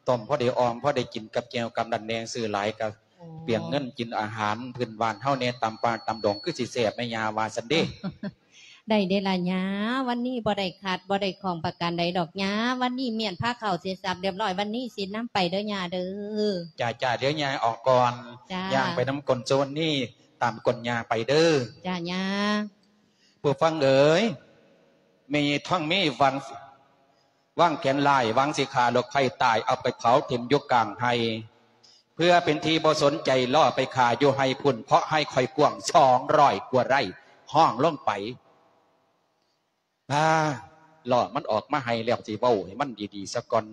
ຕົ້ມພໍໄດ້ອອມ ພໍໄດ້ກິນກັບແຈ່ວກັບນັ້ນແດ່ ຊື້ຫຼາຍກະ ໂອ້ ເປືອງເງິນກິນອາຫານພື້ນບ້ານເຮົາແດ່ ຕຳປ່າຕຳດົງ ຄືຊິແຊບແມ່ຍ່າວ່າຊັ້ນເດ. ໄດ້ເດລະຍ່າ ວັນນີ້ບໍ່ໄດ້ຂາດບໍ່ໄດ້ຂ້ອງປະການໃດດອກຍ່າ ວັນນີ້ມ້ຽນພາເຂົ້າເສັດສັບລຽບຮ້ອຍ ວັນນີ້ສິນຳໄປເດີຍ່າເດີ. ຈ້າ ຈ້າ ດຽວຍ່າອອກກ່ອນ. ຈ້າ. ຍ່າງໄປນຳກົ້ນໂຊນນີ້ ຕາມກົ້ນຍ່າໄປເດີ້. ຈ້າ ຍ່າ. ຜູ້ຟັງເອີຍ, ແມ່ຍາຍທອງມີຫວັງ ວາງແຜນຮ້າຍ ຫວັງຊິຂ້າລູກໃພ້ຕາຍ ເອົາໄປເຜົາຖິ້ມຢູ່ກາງໄຮ່ ເພື່ອເປັນທີ່ບໍ່ສົນໃຈ ລໍ້ໄປຂ້າຢູ່ໄຮ່ພຸ້ນ ເພາະໄຮ່ຂ້ອຍກວ້າງສອງຮ້ອຍກວ່າໄຮ່. ຮ້ອງລົງໄປ. ອ່າ ລໍ້ມັນອອກມາໄຮ່ແລ້ວ ຊິເວົ້າໃຫ້ມັນດີໆຊະກ່ອນ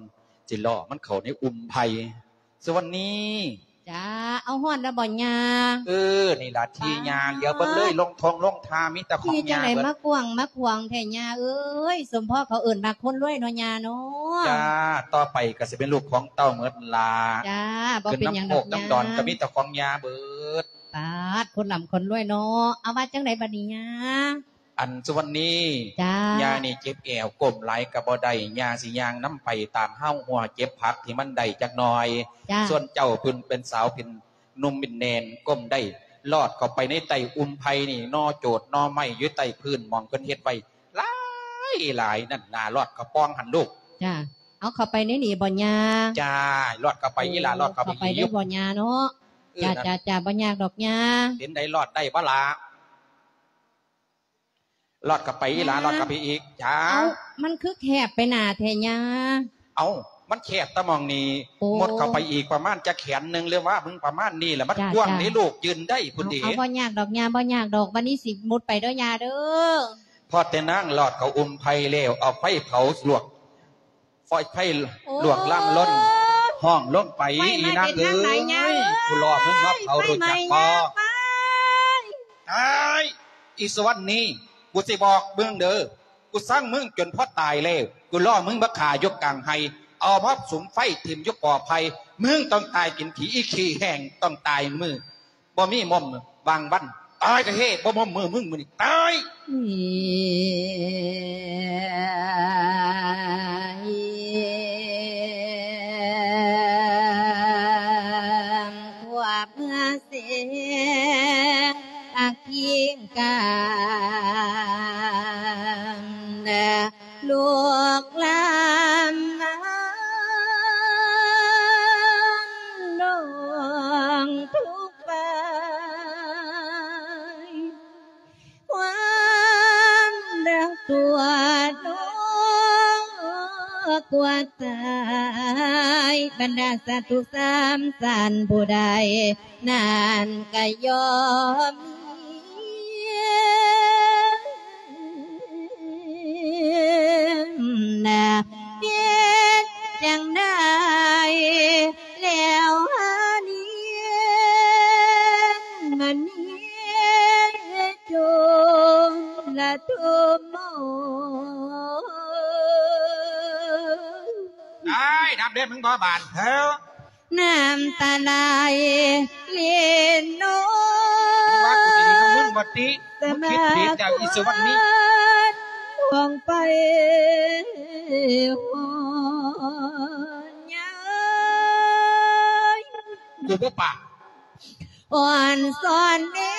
ຊິລໍ້ມັນເຂົ້າໃນອຸ່ມໄຜ່. ສຸວັນນີ. ຈ້າ. ເອົາ ຮອດແລ້ວບໍ່ຍ່າ? ເອີ ນີ້ລະທີ່ຍ່າ ຫຼຽວເບິ່ງເລີຍ ລົງທົ່ງລົງທ່າມີແຕ່ຂອງຍ່າເບິດ. ທີ່ຈັ່ງໃດມາກວ້າງມາຂວາງແທ້ຍ່າເອີຍ? ສົມພໍເຂົາເອີ້ນວ່າຄົນລວຍເນາະຍ່າເນາະ. ຈ້າ. ຕໍ່ໄປກໍຊິເປັນລູກຂອງເຕົ້າເໝິດລະ. ຈ້າ. ບໍ່ເປັນຫຍັງດອກຍ່າ ຂຶ້ນນຳໂຄກນຳດອນກໍມີແຕ່ຂອງຍ່າເບິດ. ປາດ ຄົນລ່ຳຄົນລວຍເນາະ. ເອົາ ວ່າຈັ່ງໃດບັດນີ້ຍ່າ? ອັນ ສຸວັນນີ. ຈ້າ. ຍ່ານີ້ເຈັບແອວ ກົ້ມຫຼາຍກໍບໍ່ໄດ້ ຍ່າຊິຍ່າງນຳໄປຕາມຮາວຮົ້ວ ເກັບຜັກທີ່ມັນໄດ້ຈັກໜ່ອຍ. ຈ້າ. ສ່ວນເຈົ້າເປັນ ເປັນສາວເປັນໜຸ່ມເປັນແໜ່ນ ກົ້ມໄດ້ ລອດເຂົ້າໄປໃນໃຕ້ອຸ່ມໄຜ່ນີ້ ໜໍ່ໂຈດໜໍ່ໄມ້ຢູ່ໃຕ້ພື້ນ ໝ່ອງເພິ່ນເຮັດໄວ້ຫຼາຍໆນັ້ນນະ ລອດເຂົ້າປ່ອງຫັ້ນລູກ. ຈ້າ. ເອົາ ເຂົ້າໄປໃນນີ້ບໍ່ຍ່າ? ຈ້າ. ລອດເຂົ້າໄປອີ່ຫຼ້າ ລອດເຂົ້າໄປ ເຂົ້າໄປໄດ້ບໍ່ຍ່າເນາະ? ເອີ ຈ້າ ຈ້າ ບໍ່ຍາກດອກຍ່າ. ເປັນໃດ ລອດໄດ້ບໍ່ລະ? ລອດເຂົ້າໄປອີ່ຫຼ້າ ລອດເຂົ້າໄປອີກ. ຈ້າ. ເອົ້າ ມັນຄືແຄບໄປໜ້າແທ້ຍ່າ? ເອົ້າ ມັນແຄບຕະໝ່ອງນີ້. ໂອ້ ມຸດເຂົ້າໄປອີກປະມານຈັກແຂນໜຶ່ງ ຫຼືວ່າເບິ່ງປະມານນີ້ລະ ມັນກວ້າງເດ້ລູກ ຢືນໄດ້ພຸ້ນເດ້. ເອົາ ບໍ່ຍາກດອກຍ່າ ບໍ່ຍາກດອກ. ບັດນີ້ຊິມຸດໄປເດີຍ່າເດີ. ພໍແຕ່ນາງລອດເຂົ້າອຸ່ມໄຜ່ແລ້ວ ເອົາໄຟເຜົາລວກ ໄຟ ໄຟລວກລຳລົນ ຮ້ອງລົງໄປ. ອີ່ນາງເອີຍ ກູລໍມຶງມາເຜົາ ຮູ້ຈັກບໍ່? ຕາຍ ອີ່ສຸວັນນີ ກູຊິບອກມຶງເດີ ກູຊັງມຶງຈົນພໍຕາຍແລ້ວ ກູລໍມຶງມາຂ້າຢູ່ກາງໄຮ່ ເອົາມາສຸມໄຟຖິ້ມຢູ່ກໍໄຜ່ ມຶງຕ້ອງຕາຍກິນຂີ້ ອີ່ຂີ້ແຫ້ງ ຕ້ອງຕາຍມື້ ບໍ່ມີໝົມບາງວັນ ຕາຍກະເຮ ບໍ່ໝົມມື້ມຶງມື້ນີ້ຕາຍ. ຄວບເມືອເສ ອັກພິງກາມ ລູກຫຼານນ້ອງທຸກໄປ ຄວາມຮັກຕົວນ້ອງກວ່າຕາຍ ບັນດາສັດທຸກສາມສັນ ຜູ້ໃດນັ້ນກະຍອມມີ ນະ ເຮັດຈັ່ງໃດແລ້ວຫານີ້ ມັນເຮັດຈົນລະທຸມໂມ ຕາຍ ດັບເດັດ ມຶງບໍ່ບານເທີ. ນ້ຳຕາໄຫຼຫຼິ້ນນອນ ມຶງວ່າກູຊິດີນຳມຶງບໍ່ຕິ ມຶງຄິດຜິດແລ້ວອີ່ສຸວັນນີ ຫ້ອງໄປຮອດຍາມ ກູບໍ່ປາກ ອ່ອນສອນແນ່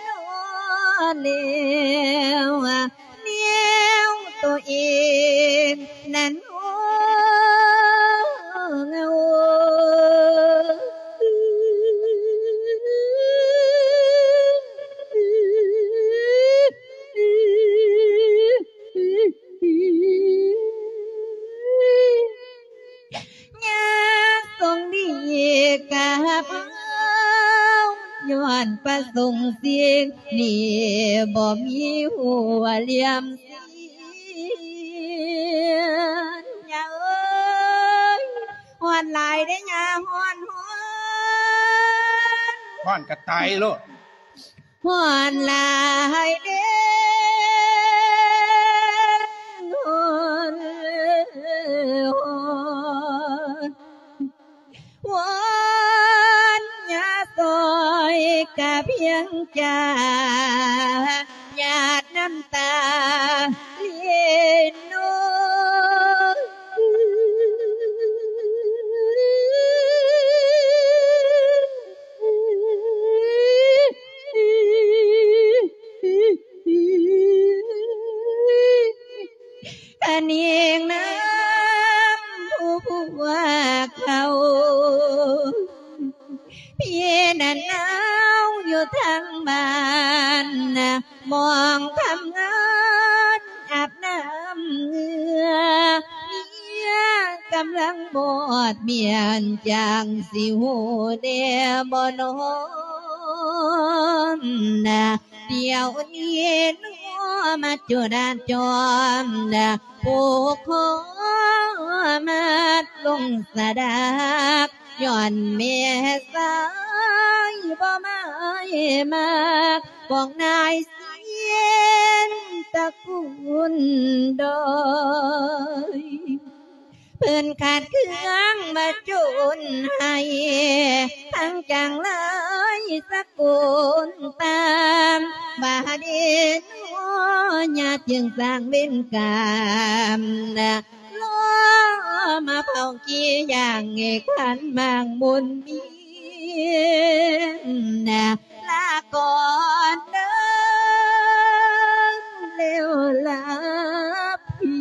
ນອນແລ້ວ ແນວໂຕເອງນັ້ນໂຫງໂຫ ຍາຊົງດີກັບເຮົາ ຍ້ອນປະສົງສິ່ງນີ້ ບໍ່ມີຫົວຫຼຽມສີນ ຍາເອີຍ ຮ້ອນຫຼາຍເດ້ຍາ ຮ້ອນ ຮ້ອນ ຮ້ອນກະຕາຍໂລດ. ຮ້ອນຫຼາຍເດ້ ຮ້ອນ ຮ້ອນ ວອນຍາຊ່ອຍກະພຽງຈາ ຫຍາດນ້ຳຕາຫຼິ້ນນອນ ອັນອີງນຳຜູ້ພວກເຂົາ ພີ່ນັ້ນເອົາ ຢູ່ທາງບ້ານ ມອງທຳງານອາບນ້ຳເຫື່ອ ເມຍກຳລັງບອດບຽນ ຈັ່ງຊິຮູ້ແດ່ບໍ່ນອ ດຽວນີ້ນອມາຈຸດາຈອມ ຜູກຄໍມັດລົງສະດາກ ຍ້ອນແມ່ຊາຍບໍ່ໝາຍມັກ ພວກນາຍເຊນຕະກຸນດອຍ. ເພິ່ນຂາດເຄື່ອງມາຈົນໄຫ້ ທັງຈັ່ງຫຼາຍສະກຸນຕາມ ບາດນີ້ນ້ອຍາຈຶ່ງສ້າງເວນກາມ ລໍມາເຝົ້າກີ່ຢ່າງເອກຂັນໝາກບຸນມີ ລາກ່ອນເດີ ແລ້ວລາພຽ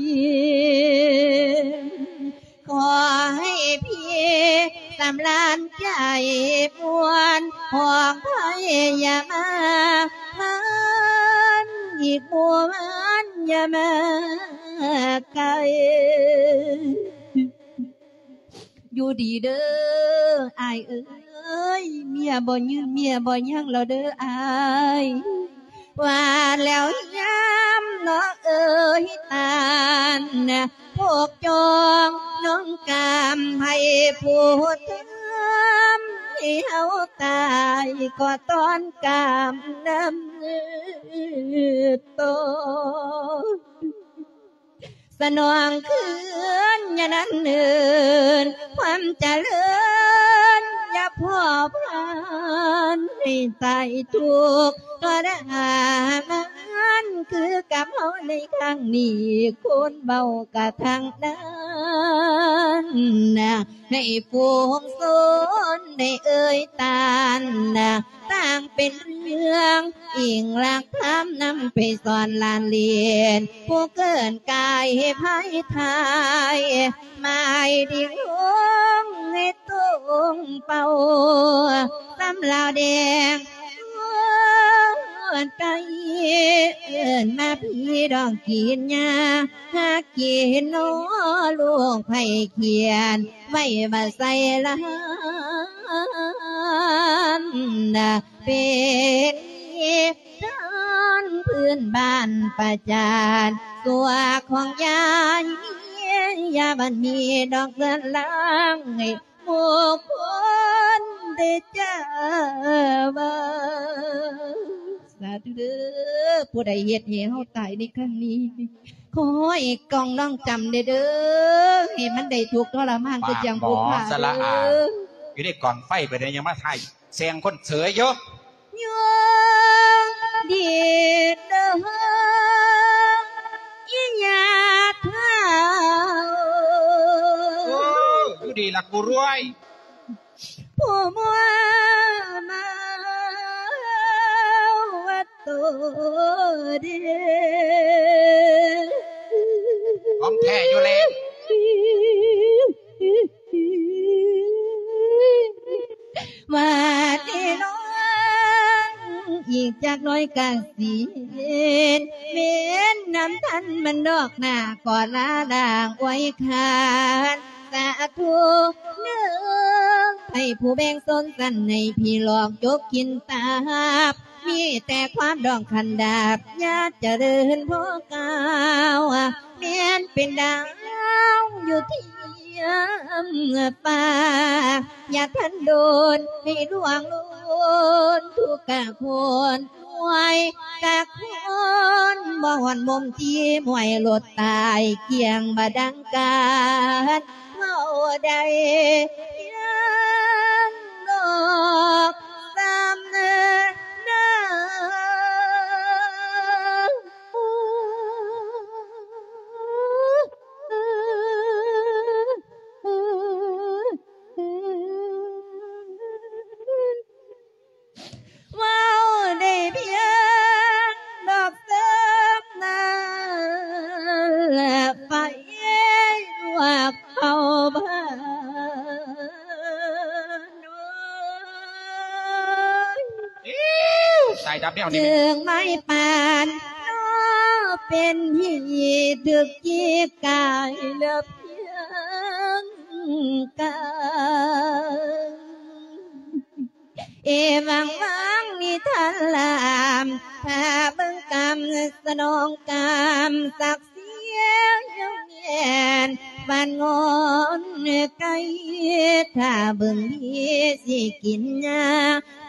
ງ ຂໍໃຫ້ພີ່ສຳລານໃຈມ່ວນ ຂອງໃຜຢ່າມາ ມັນອີກບໍ່ມັນຢ່າມາໄກ ຢູ່ດີເດີອ້າຍເອີຍ ເມຍບໍ່ຍືນເມຍບໍ່ຍັງແລ້ວເດີອ້າຍ ວ່າແລ້ວຍາມນ້ອງເອີຍຕານ ພວກຈອງນ້ອງກາມໃຫ້ຜູ້ທຳໃຫ້ເຮົາຕາຍ ກໍຕ້ອນກາມນຳຕໍ່ ສະໜອງຄືນຢ່ານັ່ງເນີນ ຄວາມຈະເລີນຢ່າພໍຜ່ານ ໃຫ້ຕາຍທຸກທໍລະມານ ຄືກັບເຮົາໃນຄັ້ງນີ້ ຄົນເວົ້າກະທັງນັ້ນ ໃຫ້ຝູງຊົນໄດ້ເອີຍຕານ ຕ່າງເປັນເລື່ອງອີງຫຼັກທຳນຳໄປສອນຫຼານຫຼຽນ ຜູ້ເກີນກາຍໃຫ້ພາຍທາຍ ໝາຍດີລົງໃຫ້ຕົງເປົ້າ ສຳລາວແດງຊວນໄກ່ ເອີ້ນມາພີ່ດອງກິນຫຍ້າ ຫາກິນໜໍ ລູກໃຜຂຽນ ໄວ້ວ່າໃສ່ລານ ເປັນທານພື້ນບ້ານປະຈານ ຊົ່ວຂອງຍາຍ ຢ່າບັນມີດອກເຮືອນລາງ ໃຫ້ໝູ່ຄົນໄດ້ຈ້າວ່າ ສາທຸເດີ ຜູ້ໃດເຮັດໃຫ້ເຮົາຕາຍໃນຄັ້ງນີ້ ຂໍໃຫ້ກອງນ້ອງຈຳແດ່ເດີ ໃຫ້ມັນໄດ້ທຸກທໍລະມານຄືຈັ່ງຜູ້ຂ້າເດີ ຢູ່ໃນກອງໄຟໄປໄດ້ ຍັງມາຖ່າຍແຊງຄົນເສີຍຢູ່ ຍອງດີເດີ ອີຫຍາເຖົ້າ ໂອ້ ຢູ່ດີລະກູລວຍ ຜູ້ມົວເມົາວ່າໂຕເດ ຂອງແທ້ຢູ່ແລ້ວ ວ່າແນ່ນອນ ອີກຈັກໜ້ອຍກະຊິເຫັນ ເວັນນຳທັນມັນດອກໜ້າ ກໍລາລາງອວຍຄານ ສາທຸເດີ ໃຜຜູ້ແບ່ງຊົນຊັ້ນໃຫ້ພີ່ຫຼອກຈົກກິນຕາບ ມີແຕ່ຄວາມດອງຄັນດາບ ຢ່າຈະເລີນພໍກ້າວ ແມ່ນເປັນດາວຢູ່ທຽມຟ້າ ຢ່າທັນໂດນໃຫ້ລ່ວງໂລນ ທຸກກະຄົນ ມວຍກະຄົນ ບໍ່ຮ້ອນມົມຈີມວຍລົດຕາຍ ກ່ຽງບໍ່ດັງການເວົ້າໃດ ຍັງນອກ ສຳເນີນາ ເວົ້າໄດ້ພຽງດອກສຳນັ້ນ ແລະໄຟລວກເຂົ້າບ້ານ ແນວນີ້ ເຊິ່ງໄມ້ປານເນາະ ເປັນທີ່ຖືກຈິກກາຍລະພຽງກາຍ ເອວັງວັງນິທານລາມ ຖ້າເບິ່ງກຳສະໜອງກຳສັກເສຍງແມ່ນບ້ານງອນໄກ ຖ້າເບິ່ງດີຊິກິນຫຍ້າ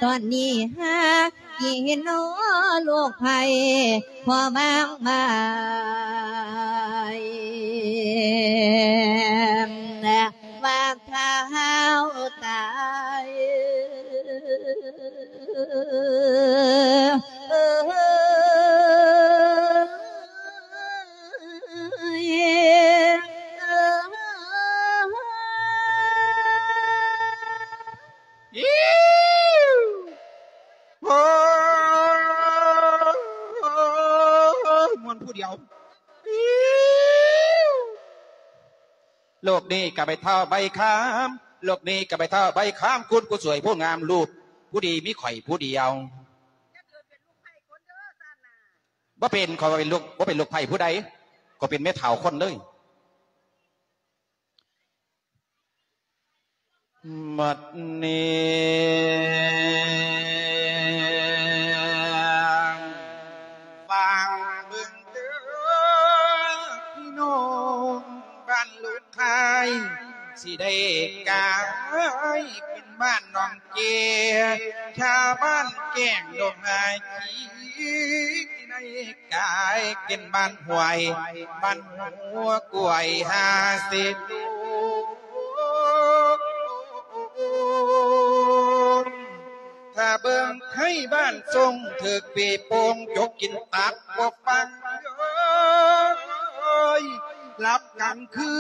ຕອນນີ້ຫາກິນເນາະລູກໃຜ ພໍບາງບາຍ ວ່າຖ້າເຮົາຕາຍ ມ່ວນຜູ້ດຽວ. ໂລກນີ້ກະໃບເຖົ້າໃບຄາມ ໂລກນີ້ກະໃບເຖົ້າໃບຄາມ ຄຸນຜູ້ສວຍຜູ້ງາມ ລູກຜູ້ດີມີຂ້ອຍຜູ້ດຽວ. ບໍ່ເປັນ ຂ້ອຍບໍ່ເປັນລູກ ບໍ່ເປັນລູກໃພ້ຜູ້ໃດ ຂ້ອອຍເປັນແມ່ເຖົ້າຄົນເລີຍ. ບັດນີ້ຟັງເບິ່ງເດີ ພີ່ນ້ອງບ້ານລູກຄ້າຍ ຊິໄດ້ກາຍເປັນບ້ານໜອງເກ ຊາວບ້ານແກ້ງດົງຫາຍຄີ ຊິໄດ້ກາຍເປັນບ້ານຫ້ວຍ ບ້ານຫົວກວຍຫາເສດໂຕ. ຖ້າເບິ່ງໄທບ້ານຊົງ ຖືກເປໂປ່ງຈົກກິນຕັບບໍ່ຟັງເອີຍ ຫຼັບກາງຄື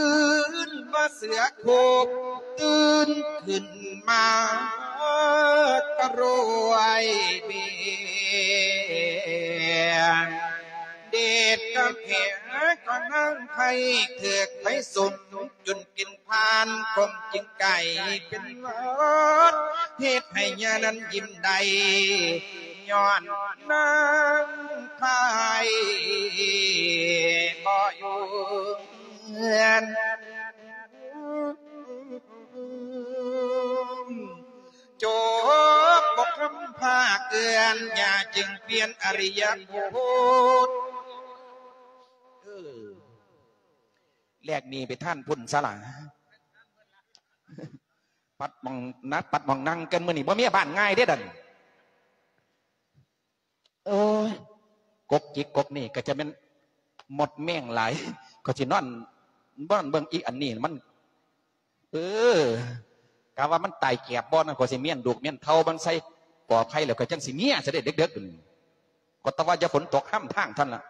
ນວ່າເສືອໂຄກ ຕື່ນຂຶ້ນມາກະໂຣຍເບຍ ເດດກະແຜກະນາງໄພ ຖືກໄຟສຸມຈົນກິນ ຜ່ານຄົງຈຶ່ງກາຍເປັນຫວັດ ເຮັດໃຫ້ຍານັ້ນຍິ້ມໄດ້ ຍ້ອນນາງພາຍບໍ່ຢູ່ເຮືອນ. ຈົບບົດຄຳພາກເຕືອນ ຢ່າຈຶ່ງປ່ຽນອະລິຍະບົດ. ເອີ ແລກໜີໄປທ່ານພຸ້ນຊະລະ ປັດໝ່ອງນັກ ປັດໝ່ອງນັ່ງກັນ ມື້ນີ້ບໍ່ມີບ້ານງ່າຍເດ້ດຽວນີ້. ໂອ້ຍ ກົກຈິກກົກນີ້ກໍຈະແມ່ນມົດແມງຫຼາຍ ກໍຊິນອນ ນອນເບິ່ງອີກອັນນີ້ມັນ ເອີ ກະວ່າມັນຕາຍແກບບໍ່ນັ້ນ ກໍຊິມ້ຽນລູກມ້ຽນເຕົ້າມັນໃສ່ກອໄຜ່ ແລ້ວກໍຈັ່ງຊິເມຍຊະເດ້ ເດິກໆ ກໍແຕ່ວ່າຢ່າຝົນຕົກຫ້ຳທາງເທົ່ານັ້ນລະ.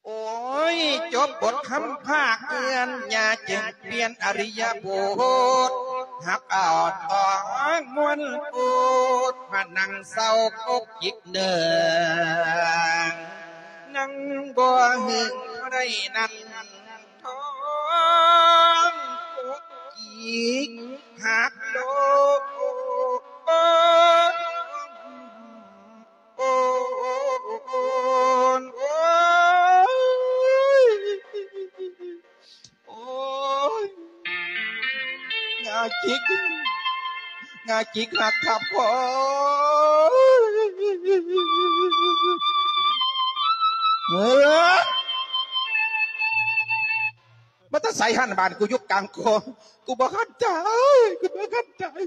ໂອ້ຍ ຈົບບົດຄຳພາກເຕືອນ ຢ່າຈຶ່ງປ່ຽນອະລິຍະບົດ ຮັກເອົາຕອງມ່ວນໂອດ ມານັ່ງເສົ້າກົກຈິກເນີ່ງ ນັ່ງບໍ່ຫຶງໄດ້ນັ້ນ ທ້ອງກົກຈິກຫັກໂລດ. ໂອ້ຍ ໂອ້ຍ ໂອ້ຍ ໂອ້ຍ ງາຈິກ ງາຈິກຮັກທັບຄອ ເອີ ມາແຕ່ໃສຫັ້ນ ບ້ານກູຢູ່ກາງຄອ ກູບໍ່ຄັນຕາຍ ກູບໍ່ຄັນຕາຍ.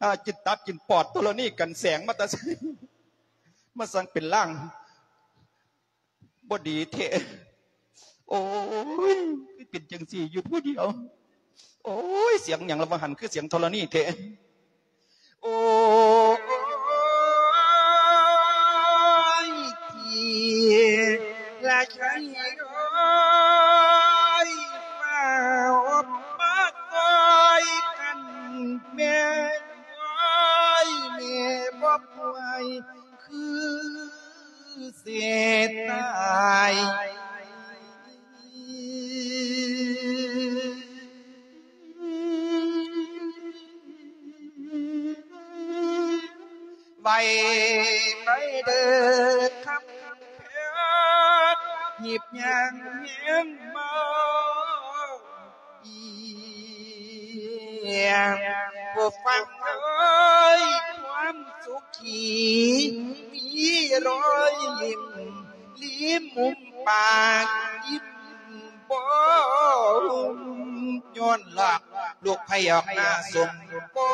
ຫາກິນຕັບກິນປອດ ທໍລະນີກັນແສງມາແຕ່ໃສ ມາສັ່ງເປັນລ່າງບໍ່ດີແທ້. ໂອ້ຍ ຄືເປັນຈັ່ງຊີ້ຢູ່ຜູ້ດຽວ. ໂອ້ຍ ສຽງຫຍັງລະວ່າຫັ້ນ ຄືສຽງທໍລະນີແທ້. ໂອ້ຍ ທີ່ລະໄຊເອີຍ ຟ້າວມາຊ່ອຍກັນແມ່ ໂອ້ຍ ແມ່ບໍ່ປ່ວຍ ຄືເສດຕາຍ. ໄວໄປເດີຄຳແພງ ຮີບຍ່າງແຍງມາ ຜູ້ຟັງເອີຍ ຄວາມສຸຂີ ມີລອຍຍິ້ມ ລິມມຸມປາກ ຍິ້ມບໍ່ຫຸ້ມ ຍ້ອນລອກລູກໄພອອກມາສົມປອ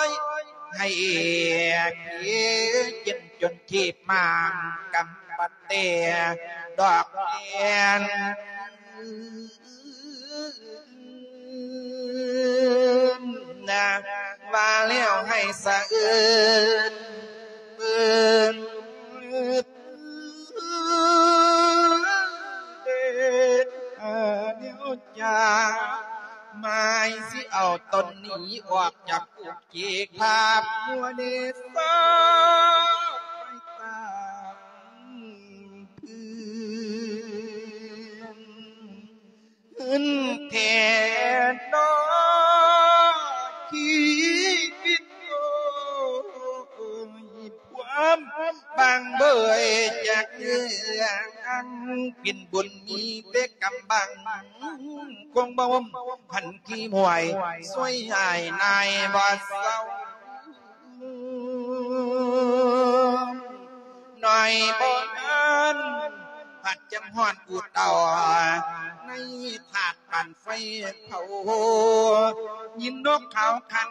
ຍ ໃຫ້ເອກເກນຈົນທີບມາງກຳປະແຕດອກແອນ ນະ ວ່າແລ້ວໃຫ້ສະເອີນເບິ່ງເດດ ອາ ແນວຈາ ໝາຍຊິເອົາຕົນໜີອອກຈາກກຸກກີກພາບຫົວເນສາໄປຕາມພື້ນ ເພິ່ນແທ້ດອກຊີວິດ ໂອ້ຍ ຄວາມບາງເບີຍຈາກເລື່ອງ ເປັນບຸນມີແຕ່ກຳບັງ ຄົງບໍ່ຫົ້ມພັນຂີ້ມວຍ ຊ່ວຍຫາຍນາຍບໍ່ເຊົາ. ໜ້ອຍບໍ່ນານ ພັດຈຳຮ້ອນອູດເຕົາ ໃນຖາດປານໄຟເຜົາ ຍິນນົກເຂົາຂັນ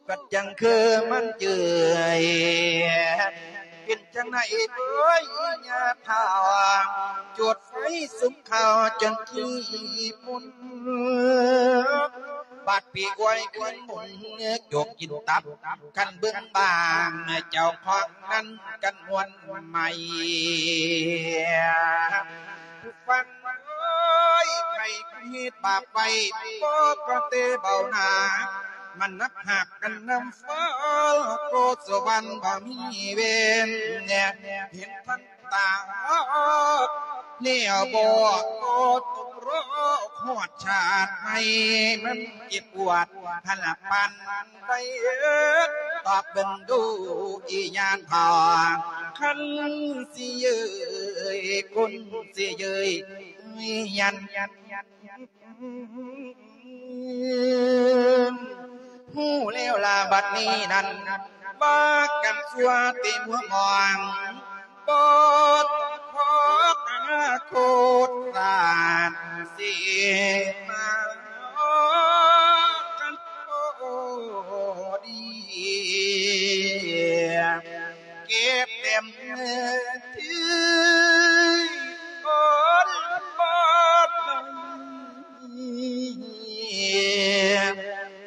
ກໍຈັ່ງຄືມັນເຈີຍ ເປັນຈັ່ງໃດເອີຍ ຍາເຖົ້າ ຈູດໄຟສຸມເຂົ້າຈົນຂີ້ຝຸ່ນ ບາດປີກອວຍຂຶ້ນໝຸນ ຈົກກິນຕັບ ຄັນເບິ່ງບາງ ເຈົ້າຂອງນັ້ນກັນມ່ວນໃໝ່ ຜູ້ຟັງເອີຍ ໃຜຜູ້ເຮັດບາບໄວ້ ບໍ່ກໍແຕ່ເບົາໜ້າ ມັນໜັກຫາກກັນນຳຟ້າ ໂກສະຫວັນບໍ່ມີເວນ ເຫັນທັນຕາ ແລ້ວບໍ່ຕົກລໍ ຮອດຊາດໃໝ່ ມັນເຈັບປວດ ຫັ້ນລະປານໃດ ຕອບເບິ່ງດູອີຍານພໍ່ ຄັນຊິເຍີ້ຍ ຄົນຊິເຍີ້ຍ ຍັນ ຮູ້ແລ້ວລະບັດນີ້ນັ້ນ ວ່າກັນຊົ່ວເຕັມຫົວໝອງ ບໍ່ຂອກອະນາຄົດສາດເສມາກັນພໍດີ ເກັບເຕັມທີ່ ໂອນບາດ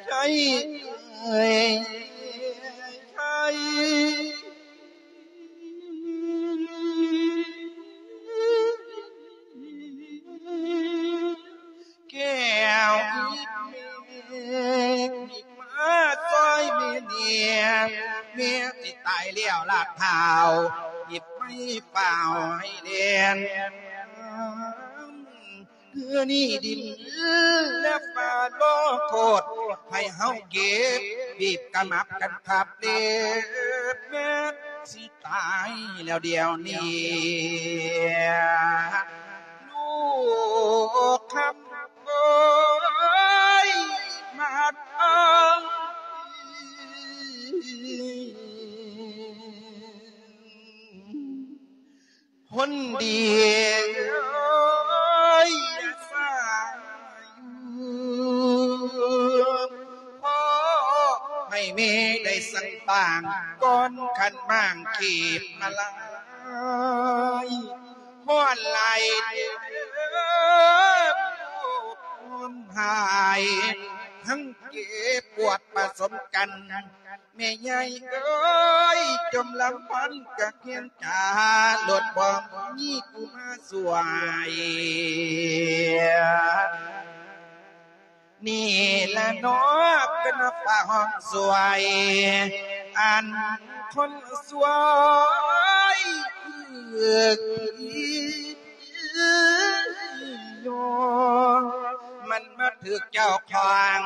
ໃດ ໃຊ້ເອີຍ ໃຊ້ ແກ້ວອີກເມກ ມາຊ່ອຍແມ່ເນຍ ແມ່ຊິຕາຍແລ້ວລາດທ້າວ ອີບໄມ້ຟ້າວໃຫ້ແລ່ນ ຄືນີ້ດິນແລະຟ້າລົງໂທດ ໃຫ້ເຮົາເກັບ ບີບກະໝັບກັນຄັບເລັບ ແມ່ຊິຕາຍແລ້ວດຽວນີ້ ລູກຄຳ ໂອ້ຍ ມາດເອົາ ຄົນດີເອີຍ ຢ່າຊ້າຢູ່ ຂໍໃຫ້ແມ່ໄດ້ສັ່ງປາງ ກ່ອນຂັນໝາງຄີບມາລາຍ ຮ້ອນຫຼາຍເດີ ຮ້ອນຫາຍ ທັງເຈັບປວດປະສົມກັນ ແມ່ໃຫຍ່ເອີຍ ຈົ່ມລຳພັນກະຄຽງຈາ ລົດບໍ່ມີຜູ້ມາຊ່ວຍ ນີ້ລະເນາະ ເປັນຟ້າຮ້ອງຊ່ວຍ ອັນຄົນຊ່ວຍຄື ມັນມາຖືກເຈົ້າຂອງ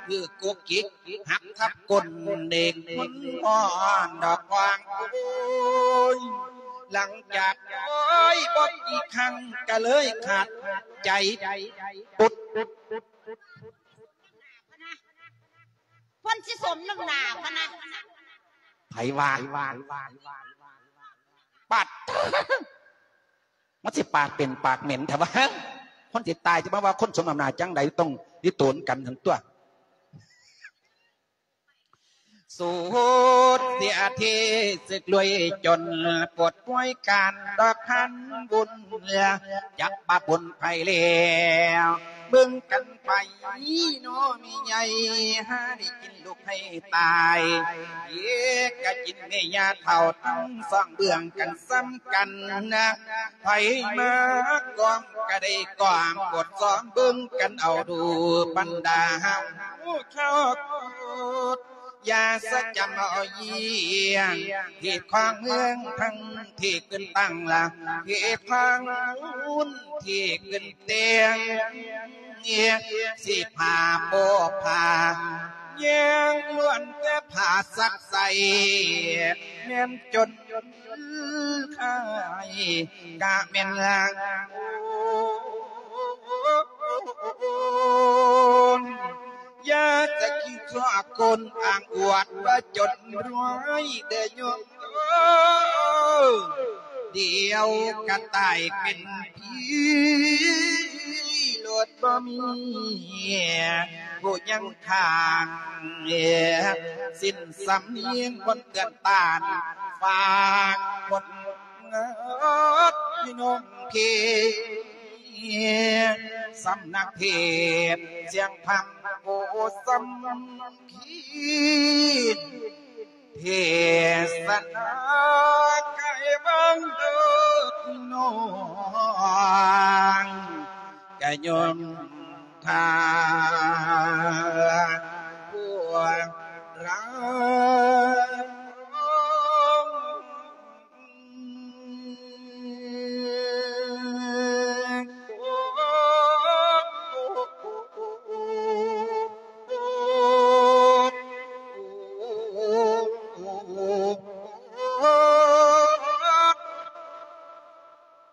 ຄືກຸກກິກ ຫັກທັບກົ້ນເດັກ ມັນຮ້ອນດອກກວາງ ໂອ້ຍ ຫຼັງຈາກໂອ້ຍບໍ່ກີ່ຄັ້ງ ກະເລີຍຂາດໃຈ ປຸດ ເພິ່ນຊິສົມນ້ຳໜ້າພະນະ ໃຜວ່າ? ປາດ ມັນຊິປາກເປັນປາກເໝັນແທ້ວະ ຄົນຊິຕາຍຈະມາວ່າຄົນສົມນ້ຳໜ້າຈັ່ງໃດ ຕ້ອງລິໂຕນກັນຫັ້ນຕົວະ. ສູນເສຍທີ່ສຶກລວຍຈົນ ປວດປ່ວຍການດອກພັນບຸນ ຈັກບາບບຸນໃຜແລ້ວ ເບິ່ງກັນໄປເນາະແມ່ໃຫຍ່ ຫາໄດ້ກິນລູກໃຫ້ຕາຍ ເອກະກິນແມ່ຍ່າເຖົ້າ ທັງສອງເບື້ອງກັນສ່ຳກັນນະ ໃຜມາກອມກະໄດ້ກອມ ກວດສອບເບິ່ງກັນເອົາດູ ບັນດາເຮົາເຈົ້າໂຄດ ຢ່າສະຈຳເອົາຢ້ຽງ ເຂດຂອງເມືອງທັງເຂດຂຶ້ນຕັ້ງລະ ເຂດຂອງບຸນເຂດຂຶ້ນແຕ່ງ ເຂດສີຜ້າໂປ້ຜ້າ ແຍງລ້ວນແຕ່ຜ້າຊັກໃສ່ ແມ່ນຈົນ ຂາຍກະແມ່ນລາງໂອນ ຢ່າຈະຄິດຊົ່ວຄົນອ້າງອວດວ່າຈົນລວຍເດີໂຍມ ດຽວກະຕາຍເປັນຜີໂລດ ບໍ່ມີຜູ້ຍັງຂ້າງ ສິ້ນສຳນຽງຄົນເຕືອນຕ້ານ ຝາກຄົນ ເງິດພີ່ນ້ອງເຂດ ສຳນັກເທດສຽງທຳ ໂອ ສຳຄີນ ເທດສະນາໄກບັງເດີພີ່ນ້ອງ ກະຍອມ ຖ້າພວກເຮົາ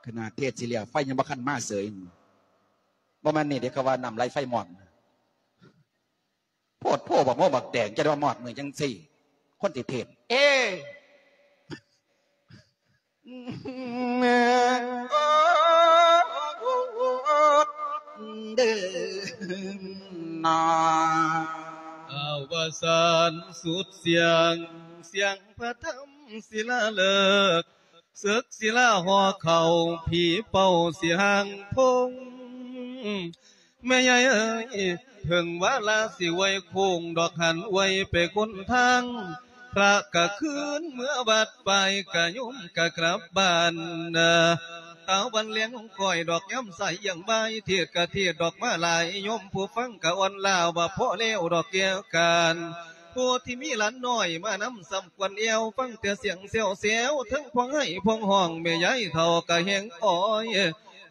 ຂະໜາດເທດຊິແລ້ວ ໄຟຍັງບໍ່ທັນມາເສີຍ. ບໍ່ແມ່ນນີ້ເດ້ ເຂົາວ່ານ້ຳໄຫຼໄຟມອດ. ໂພດໂພບັກໂມບັກແຕງ ຈະໄດ້ວ່າມອດມື້ຈັ່ງຊີ້ ຄົນຊິເທດ ເອ ເດີນາ ອະວະສານສຸດສຽງ ສຽງພະທຳສິລາເລີກ ເສິກສິລາຫໍ່ເຂົ້າ ຜີເປົ້າສິຮ່າງພົງ ແມ່ໃຫຍ່ເອີຍ ເຖິງວາລາສິໄຫວ້ໂຄ້ງດອກ ຫັນໄຫວ້ໄປຄົນທາງ ພະກະຄືນເມືອວັດ ຝ່າຍກະໂຍມກະກັບບ້ານ ຕາວັນແລງຂອງຂ້ອຍດອກ ຍາມສາຍຢ່າງບ່າຍ ເທດກະເທດດອກມາຫຼາຍ ໂຍມຜູ້ຟັງກະອ່ອນລາ ວ່າພໍແລ້ວດອກແກ້ວການ ຜູ້ທີ່ມີຫຼານນ້ອຍມານຳ ສ່ຳຄວນແອວ ຟັງແຕ່ສຽງແຊວໆ ເທິງພວງໄຫ້ພວງຮ້ອງ ແມ່ຍາຍເຖົ້າກະແຮງອ້ອຍ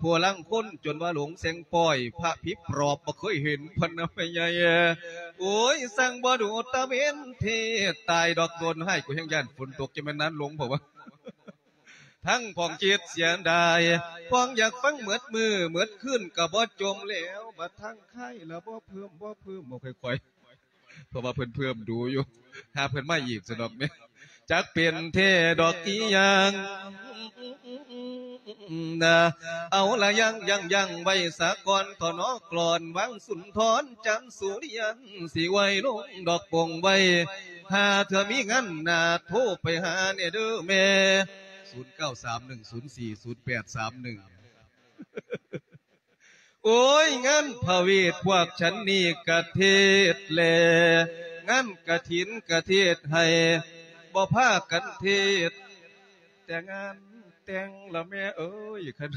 ຜູ້ລາງຄົນຈົນວ່າຫຼົງແສງປ້ອຍ ພະຜີປອບບໍ່ເຄີຍເຫັນ ພະນະແມ່ໃຫຍ່ ໂອ້ຍ ຊ່າງບໍ່ດູຕາເວັນເທດ ຕາຍດອກໂດນຮ້າຍ ກູແຮງຢ້ານຝົນຕົກ ຈະແມ່ນນານຫຼົງ ເພາະວ່າ ທັງພອງຄິດເສຍດາຍ ພອງຢາກຟັງໝົດມື້ໝົດຄືນກະບໍ່ຈົມແລ້ວ ບັດທາງຄ້າຍລະບໍ່ເພີ່ມ ບໍ່ເພີ່ມ ບໍ່ຄ່ອຍໆ ເພາະວ່າເພິ່ນເພີ່ມດູຢູ່ ຖ້າເພິ່ນມາອີກຊັ້ນດອກແມ່ ຈັກເປັນແທ້ດອກອີ່ຫຍັງນະ ເອົາລະ ຢັ້ງ ຢັ້ງ ຢັ້ງໄວ້ສາກ່ອນ ເຖາະເນາະ ກລອນວັງສຸນທອນ ຈັນສຸລິຍັນ ຊິໄຫວ້ລົງດອກປົງໄວ້ ຖ້າເທື່ອມີງານໜ້າ ໂທໄປຫາແດ່ເດີແມ່ ສູນເກົ້າສາມໜຶ່ງສູນສີ່ສູນແປດສາມໜຶ່ງ ໂອ້ຍ ງານພະເວດພວກສັນນີ້ກະເທດແລ ງານກະຖິນກະເທດໃຫ້ ບໍ່ພາກັນເທດແຕ່ງານແຕ່ງລະແມ່ເອີຍ ຄັນ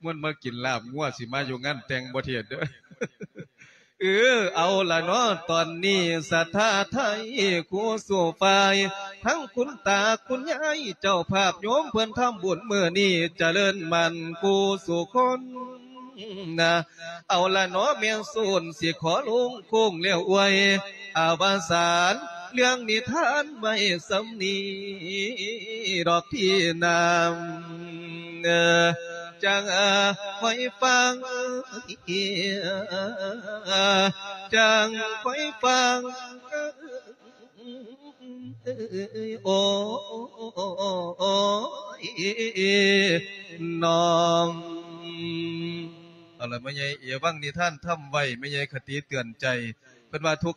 ມ່ວນມາກິນລາບງົວ ຊິມາຢູ່ງານແຕ່ງບໍ່ເທດເດີ. ເອີ ເອົາລະເນາະ ຕອນນີ້ສັດທາໄທຄູ່ສູ່ຝ່າຍ ທັງຄຸນຕາຄຸນຍາຍເຈົ້າພາບໂຍມ ເພິ່ນທຳບຸນມື້ນີ້ ຈະເລີນໝັ້ນຄູ່ສູ່ຄົນ. ນະ ເອົາລະເນາະ ແມ່ນສູນ ຊິຂໍລົງໂຄ້ງແລ້ວອວຍ ອາວະສານເລື່ອງນິທານໄວ້ສ່ຳນີ້ດອກທີ່ນາ ເອີ ຈັ່ງ ເອີ ຄ່ອຍຟັງ ຈັ່ງຄ່ອຍຟັງ ໂອ້ຍ ນ້ອງ ເອົາລະ ແມ່ໃຫຍ່ເອວັງນິທານທຳໄວ້ ແມ່ໃຫຍ່ຄະຕິເຕືອນໃຈ ເພິ່ນວ່າທຸກ